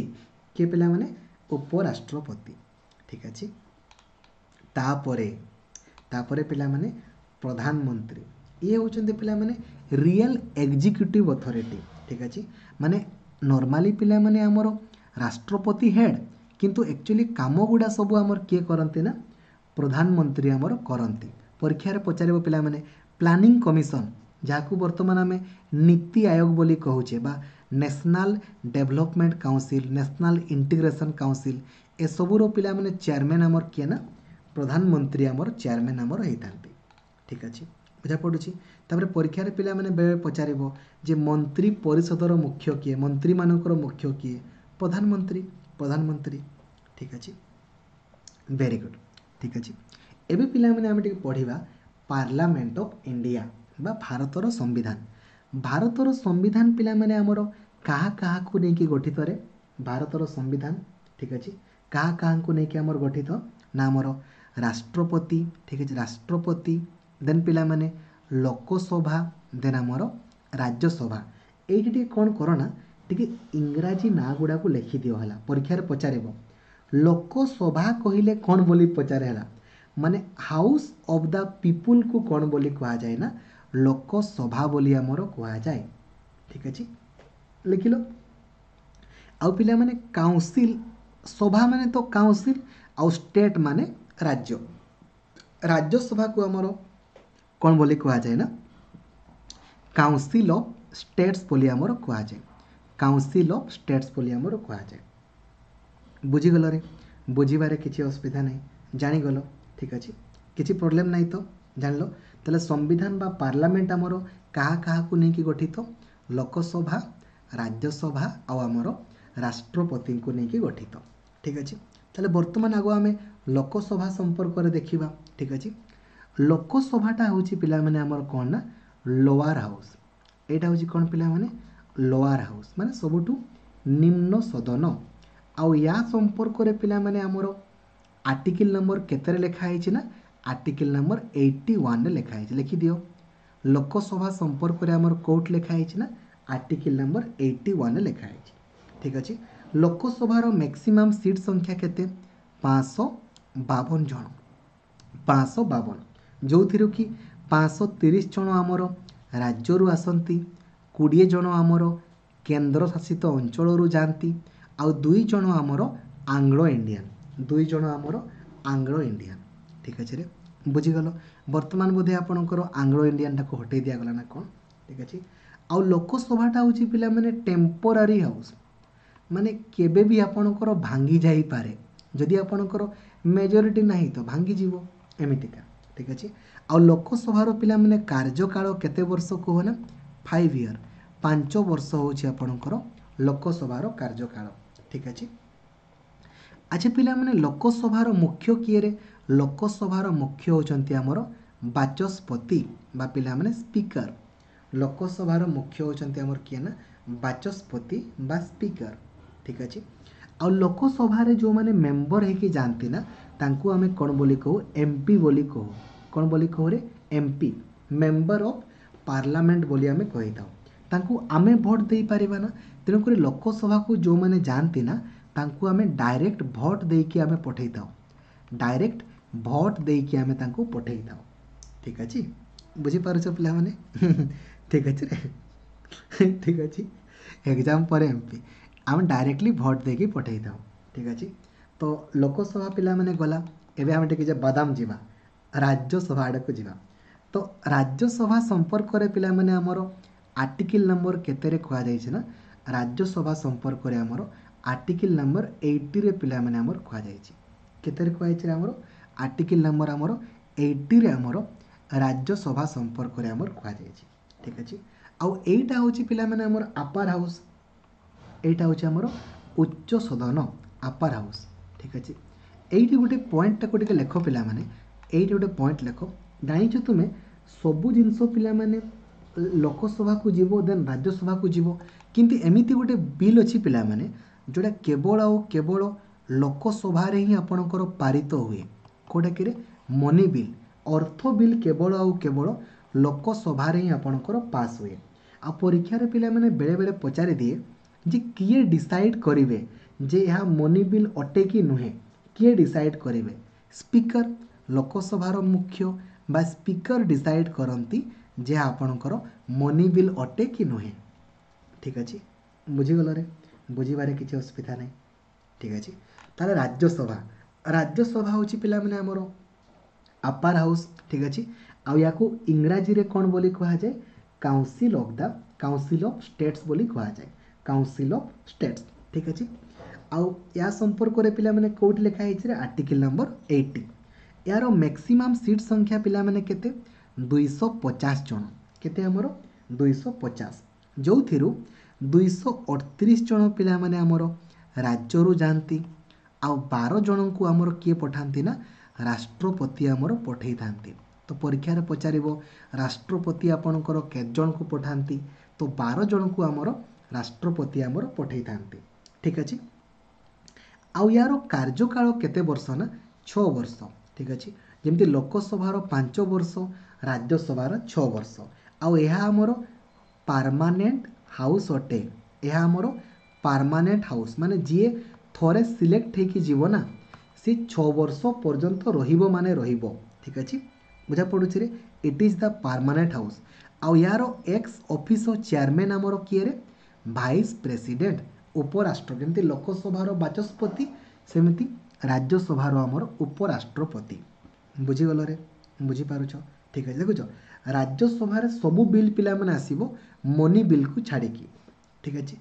କିଏ ପିଲାମାନେ? ଉପରାଷ୍ଟ୍ରପତି। ଠିକ୍ ଅଛି। ତାପରେ ତାପରେ ପିଲାମାନେ ପ୍ରଧାନମନ୍ତ୍ରୀ, ଇଏ ହେଉଛନ୍ତି ପିଲାମାନେ ରିଏଲ୍ ଏକ୍ଜିକ୍ୟୁଟିଭ୍ ଅଥରିଟି। ଠିକ୍ ଅଛି। ମାନେ ନର୍ମାଲି ପିଲାମାନେ ଆମର ରାଷ୍ଟ୍ରପତି ହେଡ଼୍, କିନ୍ତୁ ଆକ୍ଚୁଆଲି କାମ ଗୁଡ଼ା ସବୁ ଆମର କିଏ କରନ୍ତି ନା ପ୍ରଧାନମନ୍ତ୍ରୀ ଆମର କରନ୍ତି। ପରୀକ୍ଷାରେ ପଚାରିବ ପିଲାମାନେ, ପ୍ଲାନିଂ କମିଶନ, ଯାହାକୁ ବର୍ତ୍ତମାନ ଆମେ ନୀତି ଆୟୋଗ ବୋଲି କହୁଛେ, ବା national development council, national integration council, ଏସବୁର ପିଲାମାନେ ଚେୟାରମ୍ୟାନ୍ ଆମର କିଏ ନା ପ୍ରଧାନମନ୍ତ୍ରୀ ଆମର ଚେୟାରମ୍ୟାନ୍ ଆମର ହେଇଥାନ୍ତି। ଠିକ୍ ଅଛି, ବୁଝା ପଡ଼ୁଛି? ତାପରେ ପରୀକ୍ଷାରେ ପିଲାମାନେ ବେଳେବେଳେ ପଚାରିବ ଯେ ମନ୍ତ୍ରୀ ପରିଷଦର ମୁଖ୍ୟ କିଏ, ମନ୍ତ୍ରୀମାନଙ୍କର ମୁଖ୍ୟ କିଏ? ପ୍ରଧାନମନ୍ତ୍ରୀ, ପ୍ରଧାନମନ୍ତ୍ରୀ। ଠିକ୍ ଅଛି, ଭେରି ଗୁଡ୍। ଠିକ୍ ଅଛି, ଏବେ ପିଲାମାନେ ଆମେ ଟିକେ ପଢ଼ିବା ପାର୍ଲାମେଣ୍ଟ ଅଫ୍ ଇଣ୍ଡିଆ ବା ଭାରତର ସମ୍ବିଧାନ। ଭାରତର ସମ୍ବିଧାନ ପିଲାମାନେ ଆମର କାହା କାହାକୁ ନେଇକି ଗଠିତରେ ଭାରତର ସମ୍ବିଧାନ? ଠିକ୍ ଅଛି, କାହା କାହାକୁ ନେଇକି ଆମର ଗଠିତ ନା ଆମର ରାଷ୍ଟ୍ରପତି, ଠିକ୍ ଅଛି, ରାଷ୍ଟ୍ରପତି, ଦେନ୍ ପିଲାମାନେ ଲୋକସଭା, ଦେନ୍ ଆମର ରାଜ୍ୟସଭା। ଏଇଠି ଟିକେ କ'ଣ କର ନା, ଟିକେ ଇଂରାଜୀ ନାଁ ଗୁଡ଼ାକୁ ଲେଖିଦିଅ ହେଲା, ପରୀକ୍ଷାରେ ପଚାରିବ। ଲୋକସଭା କହିଲେ କ'ଣ ବୋଲି ପଚାରେ ହେଲା, ମାନେ ହାଉସ୍ ଅଫ୍ the ପିପୁଲକୁ କ'ଣ ବୋଲି କୁହାଯାଏ ନା ଲୋକସଭା ବୋଲି ଆମର କୁହାଯାଏ। ଠିକ୍ ଅଛି, ଲେଖିଲ। ଆଉ ପିଲାମାନେ କାଉନସିଲ୍, ସଭା ମାନେ ତ କାଉନସିଲ୍, ଆଉ ଷ୍ଟେଟ୍ ମାନେ ରାଜ୍ୟ। ରାଜ୍ୟସଭାକୁ ଆମର କ'ଣ ବୋଲି କୁହାଯାଏ ନା କାଉନସିଲ୍ ଅଫ୍ ଷ୍ଟେଟ୍ସ ବୋଲି ଆମର କୁହାଯାଏ। କାଉନସିଲ୍ ଅଫ୍ ଷ୍ଟେଟ୍ସ ବୋଲି ଆମର କୁହାଯାଏ। ବୁଝିଗଲରେ? ବୁଝିବାରେ କିଛି ଅସୁବିଧା ନାହିଁ, ଜାଣିଗଲ? ଠିକ୍ ଅଛି, କିଛି ପ୍ରୋବ୍ଲେମ୍ ନାହିଁ ତ? ଜାଣିଲ? ତାହେଲେ ସମ୍ବିଧାନ ବା ପାର୍ଲାମେଣ୍ଟ ଆମର କାହା କାହାକୁ ନେଇକି ଗଠିତ? ଲୋକସଭା, ରାଜ୍ୟସଭା ଆଉ ଆମର ରାଷ୍ଟ୍ରପତିଙ୍କୁ ନେଇକି ଗଠିତ। ଠିକ୍ ଅଛି, ତାହେଲେ ବର୍ତ୍ତମାନ ଆଗ ଆମେ ଲୋକସଭା ସମ୍ପର୍କରେ ଦେଖିବା। ଠିକ୍ ଅଛି, ଲୋକସଭାଟା ହେଉଛି ପିଲାମାନେ ଆମର କ'ଣ ନା ଲୋୱାର ହାଉସ୍। ଏଇଟା ହେଉଛି କ'ଣ ପିଲାମାନେ? ଲୋୱାର ହାଉସ୍, ମାନେ ସବୁଠୁ ନିମ୍ନ ସଦନ। ଆଉ ୟା ସମ୍ପର୍କରେ ପିଲାମାନେ ଆମର ଆର୍ଟିକିଲ୍ ନମ୍ବର କେତେରେ ଲେଖା ହେଇଛି ନା ଆର୍ଟିକିଲ୍ ନମ୍ବର ଏଇଟି ୱାନ୍ରେ ଲେଖା ହେଇଛି। ଲେଖିଦିଅ, ଲୋକସଭା ସମ୍ପର୍କରେ ଆମର କୋଉଠି ଲେଖା ହେଇଛି ନା ଆର୍ଟିକିଲ୍ ନମ୍ବର ଏଇଟି ୱାନ୍ରେ ଲେଖା ହେଇଛି। ଠିକ୍ ଅଛି, ଲୋକସଭାର ମ୍ୟାକ୍ସିମମ୍ ସିଟ୍ ସଂଖ୍ୟା କେତେ? ପାଞ୍ଚଶହ ବାବନ ଜଣ, ପାଞ୍ଚଶହ ବାବନ, ଯେଉଁଥିରୁ କି ପାଞ୍ଚଶହ ତିରିଶ ଜଣ ଆମର ରାଜ୍ୟରୁ ଆସନ୍ତି, କୋଡ଼ିଏ ଜଣ ଆମର କେନ୍ଦ୍ରଶାସିତ ଅଞ୍ଚଳରୁ ଯାଆନ୍ତି, ଆଉ ଦୁଇ ଜଣ ଆମର ଆଙ୍ଗ୍ଲୋ ଇଣ୍ଡିଆନ୍, ଦୁଇ ଜଣ ଆମର ଆଙ୍ଗ୍ଲୋ ଇଣ୍ଡିଆନ୍। ଠିକ୍ ଅଛି ରେ, ବୁଝିଗଲ? ବର୍ତ୍ତମାନ ବୋଧେ ଆପଣଙ୍କର ଆଙ୍ଗ୍ଲୋ ଇଣ୍ଡିଆନ୍ଟାକୁ ହଟେଇ ଦିଆଗଲା ନା କ'ଣ? ଠିକ୍ ଅଛି, ଆଉ ଲୋକସଭାଟା ହେଉଛି ପିଲାମାନେ ଟେମ୍ପୋରାରୀ ହାଉସ୍, ମାନେ କେବେ ବି ଆପଣଙ୍କର ଭାଙ୍ଗି ଯାଇପାରେ। ଯଦି ଆପଣଙ୍କର ମେଜରିଟି ନାହିଁ ତ ଭାଙ୍ଗିଯିବ, ଏମିତିକା। ଠିକ୍ ଅଛି, ଆଉ ଲୋକସଭାର ପିଲାମାନେ କାର୍ଯ୍ୟକାଳ କେତେ ବର୍ଷ କୁହ ନା ଫାଇଭ୍ ଇୟର୍, ପାଞ୍ଚ ବର୍ଷ ହେଉଛି ଆପଣଙ୍କର ଲୋକସଭାର କାର୍ଯ୍ୟକାଳ। ଠିକ୍ ଅଛି, ଆଚ୍ଛା ପିଲାମାନେ ଲୋକସଭାର ମୁଖ୍ୟ କିଏରେ? ଲୋକସଭାର ମୁଖ୍ୟ ହେଉଛନ୍ତି ଆମର ବାଚସ୍ପତି ବା ପିଲାମାନେ ସ୍ପିକର। ଲୋକସଭାର ମୁଖ୍ୟ ହେଉଛନ୍ତି ଆମର କିଏ ନା ବାଚସ୍ପତି ବା ସ୍ପିକର। ଠିକ୍ ଅଛି, ଆଉ ଲୋକସଭାରେ ଯେଉଁମାନେ ମେମ୍ବର ହେଇକି ଯାଆନ୍ତି ନା ତାଙ୍କୁ ଆମେ କ'ଣ ବୋଲି କହୁ? ଏମ୍ ପି ବୋଲି କହୁ। କ'ଣ ବୋଲି କହୁରେ? M P, member of parliament ବୋଲି ଆମେ କହିଥାଉ। ତାଙ୍କୁ ଆମେ ଭୋଟ ଦେଇପାରିବା ନା, ତେଣୁକରି ଲୋକସଭାକୁ ଯେଉଁମାନେ ଯାଆନ୍ତି ନା ତାଙ୍କୁ ଆମେ ଡାଇରେକ୍ଟ ଭୋଟ ଦେଇକି ଆମେ ପଠେଇଥାଉ, ଡାଇରେକ୍ଟ ଭୋଟ ଦେଇକି ଆମେ ତାଙ୍କୁ ପଠେଇଥାଉ। ଠିକ୍ ଅଛି, ବୁଝିପାରୁଛ ପିଲାମାନେ? ଠିକ୍ ଅଛି ରେ, ଠିକ୍ ଅଛି। ଏକ୍ଜାମ୍ ପରେ ଏମ୍ ପି ଆମେ ଡାଇରେକ୍ଟଲି ଭୋଟ ଦେଇକି ପଠେଇଥାଉ। ଠିକ୍ ଅଛି, ତ ଲୋକସଭା ପିଲାମାନେ ଗଲା। ଏବେ ଆମେ ଟିକେ ଯେ ବାଦାମ ଯିବା, ରାଜ୍ୟସଭା ଆଡ଼କୁ ଯିବା। ତ ରାଜ୍ୟସଭା ସମ୍ପର୍କରେ ପିଲାମାନେ ଆମର ଆର୍ଟିକିଲ୍ ନମ୍ବର କେତେରେ କୁହାଯାଇଛି ନା ରାଜ୍ୟସଭା ସମ୍ପର୍କରେ ଆମର ଆର୍ଟିକିଲ୍ ନମ୍ବର ଏଇଟିରେ ପିଲାମାନେ ଆମର କୁହାଯାଇଛି। କେତେରେ କୁହାଯାଇଛି ଆମର? ଆର୍ଟିକିଲ୍ ନମ୍ବର ଆମର ଏଇଟିରେ ଆମର ରାଜ୍ୟସଭା ସମ୍ପର୍କରେ ଆମର କୁହାଯାଇଛି। ଠିକ୍ ଅଛି, ଆଉ ଏଇଟା ହେଉଛି ପିଲାମାନେ ଆମର ଆପାର ହାଉସ୍, ଏଇଟା ହେଉଛି ଆମର ଉଚ୍ଚ ସଦନ, ଆପାର ହାଉସ୍। ଠିକ୍ ଅଛି, ଏଇଠି ଗୋଟେ ପଏଣ୍ଟଟାକୁ ଟିକେ ଲେଖ ପିଲାମାନେ, ଏଇଠି ଗୋଟେ ପଏଣ୍ଟ ଲେଖ। ଜାଣିଛ ତୁମେ ସବୁ ଜିନିଷ ପିଲାମାନେ ଲୋକସଭାକୁ ଯିବ, ଦେନ୍ ରାଜ୍ୟସଭାକୁ ଯିବ, କିନ୍ତୁ ଏମିତି ଗୋଟେ ବିଲ୍ ଅଛି ପିଲାମାନେ ଯେଉଁଟା କେବଳ ଆଉ କେବଳ ଲୋକସଭାରେ ହିଁ ଆପଣଙ୍କର ପାରିତ ହୁଏ। କେଉଁଟାକିରେ? ମନି ବିଲ୍, ଅର୍ଥ ବିଲ୍ କେବଳ ଆଉ କେବଳ ଲୋକସଭାରେ ହିଁ ଆପଣଙ୍କର ପାସ୍ ହୁଏ। ଆଉ ପରୀକ୍ଷାରେ ପିଲାମାନେ ବେଳେବେଳେ ପଚାରି ଦିଏ ଯେ କିଏ ଡିସାଇଡ଼୍ କରିବେ ଯେ ଏହା ମନି ବିଲ୍ ଅଟେ କି ନୁହେଁ, କିଏ ଡିସାଇଡ଼୍ କରିବେ? ସ୍ପିକର, ଲୋକସଭାର ମୁଖ୍ୟ ବା ସ୍ପିକର ଡିସାଇଡ଼୍ କରନ୍ତି ଯେ ଆପଣଙ୍କର ମନି ବିଲ୍ ଅଟେ କି ନୁହେଁ। ଠିକ୍ ଅଛି, ବୁଝିଗଲରେ? ବୁଝିବାରେ କିଛି ଅସୁବିଧା ନାହିଁ। ଠିକ୍ ଅଛି, ତାହେଲେ ରାଜ୍ୟସଭା, ରାଜ୍ୟସଭା ହେଉଛି ପିଲାମାନେ ଆମର ଆପାର ହାଉସ୍। ଠିକ୍ ଅଛି, ଆଉ ୟାକୁ ଇଂରାଜୀରେ କ'ଣ ବୋଲି କୁହାଯାଏ? Council of the council of states ବୋଲି କୁହାଯାଏ, କାଉନସିଲ୍ ଅଫ୍ ଷ୍ଟେଟ୍ସ। ଠିକ୍ ଅଛି, ଆଉ ୟା ସମ୍ପର୍କରେ ପିଲାମାନେ କେଉଁଠି ଲେଖା ହେଇଛି? ଆର୍ଟିକିଲ୍ ନମ୍ବର ଏଇଟି। ଏହାର ମ୍ୟାକ୍ସିମମ୍ ସିଟ୍ ସଂଖ୍ୟା ପିଲାମାନେ କେତେ? ଦୁଇଶହ ପଚାଶ ଜଣ। କେତେ ଆମର? ଦୁଇଶହ ପଚାଶ, ଯେଉଁଥିରୁ ଦୁଇଶହ ଅଠତିରିଶ ଜଣ ପିଲାମାନେ ଆମର ରାଜ୍ୟରୁ ଯାଆନ୍ତି, ଆଉ ବାର ଜଣଙ୍କୁ ଆମର କିଏ ପଠାନ୍ତି ନା ରାଷ୍ଟ୍ରପତି ଆମର ପଠେଇଥାନ୍ତି। ତ ପରୀକ୍ଷାରେ ପଚାରିବ ରାଷ୍ଟ୍ରପତି ଆପଣଙ୍କର କେତେ ଜଣଙ୍କୁ ପଠାନ୍ତି? ତ ବାର ଜଣଙ୍କୁ ଆମର ରାଷ୍ଟ୍ରପତି ଆମର ପଠାଇଥାନ୍ତି ଠିକ୍ ଅଛି ଆଉ ୟାର କାର୍ଯ୍ୟକାଳ କେତେ ବର୍ଷ ନା ଛଅ ବର୍ଷ ଠିକ୍ ଅଛି ଯେମିତି ଲୋକସଭାର ପାଞ୍ଚ ବର୍ଷ ରାଜ୍ୟସଭାର ଛଅ ବର୍ଷ ଆଉ ଏହା ଆମର ପାର୍ମାନେଣ୍ଟ ହାଉସ୍ ଅଟେ ଏହା ଆମର ପାର୍ମାନେଣ୍ଟ ହାଉସ୍ ମାନେ ଯିଏ ଥରେ ସିଲେକ୍ଟ ହେଇକି ଯିବ ନା ସେ ଛଅ ବର୍ଷ ପର୍ଯ୍ୟନ୍ତ ରହିବ ମାନେ ରହିବ ଠିକ୍ ଅଛି ବୁଝା ପଡ଼ୁଛି ରେ It is the permanent house ଆଉ ୟାର ଏକ୍ସ ଅଫିସୋ ଚେୟାରମ୍ୟାନ୍ ଆମର କିଏ ରେ ଭାଇସ୍ ପ୍ରେସିଡେଣ୍ଟ ଉପରାଷ୍ଟ୍ର ଯେମିତି ଲୋକସଭାର ବାଚସ୍ପତି ସେମିତି ରାଜ୍ୟସଭାର ଆମର ଉପରାଷ୍ଟ୍ରପତି ବୁଝିଗଲରେ ବୁଝିପାରୁଛ ଠିକ୍ ଅଛି ଦେଖୁଛ ରାଜ୍ୟସଭାରେ ସବୁ ବିଲ୍ ପିଲାମାନେ ଆସିବ ମନି ବିଲ୍କୁ ଛାଡ଼ିକି ଠିକ୍ ଅଛି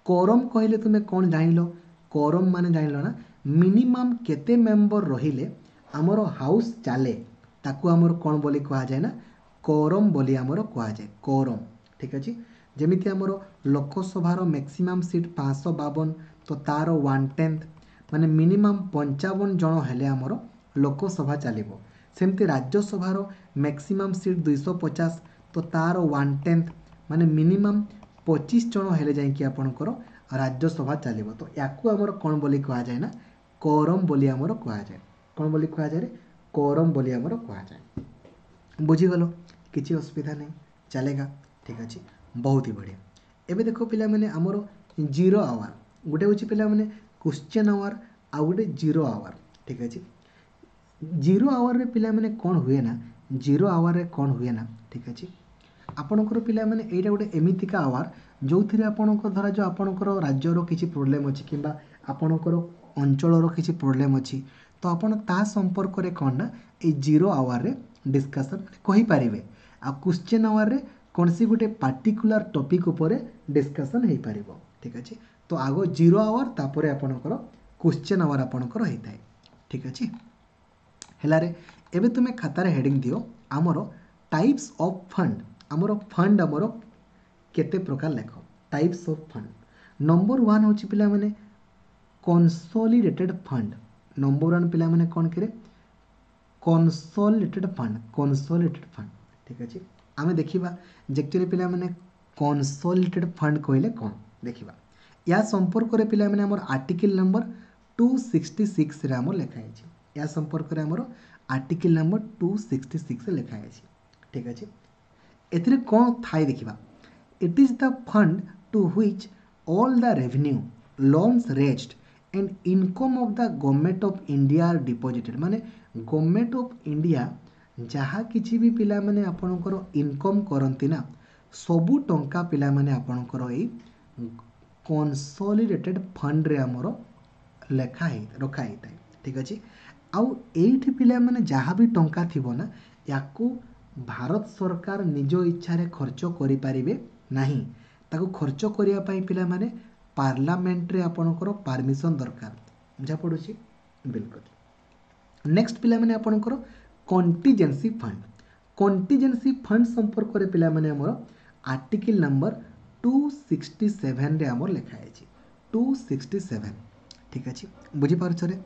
କୋରମ୍ କହିଲେ ତୁମେ କ'ଣ ଜାଣିଲ କୋରମ୍ ମାନେ ଜାଣିଲ ନା ମିନିମମ୍ କେତେ ମେମ୍ବର ରହିଲେ ଆମର ହାଉସ୍ ଚାଲେ ତାକୁ ଆମର କ'ଣ ବୋଲି କୁହାଯାଏ ନା କୋରମ୍ ବୋଲି ଆମର କୁହାଯାଏ କୋରମ୍ ଠିକ୍ ଅଛି ଯେମିତି ଆମର ଲୋକସଭାର ମ୍ୟାକ୍ସିମମ୍ ସିଟ୍ ପାଞ୍ଚଶହ ବାବନ ତ ତାର ୱାନ୍ ଟେନ୍ଥ ମାନେ ମିନିମମ୍ ପଞ୍ଚାବନ ଜଣ ହେଲେ ଆମର ଲୋକସଭା ଚାଲିବ ସେମିତି ରାଜ୍ୟସଭାର ମ୍ୟାକ୍ସିମମ୍ ସିଟ୍ ଦୁଇଶହ ପଚାଶ ତ ତାର ୱାନ୍ ଟେନ୍ଥ ମାନେ ମିନିମମ୍ ପଚିଶ ଜଣ ହେଲେ ଯାଇକି ଆପଣଙ୍କର ରାଜ୍ୟସଭା ଚାଲିବ ତ ୟାକୁ ଆମର କ'ଣ ବୋଲି କୁହାଯାଏ ନା କୋରମ୍ ବୋଲି ଆମର କୁହାଯାଏ କ'ଣ ବୋଲି କୁହାଯାଏ କୋରମ୍ ବୋଲି ଆମର କୁହାଯାଏ ବୁଝିଗଲ କିଛି ଅସୁବିଧା ନାହିଁ चलेगा ଠିକ୍ ଅଛି ବହୁତ ହି ବଢ଼ିଆ ଏବେ ଦେଖ ପିଲାମାନେ ଆମର ଜିରୋ ଆୱାର ଗୋଟେ ହେଉଛି ପିଲାମାନେ କ୍ୱେଶ୍ଚନ୍ ଆୱାର ଆଉ ଗୋଟେ ଜିରୋ ଆୱାର ଠିକ୍ ଅଛି ଜିରୋ ଆୱାରରେ ପିଲାମାନେ କ'ଣ ହୁଏ ନା ଜିରୋ ଆୱାରରେ କ'ଣ ହୁଏ ନା ଠିକ୍ ଅଛି ଆପଣଙ୍କର ପିଲାମାନେ ଏଇଟା ଗୋଟେ ଏମିତିକା ଆୱାର ଯେଉଁଥିରେ ଆପଣଙ୍କ ଧରାଯାଉ ଆପଣଙ୍କର ରାଜ୍ୟର କିଛି ପ୍ରୋବ୍ଲେମ୍ ଅଛି କିମ୍ବା ଆପଣଙ୍କର ଅଞ୍ଚଳର କିଛି ପ୍ରୋବ୍ଲେମ୍ ଅଛି ତ ଆପଣ ତା ସମ୍ପର୍କରେ କ'ଣ ନା ଏଇ ଜିରୋ ଆୱାରରେ ଡିସ୍କସନ୍ କହିପାରିବେ ଆଉ କ୍ୱେଶ୍ଚନ୍ ଆୱାରରେ କୌଣସି ଗୋଟେ ପାର୍ଟିକୁଲାର ଟପିକ୍ ଉପରେ ଡିସ୍କସନ୍ ହେଇପାରିବ ଠିକ୍ ଅଛି ତ ଆଗ ଜିରୋ ଆୱାର ତାପରେ ଆପଣଙ୍କର କ୍ୱେଶ୍ଚନ୍ ଆୱାର ଆପଣଙ୍କର ହେଇଥାଏ ଠିକ୍ ଅଛି ହେଲାରେ ଏବେ ତୁମେ ଖାତାରେ ହେଡ଼ିଂ ଦିଅ ଆମର ଟାଇପ୍ସ ଅଫ୍ ଫଣ୍ଡ ଆମର ଫଣ୍ଡ ଆମର କେତେ ପ୍ରକାର ଲେଖ types of fund number one ହେଉଛି ପିଲାମାନେ କନସଲିଡେଟେଡ୍ ଫଣ୍ଡ ନମ୍ବର ୱାନ୍ ପିଲାମାନେ କ'ଣ କିରେ କନସଲିଡେଟେଡ୍ ଫଣ୍ଡ କନସଲିଡେଟେଡ୍ ଫଣ୍ଡ ଠିକ୍ ଅଛି ଆମେ ଦେଖିବା ଯେ ଆକ୍ଚୁଆଲି ପିଲାମାନେ କନସଲିଡେଟେଡ୍ ଫଣ୍ଡ କହିଲେ କ'ଣ ଦେଖିବା ୟା ସମ୍ପର୍କରେ ପିଲାମାନେ ଆମର ଆର୍ଟିକିଲ୍ ନମ୍ବର ଟୁ ସିକ୍ସଟି ସିକ୍ସରେ ଆମର ଲେଖା ହେଇଛି ୟା ସମ୍ପର୍କରେ ଆମର ଆର୍ଟିକିଲ୍ ନମ୍ବର ଟୁ ସିକ୍ସଟି ସିକ୍ସରେ ଲେଖା ହେଇଛି ଠିକ୍ ଅଛି ଏଥିରେ କ'ଣ ଥାଏ ଦେଖିବା It is the fund to which all the revenue loans raised and income of the Government of India are deposited ମାନେ ଗଭର୍ଣ୍ଣମେଣ୍ଟ ଅଫ୍ ଇଣ୍ଡିଆ ଯାହା କିଛି ବି ପିଲାମାନେ ଆପଣଙ୍କର ଇନକମ୍ କରନ୍ତି ନା ସବୁ ଟଙ୍କା ପିଲାମାନେ ଆପଣଙ୍କର ଏଇ କନସଲିଡେଟେଡ୍ ଫଣ୍ଡରେ ଆମର ଲେଖା ହେଇ ରଖା ହେଇଥାଏ ଠିକ୍ ଅଛି ଆଉ ଏଇଠି ପିଲାମାନେ ଯାହା ବି ଟଙ୍କା ଥିବ ନା ୟାକୁ ଭାରତ ସରକାର ନିଜ ଇଚ୍ଛାରେ ଖର୍ଚ୍ଚ କରିପାରିବେ ନାହିଁ ତାକୁ ଖର୍ଚ୍ଚ କରିବା ପାଇଁ ପିଲାମାନେ ପାର୍ଲାମେଣ୍ଟରେ ଆପଣଙ୍କର ପାରମିସନ୍ ଦରକାର ବୁଝା ପଡ଼ୁଛି ବିଲକୁଲ ନେକ୍ସଟ ପିଲାମାନେ ଆପଣଙ୍କର କଣ୍ଟିଜେନ୍ସି ଫଣ୍ଡ କଣ୍ଟିଜେନ୍ସି ଫଣ୍ଡ ସମ୍ପର୍କରେ ପିଲାମାନେ ଆମର ଆର୍ଟିକିଲ୍ ନମ୍ବର ଟୁ ସିକ୍ସଟି ସେଭେନରେ ଆମର ଲେଖା ହେଇଛି ଟୁ ସିକ୍ସଟି ସେଭେନ୍ ଠିକ୍ ଅଛି ବୁଝିପାରୁଛରେ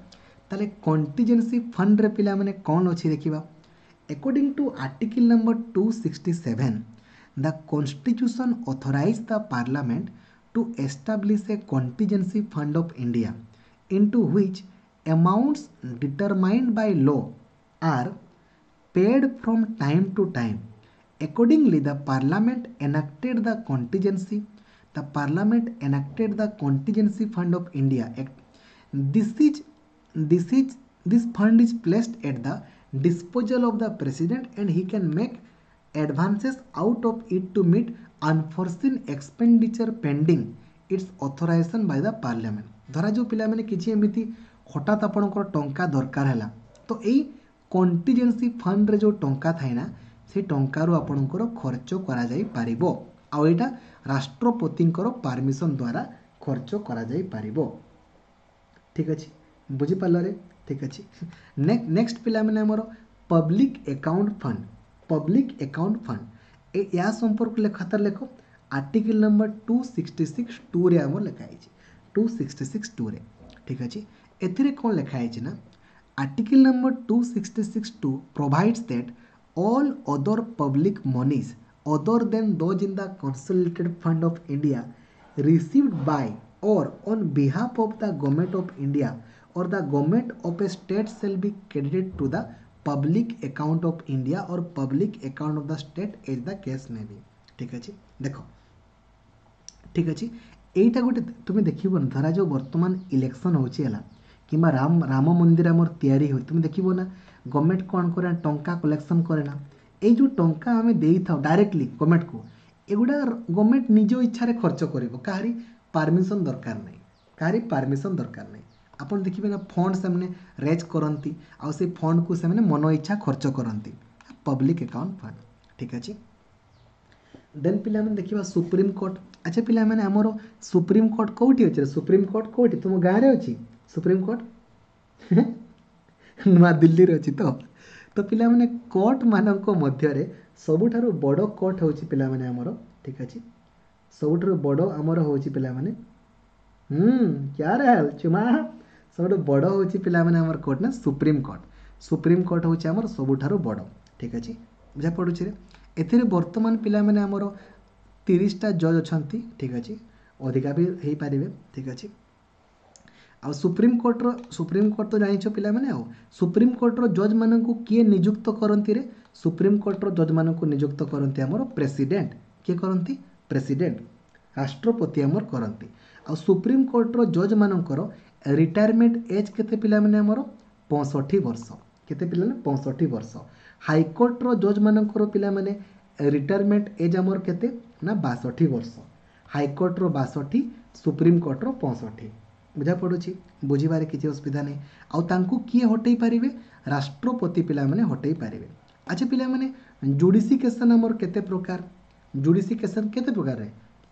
ତାହେଲେ କଣ୍ଟିଜେନ୍ସି ଫଣ୍ଡରେ ପିଲାମାନେ କ'ଣ ଅଛି ଦେଖିବା According to article number two sixty seven the constitution authorize the parliament to establish a contingency fund of India into which amounts determined by law are paid from time to time. Accordingly, the parliament enacted the contingency. The parliament enacted the contingency fund of India Act. This is this is this fund is placed at the disposal of the president and he can make advances out of it to meet unforeseen expenditure pending its authorization by the parliament ଧରାଯାଉ ପିଲାମାନେ କିଛି ଏମିତି ହଠାତ୍ ଆପଣଙ୍କର ଟଙ୍କା ଦରକାର ହେଲା ତ ଏଇ କଣ୍ଟିଜେନ୍ସି ଫଣ୍ଡରେ ଯେଉଁ ଟଙ୍କା ଥାଏ ନା ସେ ଟଙ୍କାରୁ ଆପଣଙ୍କର ଖର୍ଚ୍ଚ କରାଯାଇପାରିବ ଆଉ ଏଇଟା ରାଷ୍ଟ୍ରପତିଙ୍କର ପାରମିସନ୍ ଦ୍ୱାରା ଖର୍ଚ୍ଚ କରାଯାଇପାରିବ ଠିକ୍ ଅଛି ବୁଝିପାରିଲରେ ଠିକ୍ ଅଛି ନେକ୍ସଟ ପିଲାମାନେ ଆମର public account fund public account fund ଏ ୟା ସମ୍ପର୍କ ଲେଖ ଖାତାରେ ଲେଖ article number two sixty six ଟୁରେ ଆମର ଲେଖା ହେଇଛି ଟୁ ସିକ୍ସଟି ସିକ୍ସ ଟୁରେ ଠିକ୍ ଅଛି ଏଥିରେ କ'ଣ ଲେଖା ହେଇଛି ନା article number two sixty six two provides that all other public monies other than those in the consolidated fund of India received by or on behalf of the Government of India or the government of a state shall be credited to the public account of India or public account of the state, as the case may be। ଠିକ୍ ଅଛି, ଦେଖ, ଠିକ୍ ଅଛି। ଏଇଟା ଗୋଟେ ତୁମେ ଦେଖିବ ନା, ଧରାଯାଉ ବର୍ତ୍ତମାନ ଇଲେକ୍ସନ୍ ହେଉଛି ହେଲା, କିମ୍ବା ରାମ ରାମ ମନ୍ଦିର ଆମର ତିଆରି ହେଉଛି, ତୁମେ ଦେଖିବ ନା ଗଭର୍ଣ୍ଣମେଣ୍ଟ କ'ଣ କରେ ନା ଟଙ୍କା କଲେକ୍ସନ୍ କରେ ନା। ଏଇ ଯେଉଁ ଟଙ୍କା ଆମେ ଦେଇଥାଉ ଡାଇରେକ୍ଟଲି ଗଭର୍ଣ୍ଣମେଣ୍ଟକୁ, ଏଗୁଡ଼ା ଗଭର୍ଣ୍ଣମେଣ୍ଟ ନିଜ ଇଚ୍ଛାରେ ଖର୍ଚ୍ଚ କରିବ, କାହାରି ପାରମିସନ୍ ଦରକାର ନାହିଁ, କାହାରି ପାରମିସନ୍ ଦରକାର ନାହିଁ। ଆପଣ ଦେଖିବେ ନା ଫଣ୍ଡ ସେମାନେ ରେଜ୍ କରନ୍ତି ଆଉ ସେଇ ଫଣ୍ଡକୁ ସେମାନେ ମନ ଇଚ୍ଛା ଖର୍ଚ୍ଚ କରନ୍ତି, ପବ୍ଲିକ୍ ଆକାଉଣ୍ଟ ଫଣ୍ଡ। ଠିକ୍ ଅଛି। ଦେନ୍ ପିଲାମାନେ ଦେଖିବା ସୁପ୍ରିମକୋର୍ଟ। ଆଚ୍ଛା ପିଲାମାନେ, ଆମର ସୁପ୍ରିମକୋର୍ଟ କେଉଁଠି ଅଛି? ସୁପ୍ରିମକୋର୍ଟ କେଉଁଠି? ତୁମ ଗାଁରେ ଅଛି ସୁପ୍ରିମକୋର୍ଟ? ନୂଆଦିଲ୍ଲୀରେ ଅଛି ତ। ତ ପିଲାମାନେ, କୋର୍ଟମାନଙ୍କ ମଧ୍ୟରେ ସବୁଠାରୁ ବଡ଼ କୋର୍ଟ ହେଉଛି ପିଲାମାନେ ଆମର, ଠିକ୍ ଅଛି, ସବୁଠାରୁ ବଡ଼ ଆମର ହେଉଛି ପିଲାମାନେ, ହୁଁ କ୍ୟା ଚୁମା, ସବୁଠୁ ବଡ଼ ହେଉଛି ପିଲାମାନେ ଆମର କୋର୍ଟ ନା ସୁପ୍ରିମକୋର୍ଟ। ସୁପ୍ରିମକୋର୍ଟ ହେଉଛି ଆମର ସବୁଠାରୁ ବଡ଼। ଠିକ୍ ଅଛି, ବୁଝା ପଡ଼ୁଛି ରେ? ଏଥିରେ ବର୍ତ୍ତମାନ ପିଲାମାନେ ଆମର ତିରିଶଟା ଜଜ୍ ଅଛନ୍ତି। ଠିକ୍ ଅଛି, ଅଧିକା ବି ହେଇପାରିବେ। ଠିକ୍ ଅଛି। ଆଉ ସୁପ୍ରିମକୋର୍ଟର, ସୁପ୍ରିମକୋର୍ଟ ତ ଜାଣିଛ ପିଲାମାନେ, ଆଉ ସୁପ୍ରିମକୋର୍ଟର ଜଜ୍ମାନଙ୍କୁ କିଏ ନିଯୁକ୍ତ କରନ୍ତି ରେ? ସୁପ୍ରିମକୋର୍ଟର ଜଜ୍ମାନଙ୍କୁ ନିଯୁକ୍ତ କରନ୍ତି ଆମର ପ୍ରେସିଡେଣ୍ଟ। କିଏ କରନ୍ତି? ପ୍ରେସିଡେଣ୍ଟ, ରାଷ୍ଟ୍ରପତି ଆମର କରନ୍ତି। ଆଉ ସୁପ୍ରିମକୋର୍ଟର ଜଜ୍ମାନଙ୍କର ରିଟାୟାରମେଣ୍ଟ ଏଜ୍ କେତେ ପିଲାମାନେ ଆମର? ପଞ୍ଚଷଠି ବର୍ଷ। କେତେ ପିଲାମାନେ? ପଞ୍ଚଷଠି ବର୍ଷ। ହାଇକୋର୍ଟର ଜଜ୍ମାନଙ୍କର ପିଲାମାନେ ରିଟାୟାରମେଣ୍ଟ ଏଜ୍ ଆମର କେତେ ନା ବାଷଠି ବର୍ଷ। ହାଇକୋର୍ଟର ବାଷଠି, ସୁପ୍ରିମକୋର୍ଟର ପଞ୍ଚଷଠି। ବୁଝା ପଡ଼ୁଛି? ବୁଝିବାରେ କିଛି ଅସୁବିଧା ନାହିଁ। ଆଉ ତାଙ୍କୁ କିଏ ହଟେଇ ପାରିବେ? ରାଷ୍ଟ୍ରପତି ପିଲାମାନେ ହଟେଇ ପାରିବେ। ଆଚ୍ଛା ପିଲାମାନେ, ଜୁଡ଼ିସିକେସନ୍ ଆମର କେତେ ପ୍ରକାର? ଜୁଡ଼ିସିକେସନ୍ କେତେ ପ୍ରକାର?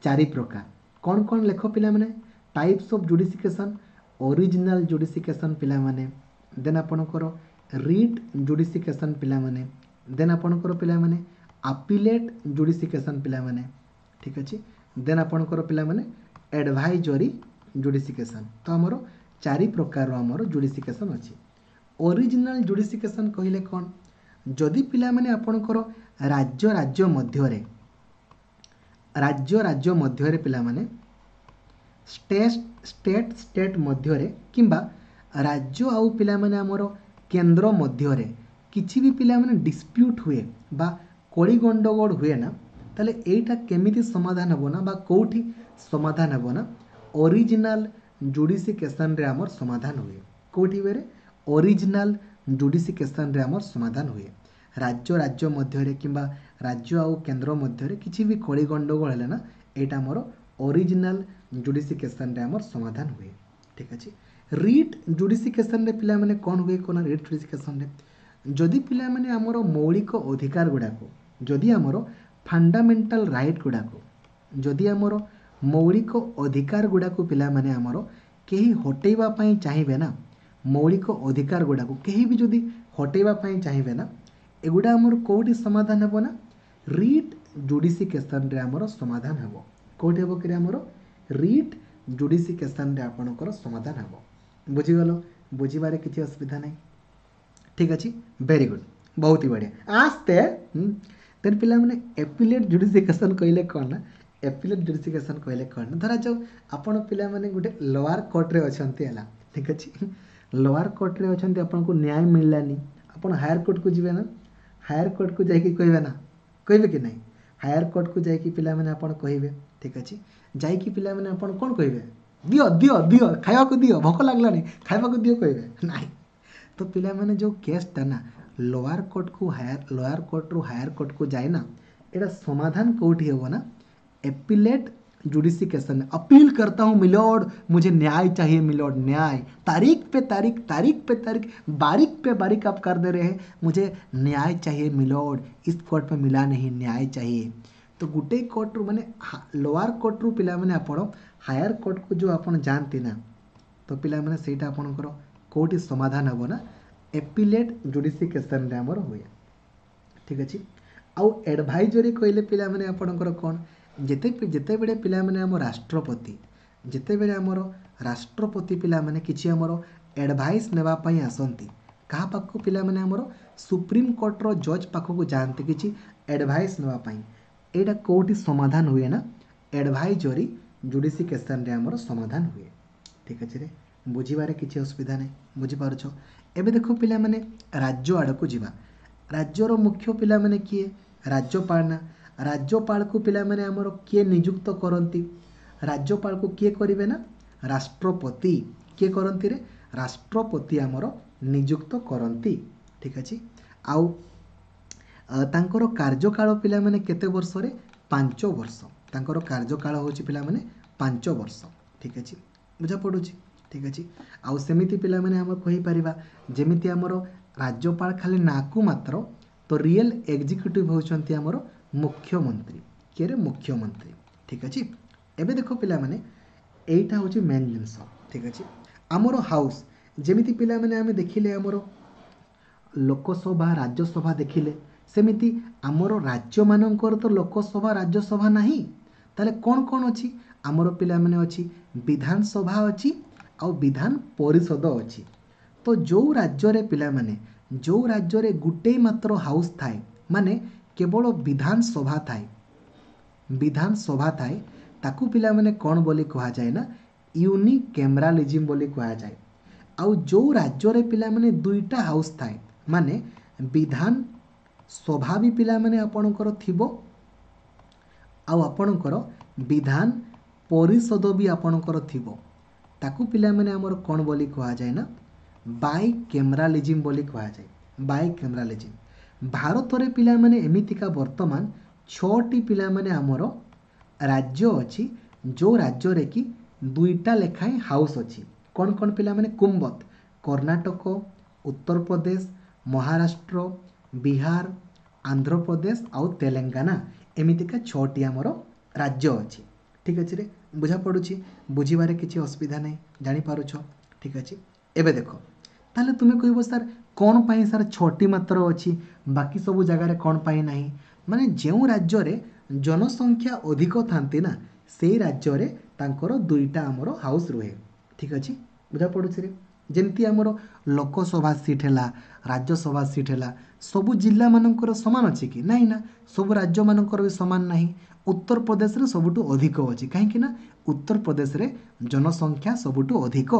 ଚାରି ପ୍ରକାର। କ'ଣ କ'ଣ ଲେଖ ପିଲାମାନେ? Types of adjudication. Original adjudication ପିଲାମାନେ, ଦେନ୍ ଆପଣଙ୍କର ରିଟ୍ ଜୁଡ଼ିସିକେସନ୍ ପିଲାମାନେ, ଦେନ୍ ଆପଣଙ୍କର ପିଲାମାନେ ଆପିଲେଟ୍ ଜୁଡ଼ିସିକେସନ୍ ପିଲାମାନେ, ଠିକ୍ ଅଛି, ଦେନ୍ ଆପଣଙ୍କର ପିଲାମାନେ ଆଡ଼ଭାଇଜରୀ ଜୁଡ଼ିସିକେସନ୍। ତ ଆମର ଚାରି ପ୍ରକାରର ଆମର ଜୁଡ଼ିସିକେସନ୍ ଅଛି। ଅରିଜିନାଲ୍ ଜୁଡ଼ିସିକେସନ୍ କହିଲେ କ'ଣ? ଯଦି ପିଲାମାନେ ଆପଣଙ୍କର ରାଜ୍ୟ ରାଜ୍ୟ ମଧ୍ୟରେ, ରାଜ୍ୟ ରାଜ୍ୟ ମଧ୍ୟରେ ପିଲାମାନେ, ଷ୍ଟେଟ୍ ଷ୍ଟେଟ୍ ଷ୍ଟେଟ୍ ମଧ୍ୟରେ କିମ୍ବା ରାଜ୍ୟ ଆଉ ପିଲାମାନେ ଆମର କେନ୍ଦ୍ର ମଧ୍ୟରେ କିଛି ବି ପିଲାମାନେ ଡିସ୍ପ୍ୟୁଟ୍ ହୁଏ ବା କଳି ଗଣ୍ଡଗୋଳ ହୁଏ ନା, ତାହେଲେ ଏଇଟା କେମିତି ସମାଧାନ ହେବ ନା ବା କେଉଁଠି ସମାଧାନ ହେବ ନା ଅରିଜିନାଲ୍ ଜୁଡ଼ିସିକେସନ୍ରେ ଆମର ସମାଧାନ ହୁଏ। କେଉଁଠି ହୁଏ? ଅରିଜିନାଲ୍ ଜୁଡ଼ିସିକେସନ୍ରେ ଆମର ସମାଧାନ ହୁଏ। ରାଜ୍ୟ ରାଜ୍ୟ ମଧ୍ୟରେ କିମ୍ବା ରାଜ୍ୟ ଆଉ କେନ୍ଦ୍ର ମଧ୍ୟରେ କିଛି ବି କଳି ଗଣ୍ଡଗୋଳ ହେଲେ ନା, ଏଇଟା ଆମର ଅରିଜିନାଲ୍ ଜୁଡ଼ିସିକେସନ୍ରେ ଆମର ସମାଧାନ ହୁଏ। ଠିକ୍ ଅଛି। ରିଟ୍ ଜୁଡ଼ିସିକେସନ୍ରେ ପିଲାମାନେ କ'ଣ ହୁଏ? କ'ଣ ରିଟ୍ ଜୁଡ଼ିସିକେସନ୍ରେ? ଯଦି ପିଲାମାନେ ଆମର ମୌଳିକ ଅଧିକାର ଗୁଡ଼ାକୁ, ଯଦି ଆମର ଫଣ୍ଡାମେଣ୍ଟାଲ ରାଇଟ୍ ଗୁଡ଼ାକୁ, ଯଦି ଆମର ମୌଳିକ ଅଧିକାର ଗୁଡ଼ାକୁ ପିଲାମାନେ ଆମର କେହି ହଟେଇବା ପାଇଁ ଚାହିଁବେ ନା, ମୌଳିକ ଅଧିକାର ଗୁଡ଼ାକୁ କେହି ବି ଯଦି ହଟେଇବା ପାଇଁ ଚାହିଁବେ ନା, ଏଗୁଡ଼ା ଆମର କେଉଁଠି ସମାଧାନ ହେବ ନା ରିଟ୍ ଜୁଡ଼ିସିକେସନ୍ରେ ଆମର ସମାଧାନ ହେବ। କେଉଁଠି ହେବ କି? ଆମର ରିଟ୍ ଜୁଡ଼ିସିକେସନ୍ରେ ଆପଣଙ୍କର ସମାଧାନ ହେବ। ବୁଝିଗଲ? ବୁଝିବାରେ କିଛି ଅସୁବିଧା ନାହିଁ। ଠିକ୍ ଅଛି, ଭେରି ଗୁଡ୍, ବହୁତ ହି ବଢ଼ିଆ। ଆସ୍ତେ। ଦେନ୍ ପିଲାମାନେ ଏପିଲେଟ୍ ଜୁଡ଼ିସିକେସନ୍ କହିଲେ କ'ଣ ନା, ଏପିଲେଟ୍ ଜୁଡ଼ିସିକେସନ୍ କହିଲେ କ'ଣ ନା, ଧରାଯାଉ ଆପଣ ପିଲାମାନେ ଗୋଟେ ଲୋଆର କୋର୍ଟରେ ଅଛନ୍ତି ହେଲା, ଠିକ୍ ଅଛି, ଲୋଆର କୋର୍ଟରେ ଅଛନ୍ତି, ଆପଣଙ୍କୁ ନ୍ୟାୟ ମିଳିଲାନି, ଆପଣ ହାୟର କୋର୍ଟକୁ ଯିବେ ନା? ହାୟର କୋର୍ଟକୁ ଯାଇକି କହିବେ ନା, କହିବେ କି ନାହିଁ? ହାୟର କୋର୍ଟକୁ ଯାଇକି ପିଲାମାନେ ଆପଣ କହିବେ, ଠିକ୍ ଅଛି, ଯାଇକି ପିଲାମାନେ ଆପଣ କ'ଣ କହିବେ? ଦିଅ ଦିଅ ଦିଅ, ଖାଇବାକୁ ଦିଅ, ଭୋକ ଲାଗିଲାନି, ଖାଇବାକୁ ଦିଅ, କହିବେ ନାହିଁ? ତ ପିଲାମାନେ ଯେଉଁ କେସ୍ଟା ନା ଲୋଆର କୋର୍ଟକୁ ହାୟର, ଲୋଆର କୋର୍ଟରୁ ହାୟର କୋର୍ଟକୁ ଯାଏ ନା, ଏଇଟା ସମାଧାନ କେଉଁଠି ହେବ ନା एपिलेट जुडिसिकेशन। अपील करता हूँ मिलोड, मुझे न्याय चाहिए मिलोड, न्याय, तारीख पे तारीख, तारीख पे तारीख, बारीक पे बारीक आप कर दे रहे हैं, मुझे न्याय चाहिए मिलोड, इस कोर्ट में मिला नहीं, न्याय चाहिए। ତ ଗୋଟେ କୋର୍ଟରୁ ମାନେ ଲୋଆର କୋର୍ଟରୁ ପିଲାମାନେ ଆପଣ ହାୟର କୋର୍ଟକୁ ଯେଉଁ ଆପଣ ଯାଆନ୍ତି ନା, ତ ପିଲାମାନେ ସେଇଟା ଆପଣଙ୍କର କେଉଁଠି ସମାଧାନ ହେବ ନା ଏପିଲେଟ୍ ଜୁଡ଼ିସିକେସନ୍ରେ ଆମର ହୁଏ। ଠିକ୍ ଅଛି। ଆଉ ଆଡ଼ଭାଇଜରୀ କହିଲେ ପିଲାମାନେ ଆପଣଙ୍କର କ'ଣ? ଯେତେ ଯେତେବେଳେ ପିଲାମାନେ ଆମ ରାଷ୍ଟ୍ରପତି, ଯେତେବେଳେ ଆମର ରାଷ୍ଟ୍ରପତି ପିଲାମାନେ କିଛି ଆମର ଆଡ଼ଭାଇସ୍ ନେବା ପାଇଁ ଆସନ୍ତି କାହା ପାଖକୁ? ପିଲାମାନେ ଆମର ସୁପ୍ରିମକୋର୍ଟର ଜଜ୍ ପାଖକୁ ଯାଆନ୍ତି କିଛି ଆଡ଼ଭାଇସ୍ ନେବା ପାଇଁ, ଏଇଟା କେଉଁଠି ସମାଧାନ ହୁଏ ନା ଆଡ଼ଭାଇଜରୀ ଜୁଡ଼ିସିକେସନ୍ରେ ଆମର ସମାଧାନ ହୁଏ। ଠିକ୍ ଅଛି ରେ, ବୁଝିବାରେ କିଛି ଅସୁବିଧା ନାହିଁ, ବୁଝିପାରୁଛ? ଏବେ ଦେଖ ପିଲାମାନେ, ରାଜ୍ୟ ଆଡ଼କୁ ଯିବା। ରାଜ୍ୟର ମୁଖ୍ୟ ପିଲାମାନେ କିଏ? ରାଜ୍ୟପାଳ ନା? ରାଜ୍ୟପାଳକୁ ପିଲାମାନେ ଆମର କିଏ ନିଯୁକ୍ତ କରନ୍ତି? ରାଜ୍ୟପାଳକୁ କିଏ କରିବେ ନା ରାଷ୍ଟ୍ରପତି। କିଏ କରନ୍ତି ରେ? ରାଷ୍ଟ୍ରପତି ଆମର ନିଯୁକ୍ତ କରନ୍ତି। ଠିକ୍ ଅଛି। ଆଉ ତାଙ୍କର କାର୍ଯ୍ୟକାଳ ପିଲାମାନେ କେତେ ବର୍ଷରେ? ପାଞ୍ଚ ବର୍ଷ। ତାଙ୍କର କାର୍ଯ୍ୟକାଳ ହେଉଛି ପିଲାମାନେ ପାଞ୍ଚ ବର୍ଷ। ଠିକ୍ ଅଛି, ବୁଝା ପଡ଼ୁଛି? ଠିକ୍ ଅଛି। ଆଉ ସେମିତି ପିଲାମାନେ ଆମେ କହିପାରିବା, ଯେମିତି ଆମର ରାଜ୍ୟପାଳ ଖାଲି ନାଁକୁ ମାତ୍ର, ତ ରିଏଲ୍ ଏକ୍ଜିକ୍ୟୁଟିଭ୍ ହେଉଛନ୍ତି ଆମର ମୁଖ୍ୟମନ୍ତ୍ରୀ। କିଏରେ? ମୁଖ୍ୟମନ୍ତ୍ରୀ। ଠିକ୍ ଅଛି। ଏବେ ଦେଖ ପିଲାମାନେ, ଏଇଟା ହେଉଛି ମେନ୍ ଜିନିଷ। ଠିକ୍ ଅଛି। ଆମର ହାଉସ୍ ଯେମିତି ପିଲାମାନେ ଆମେ ଦେଖିଲେ ଆମର ଲୋକସଭା ରାଜ୍ୟସଭା ଦେଖିଲେ, ସେମିତି ଆମର ରାଜ୍ୟମାନଙ୍କର ତ ଲୋକସଭା ରାଜ୍ୟସଭା ନାହିଁ। ତାହେଲେ କ'ଣ କ'ଣ ଅଛି ଆମର ପିଲାମାନେ? ଅଛି ବିଧାନସଭା ଅଛି ଆଉ ବିଧାନ ପରିଷଦ ଅଛି। ତ ଯେଉଁ ରାଜ୍ୟରେ ପିଲାମାନେ, ଯେଉଁ ରାଜ୍ୟରେ ଗୋଟେ ମାତ୍ର ହାଉସ୍ ଥାଏ, ମାନେ କେବଳ ବିଧାନସଭା ଥାଏ, ବିଧାନସଭା ଥାଏ, ତାକୁ ପିଲାମାନେ କ'ଣ ବୋଲି କୁହାଯାଏ ନା ୟୁନିକେମେରାଲିଜିମ୍ ବୋଲି କୁହାଯାଏ। ଆଉ ଯେଉଁ ରାଜ୍ୟରେ ପିଲାମାନେ ଦୁଇଟା ହାଉସ୍ ଥାଏ, ମାନେ ବିଧାନ ସଭା ବି ପିଲାମାନେ ଆପଣଙ୍କର ଥିବ ଆଉ ଆପଣଙ୍କର ବିଧାନ ପରିଷଦ ବି ଆପଣଙ୍କର ଥିବ, ତାକୁ ପିଲାମାନେ ଆମର କ'ଣ ବୋଲି କୁହାଯାଏ ନା ବାଇ କ୍ୟାମେରାଲିଜିମ୍ ବୋଲି କୁହାଯାଏ। ବାଇ କ୍ୟାମେରାଲିଜିମ୍। ଭାରତରେ ପିଲାମାନେ ଏମିତିକା ବର୍ତ୍ତମାନ ଛଅଟି ପିଲାମାନେ ଆମର ରାଜ୍ୟ ଅଛି, ଯେଉଁ ରାଜ୍ୟରେ କି ଦୁଇଟା ଲେଖାଏଁ ହାଉସ୍ ଅଛି। କ'ଣ କ'ଣ ପିଲାମାନେ? କୁମ୍ବତ, କର୍ଣ୍ଣାଟକ, ଉତ୍ତରପ୍ରଦେଶ, ମହାରାଷ୍ଟ୍ର, ବିହାର, ଆନ୍ଧ୍ରପ୍ରଦେଶ ଆଉ ତେଲେଙ୍ଗାନା। ଏମିତିକା ଛଅଟି ଆମର ରାଜ୍ୟ ଅଛି। ଠିକ୍ ଅଛି ରେ, ବୁଝା ପଡ଼ୁଛି? ବୁଝିବାରେ କିଛି ଅସୁବିଧା ନାହିଁ, ଜାଣିପାରୁଛ? ଠିକ୍ ଅଛି। ଏବେ ଦେଖ, ତାହେଲେ ତୁମେ କହିବ ସାର୍ କ'ଣ ପାଇଁ ସାର୍ ଛଅଟି ମାତ୍ର ଅଛି, ବାକି ସବୁ ଜାଗାରେ କ'ଣ ପାଇଁ ନାହିଁ? ମାନେ ଯେଉଁ ରାଜ୍ୟରେ ଜନସଂଖ୍ୟା ଅଧିକ ଥାନ୍ତି ନା, ସେଇ ରାଜ୍ୟରେ ତାଙ୍କର ଦୁଇଟା ଆମର ହାଉସ୍ ରୁହେ। ଠିକ୍ ଅଛି, ବୁଝା ପଡ଼ୁଛି ରେ? ଯେମିତି ଆମର ଲୋକସଭା ସିଟ୍ ହେଲା, ରାଜ୍ୟସଭା ସିଟ୍ ହେଲା, ସବୁ ଜିଲ୍ଲାମାନଙ୍କର ସମାନ ଅଛି କି ନାହିଁ? ନା, ସବୁ ରାଜ୍ୟମାନଙ୍କର ବି ସମାନ ନାହିଁ। ଉତ୍ତରପ୍ରଦେଶରେ ସବୁଠୁ ଅଧିକ ଅଛି, କାହିଁକି ନା ଉତ୍ତରପ୍ରଦେଶରେ ଜନସଂଖ୍ୟା ସବୁଠୁ ଅଧିକ।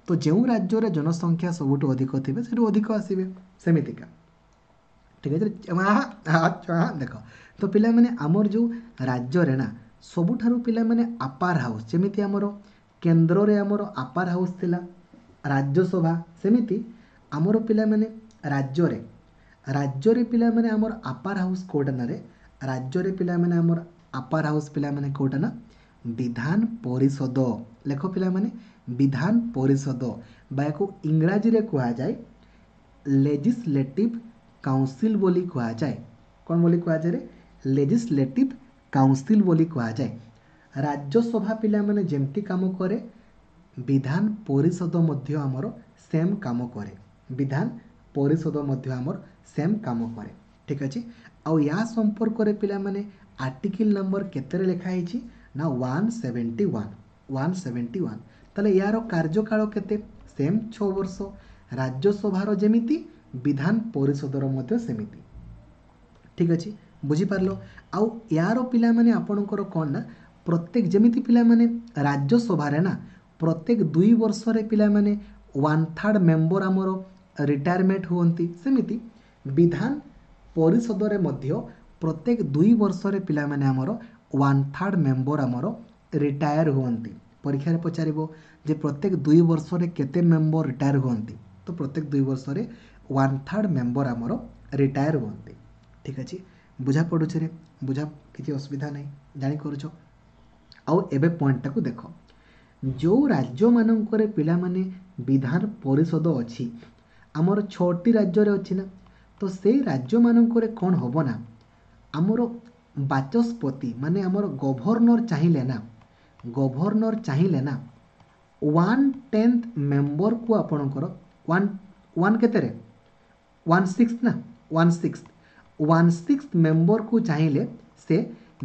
ତ ଯେଉଁ ରାଜ୍ୟରେ ଜନସଂଖ୍ୟା ସବୁଠୁ ଅଧିକ ଥିବେ ସେଠୁ ଅଧିକ ଆସିବେ, ସେମିତିକା। ଠିକ୍ ଅଛି। ଦେଖ ତ ପିଲାମାନେ, ଆମର ଯେଉଁ ରାଜ୍ୟରେ ନା ସବୁଠାରୁ ପିଲାମାନେ ଆପାର ହାଉସ୍, ଯେମିତି ଆମର କେନ୍ଦ୍ରରେ ଆମର ଆପାର ହାଉସ୍ ଥିଲା ରାଜ୍ୟସଭା, ସେମିତି ଆମର ପିଲାମାନେ ରାଜ୍ୟରେ, ରାଜ୍ୟରେ ପିଲାମାନେ ଆମର ଆପାର ହାଉସ୍ କେଉଁଟା ନାରେ? ରାଜ୍ୟରେ ପିଲାମାନେ ଆମର ଆପାର ହାଉସ୍ ପିଲାମାନେ କେଉଁଟା ନା ବିଧାନ ପରିଷଦ। ଲେଖ ପିଲାମାନେ, ବିଧାନ ପରିଷଦ ବା ୟାକୁ ଇଂରାଜୀରେ କୁହାଯାଏ ଲେଜିସ୍ଲେଟିଭ୍ କାଉନସିଲ୍ ବୋଲି କୁହାଯାଏ। କ'ଣ ବୋଲି କୁହାଯାଏ? ଲେଜିସ୍ଲେଟିଭ୍ କାଉନସିଲ୍ ବୋଲି କୁହାଯାଏ। ରାଜ୍ୟସଭା ପିଲାମାନେ ଯେମିତି କାମ କରେ, ବିଧାନ ପରିଷଦ ମଧ୍ୟ ଆମର ସେମ୍ କାମ କରେ। ବିଧାନ ପରିଷଦ ମଧ୍ୟ ଆମର ସେମ୍ କାମ କରେ। ଠିକ୍ ଅଛି। ଆଉ ୟା ସମ୍ପର୍କରେ ପିଲାମାନେ ଆର୍ଟିକିଲ୍ ନମ୍ବର କେତେରେ ଲେଖା ହେଇଛି ନା one seventy one, one seventy one. ତାହେଲେ ୟାର କାର୍ଯ୍ୟକାଳ କେତେ? ସେମ୍ ଛଅ ବର୍ଷ। ରାଜ୍ୟସଭାର ଯେମିତି, ବିଧାନ ପରିଷଦର ମଧ୍ୟ ସେମିତି। ଠିକ୍ ଅଛି, ବୁଝିପାରିଲ? ଆଉ ୟାର ପିଲାମାନେ ଆପଣଙ୍କର କ'ଣ ନା ପ୍ରତ୍ୟେକ, ଯେମିତି ପିଲାମାନେ ରାଜ୍ୟସଭାରେ ନା ପ୍ରତ୍ୟେକ ଦୁଇ ବର୍ଷରେ ପିଲାମାନେ ୱାନ୍ ଥାର୍ଡ଼ ମେମ୍ବର ଆମର ରିଟାୟାରମେଣ୍ଟ ହୁଅନ୍ତି, ସେମିତି ବିଧାନ ପରିଷଦରେ ମଧ୍ୟ ପ୍ରତ୍ୟେକ ଦୁଇ ବର୍ଷରେ ପିଲାମାନେ ଆମର ୱାନ୍ ଥାର୍ଡ଼ ମେମ୍ବର ଆମର ରିଟାୟାର ହୁଅନ୍ତି। ପରୀକ୍ଷାରେ ପଚାରିବ ଯେ ପ୍ରତ୍ୟେକ ଦୁଇ ବର୍ଷରେ କେତେ ମେମ୍ବର ରିଟାୟାର ହୁଅନ୍ତି, ତ ପ୍ରତ୍ୟେକ ଦୁଇ ବର୍ଷରେ ୱାନ୍ ଥାର୍ଡ଼ ମେମ୍ବର ଆମର ରିଟାୟାର ହୁଅନ୍ତି। ଠିକ୍ ଅଛି, ବୁଝା ପଡ଼ୁଛି ରେ? ବୁଝା କିଛି ଅସୁବିଧା ନାହିଁ, ଜାଣିପାରୁଛ? ଆଉ ଏବେ ପଏଣ୍ଟଟାକୁ ଦେଖ, ଯେଉଁ ରାଜ୍ୟମାନଙ୍କରେ ପିଲାମାନେ ବିଧାନ ପରିଷଦ ଅଛି, ଆମର ଛଅଟି ରାଜ୍ୟରେ ଅଛି ନା, ତ ସେଇ ରାଜ୍ୟମାନଙ୍କରେ କ'ଣ ହେବ ନା ଆମର ବାଚସ୍ପତି ମାନେ ଆମର ଗଭର୍ଣ୍ଣର ଚାହିଁଲେ ନା, ଗଭର୍ଣ୍ଣର ଚାହିଁଲେ ନା ୱାନ୍ ଟେନ୍ଥ ମେମ୍ବରକୁ ଆପଣଙ୍କର ୱାନ୍ ୱାନ୍ କେତେରେ ୱାନ୍ ସିକ୍ସ ନା ୱାନ୍ ସିକ୍ସ ୱାନ୍ ସିକ୍ସ ମେମ୍ବରକୁ ଚାହିଁଲେ ସେ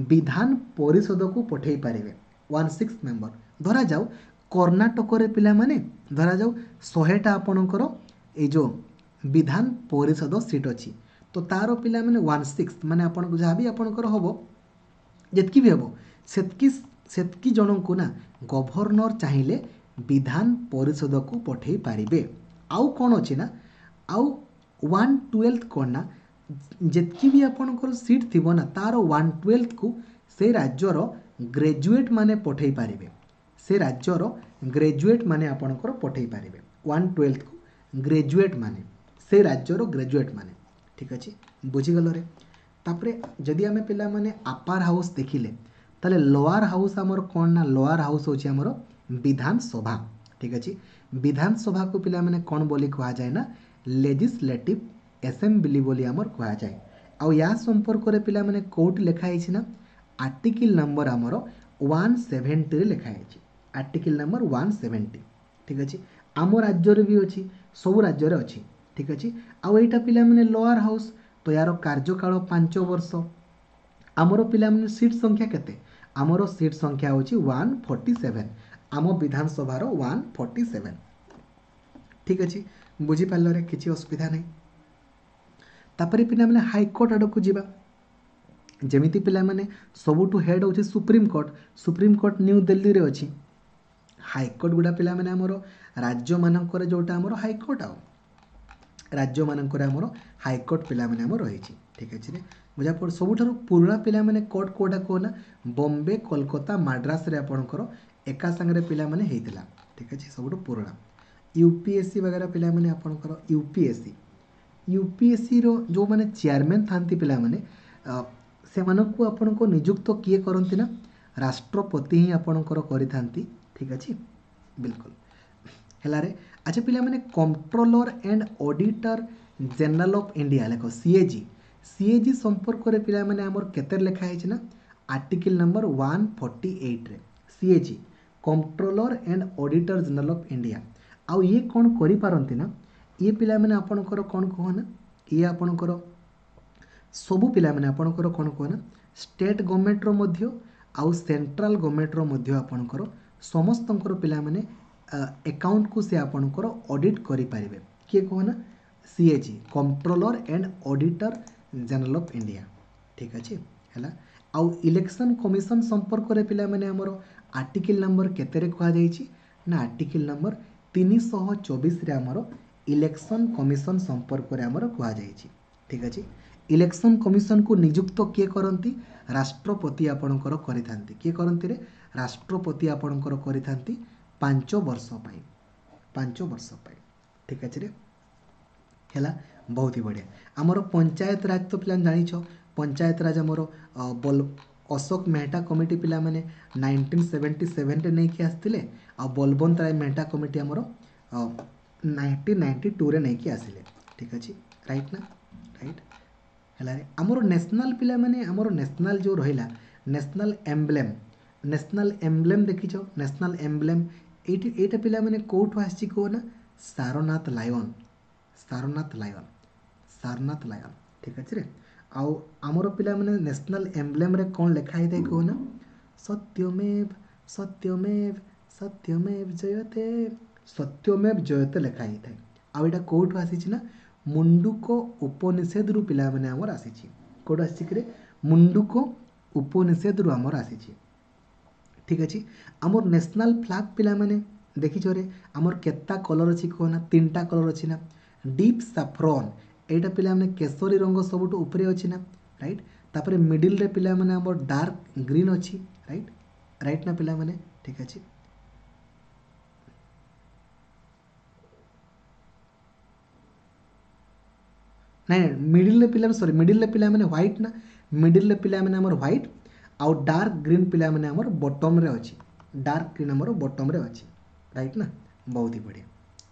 ବିଧାନ ପରିଷଦକୁ ପଠାଇ ପାରିବେ। ୱାନ୍ ସିକ୍ସ ମେମ୍ବର ଧରାଯାଉ କର୍ଣ୍ଣାଟକରେ ପିଲାମାନେ ଧରାଯାଉ ଶହେଟା ଆପଣଙ୍କର ଏଇ ଯେଉଁ ବିଧାନ ପରିଷଦ ସିଟ୍ ଅଛି, ତ ତାର ପିଲାମାନେ ୱାନ୍ ସିକ୍ସ ମାନେ ଆପଣଙ୍କୁ ଯାହା ବି ଆପଣଙ୍କର ହେବ ଯେତିକି ବି ହେବ ସେତିକି ସେତିକି ଜଣଙ୍କୁ ନା ଗଭର୍ଣ୍ଣର ଚାହିଁଲେ ବିଧାନ ପରିଷଦକୁ ପଠାଇ ପାରିବେ। ଆଉ କ'ଣ ଅଛି ନା, ଆଉ ୱାନ୍ ଟୁଏଲ୍ଥ କ'ଣ ନା, ଯେତିକି ବି ଆପଣଙ୍କର ସିଟ୍ ଥିବ ନା ତାର ୱାନ୍ ଟୁଏଲ୍ଥକୁ ସେ ରାଜ୍ୟର ଗ୍ରାଜୁଏଟ୍ ମାନେ ପଠାଇ ପାରିବେ। ସେ ରାଜ୍ୟର ଗ୍ରାଜୁଏଟ୍ ମାନେ ଆପଣଙ୍କର ପଠାଇ ପାରିବେ ୱାନ୍ ଟୁଏଲ୍ଥକୁ ଗ୍ରାଜୁଏଟ୍ ମାନେ, ସେ ରାଜ୍ୟର ଗ୍ରାଜୁଏଟ୍ ମାନେ। ଠିକ୍ ଅଛି, ବୁଝିଗଲରେ? ତାପରେ ଯଦି ଆମେ ପିଲାମାନେ ଆପାର ହାଉସ୍ ଦେଖିଲେ, ତାହେଲେ ଲୋଆର ହାଉସ୍ ଆମର କ'ଣ ନା, ଲୋଆର ହାଉସ୍ ହେଉଛି ଆମର ବିଧାନସଭା। ଠିକ୍ ଅଛି, ବିଧାନସଭାକୁ ପିଲାମାନେ କ'ଣ ବୋଲି କୁହାଯାଏ ନା, ଲେଜିସ୍ଲେଟିଭ୍ ଆସେମ୍ବଲି ବୋଲି ଆମର କୁହାଯାଏ। ଆଉ ୟା ସମ୍ପର୍କରେ ପିଲାମାନେ କେଉଁଠି ଲେଖା ହେଇଛି ନା, ଆର୍ଟିକିଲ୍ ନମ୍ବର ଆମର ୱାନ୍ ସେଭେଣ୍ଟିରେ ଲେଖା ହେଇଛି, ଆର୍ଟିକିଲ୍ ନମ୍ବର ୱାନ୍ ସେଭେଣ୍ଟି। ଠିକ୍ ଅଛି, ଆମ ରାଜ୍ୟରେ ବି ଅଛି, ସବୁ ରାଜ୍ୟରେ ଅଛି। ଠିକ୍ ଅଛି, ଆଉ ଏଇଟା ପିଲାମାନେ ଲୋଆର ହାଉସ୍, ତ ୟାର କାର୍ଯ୍ୟକାଳ ପାଞ୍ଚ ବର୍ଷ। ଆମର ପିଲାମାନେ ସିଟ୍ ସଂଖ୍ୟା କେତେ? ଆମର ସିଟ୍ ସଂଖ୍ୟା ହେଉଛି ୱାନ୍ ଫର୍ଟି ସେଭେନ୍, ଆମ ବିଧାନସଭାର ୱାନ୍ ଫର୍ଟି ସେଭେନ୍। ଠିକ୍ ଅଛି, ବୁଝିପାରିଲରେ? କିଛି ଅସୁବିଧା ନାହିଁ। ତାପରେ ପିଲାମାନେ ହାଇକୋର୍ଟ ଆଡ଼କୁ ଯିବା। ଯେମିତି ପିଲାମାନେ ସବୁଠୁ ହେଡ଼୍ ହେଉଛି ସୁପ୍ରିମକୋର୍ଟ, ସୁପ୍ରିମକୋର୍ଟ ନ୍ୟୁ ଦିଲ୍ଲୀରେ ଅଛି। ହାଇକୋର୍ଟ ଗୁଡ଼ା ପିଲାମାନେ ଆମର ରାଜ୍ୟମାନଙ୍କରେ ଯେଉଁଟା ଆମର ହାଇକୋର୍ଟ, ଆଉ ରାଜ୍ୟମାନଙ୍କରେ ଆମର ହାଇକୋର୍ଟ ପିଲାମାନେ ଆମର ରହିଛି। ଠିକ୍ ଅଛି ରେ, ବୁଝା ପଡ଼। ସବୁଠାରୁ ପୁରୁଣା ପିଲାମାନେ କୋର୍ଟ କେଉଁଟା କୁହ ନା, ବମ୍ବେ, କୋଲକାତା, ମାଡ୍ରାସରେ ଆପଣଙ୍କର ଏକା ସାଙ୍ଗରେ ପିଲାମାନେ ହେଇଥିଲା। ଠିକ୍ ଅଛି, ସବୁଠୁ ପୁରୁଣା। ୟୁ ପି ଏସ୍ ସି ବଗେରା ପିଲାମାନେ ଆପଣଙ୍କର U P S C, U P S ସିର ଯେଉଁମାନେ ଚେୟାରମ୍ୟାନ୍ ଥାନ୍ତି ପିଲାମାନେ, ସେମାନଙ୍କୁ ଆପଣଙ୍କ ନିଯୁକ୍ତ କିଏ କରନ୍ତି ନା, ରାଷ୍ଟ୍ରପତି ହିଁ ଆପଣଙ୍କର କରିଥାନ୍ତି। ଠିକ୍ ଅଛି, ବିଲକୁଲ ହେଲାରେ। ଆଚ୍ଛା ପିଲାମାନେ, controller and auditor general of India ଲେଖ, C A G. C A G ସମ୍ପର୍କରେ ପିଲାମାନେ ଆମର କେତେ ଲେଖା ହେଇଛି ନା, ଆର୍ଟିକିଲ୍ ନମ୍ବର ୱାନ୍ ଫର୍ଟି ଏଇଟ୍ରେ C A G, controller and auditor general of India. ଆଉ ଇଏ କ'ଣ କରିପାରନ୍ତି ନା, ଇଏ ପିଲାମାନେ ଆପଣଙ୍କର କ'ଣ କୁହ ନା, ଇଏ ଆପଣଙ୍କର ସବୁ ପିଲାମାନେ ଆପଣଙ୍କର କ'ଣ କୁହ ନା, ଷ୍ଟେଟ୍ ଗଭର୍ଣ୍ଣମେଣ୍ଟର ମଧ୍ୟ ଆଉ ସେଣ୍ଟ୍ରାଲ ଗଭର୍ଣ୍ଣମେଣ୍ଟର ମଧ୍ୟ ଆପଣଙ୍କର ସମସ୍ତଙ୍କର ପିଲାମାନେ ଆକାଉଣ୍ଟକୁ ସେ ଆପଣଙ୍କର ଅଡ଼ିଟ୍ କରିପାରିବେ। କିଏ କୁହ ନା, C A G, controller and auditor general of India. ଠିକ୍ ଅଛି, ହେଲା। ଆଉ ଇଲେକ୍ସନ୍ କମିଶନ ସମ୍ପର୍କରେ ପିଲାମାନେ ଆମର ଆର୍ଟିକିଲ୍ ନମ୍ବର କେତେରେ କୁହାଯାଇଛି ନା, ଆର୍ଟିକିଲ୍ ନମ୍ବର ତିନିଶହ ଚବିଶରେ ଆମର ଇଲେକ୍ସନ୍ କମିଶନ ସମ୍ପର୍କରେ ଆମର କୁହାଯାଇଛି। ଠିକ୍ ଅଛି, ଇଲେକ୍ସନ୍ କମିଶନକୁ ନିଯୁକ୍ତ କିଏ କରନ୍ତି? ରାଷ୍ଟ୍ରପତି ଆପଣଙ୍କର କରିଥାନ୍ତି। କିଏ କରନ୍ତି ରେ? ରାଷ୍ଟ୍ରପତି ଆପଣଙ୍କର କରିଥାନ୍ତି ପାଞ୍ଚ ବର୍ଷ ପାଇଁ, ପାଞ୍ଚ ବର୍ଷ ପାଇଁ। ଠିକ୍ ଅଛି ରେ, ହେଲା, ବହୁତ ହି ବଢ଼ିଆ। ଆମର ପଞ୍ଚାୟତ ରାଜ ତ ପିଲାମାନେ ଜାଣିଛ, ପଞ୍ଚାୟତ ରାଜ ଆମର ବଲ ଅଶୋକ ମେହଟା କମିଟି ପିଲାମାନେ ନାଇନଟିନ୍ ସେଭେଣ୍ଟି ସେଭେନରେ ନେଇକି ଆସିଥିଲେ, ଆଉ ବଲବନ୍ତ ରାୟ ମେହଟା କମିଟି ଆମର ନାଇନଟିନ୍ ନାଇଣ୍ଟି ଟୁରେ ନେଇକି ଆସିଲେ। ଠିକ୍ ଅଛି, ରାଇଟ୍ ନା? ରାଇଟ୍ ହେଲା ରେ। ଆମର ନ୍ୟାସନାଲ୍ ପିଲାମାନେ, ଆମର ନ୍ୟାସନାଲ୍ ଯେଉଁ ରହିଲା ନ୍ୟାସନାଲ୍ ଏମ୍ବ୍ଲେମ୍, ନ୍ୟାସନାଲ୍ ଏମ୍ବ୍ଲେମ୍ ଦେଖିଛ? ନ୍ୟାସନାଲ୍ ଏମ୍ବ୍ଲେମ୍ ଏଇଠି ଏଇଟା ପିଲାମାନେ କେଉଁଠୁ ଆସିଛି କୁହ ନା, Sarnath lion, Sarnath lion, Sarnath lion. ଠିକ୍ ଅଛି ରେ। ଆଉ ଆମର ପିଲାମାନେ ନ୍ୟାସନାଲ୍ ଏମ୍ବ୍ଲେମ୍ରେ କ'ଣ ଲେଖା ହେଇଥାଏ କୁହ ନା, ସତ୍ୟମେବ ସତ୍ୟମେବ ସତ୍ୟମେବ ଜୟତେ, ସତ୍ୟମେବ ଜୟତେ ଲେଖା ହେଇଥାଏ। ଆଉ ଏଇଟା କେଉଁଠୁ ଆସିଛି ନା, ମୁଣ୍ଡୁକ ଉପନିଷଦରୁ ପିଲାମାନେ ଆମର ଆସିଛି। କେଉଁଠୁ ଆସିଛି କିରେ? ମୁଣ୍ଡୁକ ଉପନିଷଦରୁ ଆମର ଆସିଛି। ଠିକ୍ ଅଛି, ଆମର ନ୍ୟାସନାଲ୍ ଫ୍ଲାଗ୍ ପିଲାମାନେ ଦେଖିଛ ରେ, ଆମର କେତେଟା କଲର୍ ଅଛି କୁହ ନା, ତିନିଟା କଲର୍ ଅଛି ନା। ଡିପ୍ ସାଫ୍ରନ୍, ଏଇଟା ପିଲାମାନେ କେଶରୀ ରଙ୍ଗ ସବୁଠୁ ଉପରେ ଅଛି ନା, ରାଇଟ୍। ତାପରେ ମିଡ଼ିଲ୍ରେ ପିଲାମାନେ ଆମର ଡାର୍କ ଗ୍ରୀନ୍ ଅଛି, ରାଇଟ୍, ରାଇଟ୍ ନା ପିଲାମାନେ? ଠିକ୍ ଅଛି, ନାଇଁ ନାଇଁ ମିଡ଼ିଲ୍ରେ ପିଲାମାନେ, ସରି ମିଡ଼ିଲ୍ରେ ପିଲାମାନେ ହ୍ୱାଇଟ୍ ନା, ମିଡ଼ିଲ୍ରେ ପିଲାମାନେ ଆମର ହ୍ୱାଇଟ୍ ଆଉ ଡାର୍କ ଗ୍ରୀନ୍ ପିଲାମାନେ ଆମର ବଟମ୍ରେ ଅଛି, ଡାର୍କ ଗ୍ରୀନ୍ ଆମର ବଟମ୍ରେ ଅଛି, ରାଇଟ୍ ନା? ବହୁତ ହି ବଢ଼ିଆ।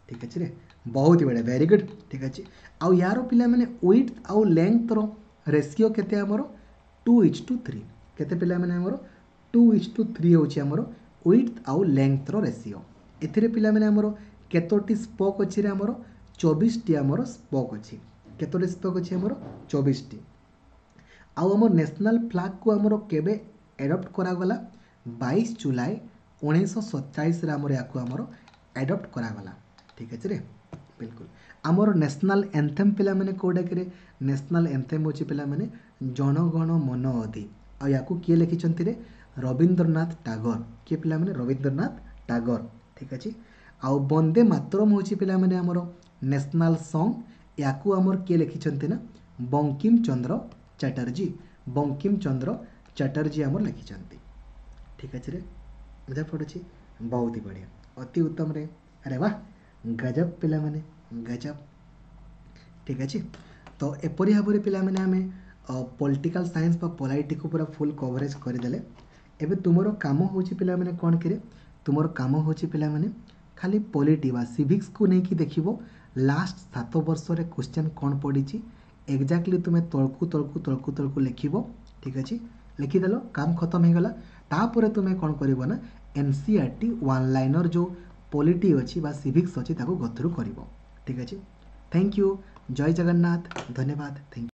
ଠିକ୍ ଅଛି ରେ, ବହୁତ ହି ବଢ଼ିଆ, ଭେରି ଗୁଡ୍। ଠିକ୍ ଅଛି, ଆଉ ୟାର ପିଲାମାନେ ୱିଡ୍ଥ ଆଉ ଲେନ୍ଥର ରେସିଓ କେତେ ଆମର? Two is to three. କେତେ ପିଲାମାନେ ଆମର? ଟୁ ଇଚ୍ ଟୁ ଥ୍ରୀ ହେଉଛି ଆମର ୱିଡ୍ଥ ଆଉ ଲେନ୍ଥର ରେସିଓ। ଏଥିରେ ପିଲାମାନେ ଆମର କେତୋଟି ସ୍ପୋକ୍ ଅଛି ରେ? ଆମର ଚବିଶଟି ଆମର ସ୍ପୋକ୍ ଅଛି। କେତୋଟି ସ୍ପୋକ୍ ଅଛି ଆମର? ଚବିଶଟି। ଆଉ ଆମର ନ୍ୟାସନାଲ୍ ଫ୍ଲାଗ୍କୁ ଆମର କେବେ ଆଡ଼ପ୍ଟ କରାଗଲା? ବାଇଶ ଜୁଲାଇ ଉଣେଇଶହ ସତଚାଳିଶରେ ଆମର ୟାକୁ ଆମର ଆଡ଼ପ୍ଟ କରାଗଲା। ଠିକ୍ ଅଛି ରେ, ବିଲକୁଲ। ଆମର ନ୍ୟାସନାଲ୍ ଏନ୍ଥେମ୍ ପିଲାମାନେ କେଉଁଟାକିରେ? ନ୍ୟାସନାଲ୍ ଏନ୍ଥେମ୍ ହେଉଛି ପିଲାମାନେ ଜନଗଣ ମନ ଅଧି। ଆଉ ୟାକୁ କିଏ ଲେଖିଛନ୍ତି ରେ? ରବୀନ୍ଦ୍ରନାଥ ଟାଗୋର। କିଏ ପିଲାମାନେ? ରବୀନ୍ଦ୍ରନାଥ ଟାଗୋର। ଠିକ୍ ଅଛି। ଆଉ ବନ୍ଦେ ମାତରମ୍ ହେଉଛି ପିଲାମାନେ ଆମର ନ୍ୟାସନାଲ୍ ସଙ୍ଗ୍। ୟାକୁ ଆମର କିଏ ଲେଖିଛନ୍ତି ନା ବଙ୍କିମ ଚନ୍ଦ୍ର ଚାଟାର୍ଜୀ। ବଙ୍କିମ ଚନ୍ଦ୍ର ଚାଟାର୍ଜୀ ଆମର ଲେଖିଛନ୍ତି। ଠିକ୍ ଅଛି ରେ, ବୁଝା ପଡ଼ୁଛି? ବହୁତ ହି ବଢ଼ିଆ, ଅତି ଉତ୍ତମରେ। ଆରେ ବାহ, ଗଜବ ପିଲାମାନେ, ଗଜବ। ଠିକ୍ ଅଛି। ତ ଏପରି ଭାବରେ ପିଲାମାନେ ଆମେ ପଲିଟିକାଲ୍ ସାଇନ୍ସ ବା ପଲାଇଟିକୁ ପୁରା ଫୁଲ୍ କଭରେଜ୍ କରିଦେଲେ। ଏବେ ତୁମର କାମ ହେଉଛି ପିଲାମାନେ କ'ଣ କିରେ? ତୁମର କାମ ହେଉଛି ପିଲାମାନେ ଖାଲି ପଲିଟି ବା ସିଭିକ୍ସକୁ ନେଇକି ଦେଖିବ ଲାଷ୍ଟ ସାତ ବର୍ଷରେ କ୍ୱେଶ୍ଚନ୍ କ'ଣ ପଡ଼ିଛି। ଏକ୍ଜାକ୍ଟଲି ତୁମେ ତଳକୁ ତଳକୁ ତଳକୁ ତଳକୁ ଲେଖିବ। ଠିକ୍ ଅଛି, ଲେଖିଦେଲ, କାମ ଖତମ ହେଇଗଲା। ତାପରେ ତୁମେ କ'ଣ କରିବ ନା N C R ଟି ୱାନ୍ ଲାଇନର୍ ଯେଉଁ ପଲିଟି ଅଛି ବା ସିଭିକ୍ସ ଅଛି ତାକୁ ଗଥ୍ରୁ କରିବ। ଠିକ୍ ଅଛି, thank you, ଜୟ ଜଗନ୍ନାଥ, ଧନ୍ୟବାଦ, thank you.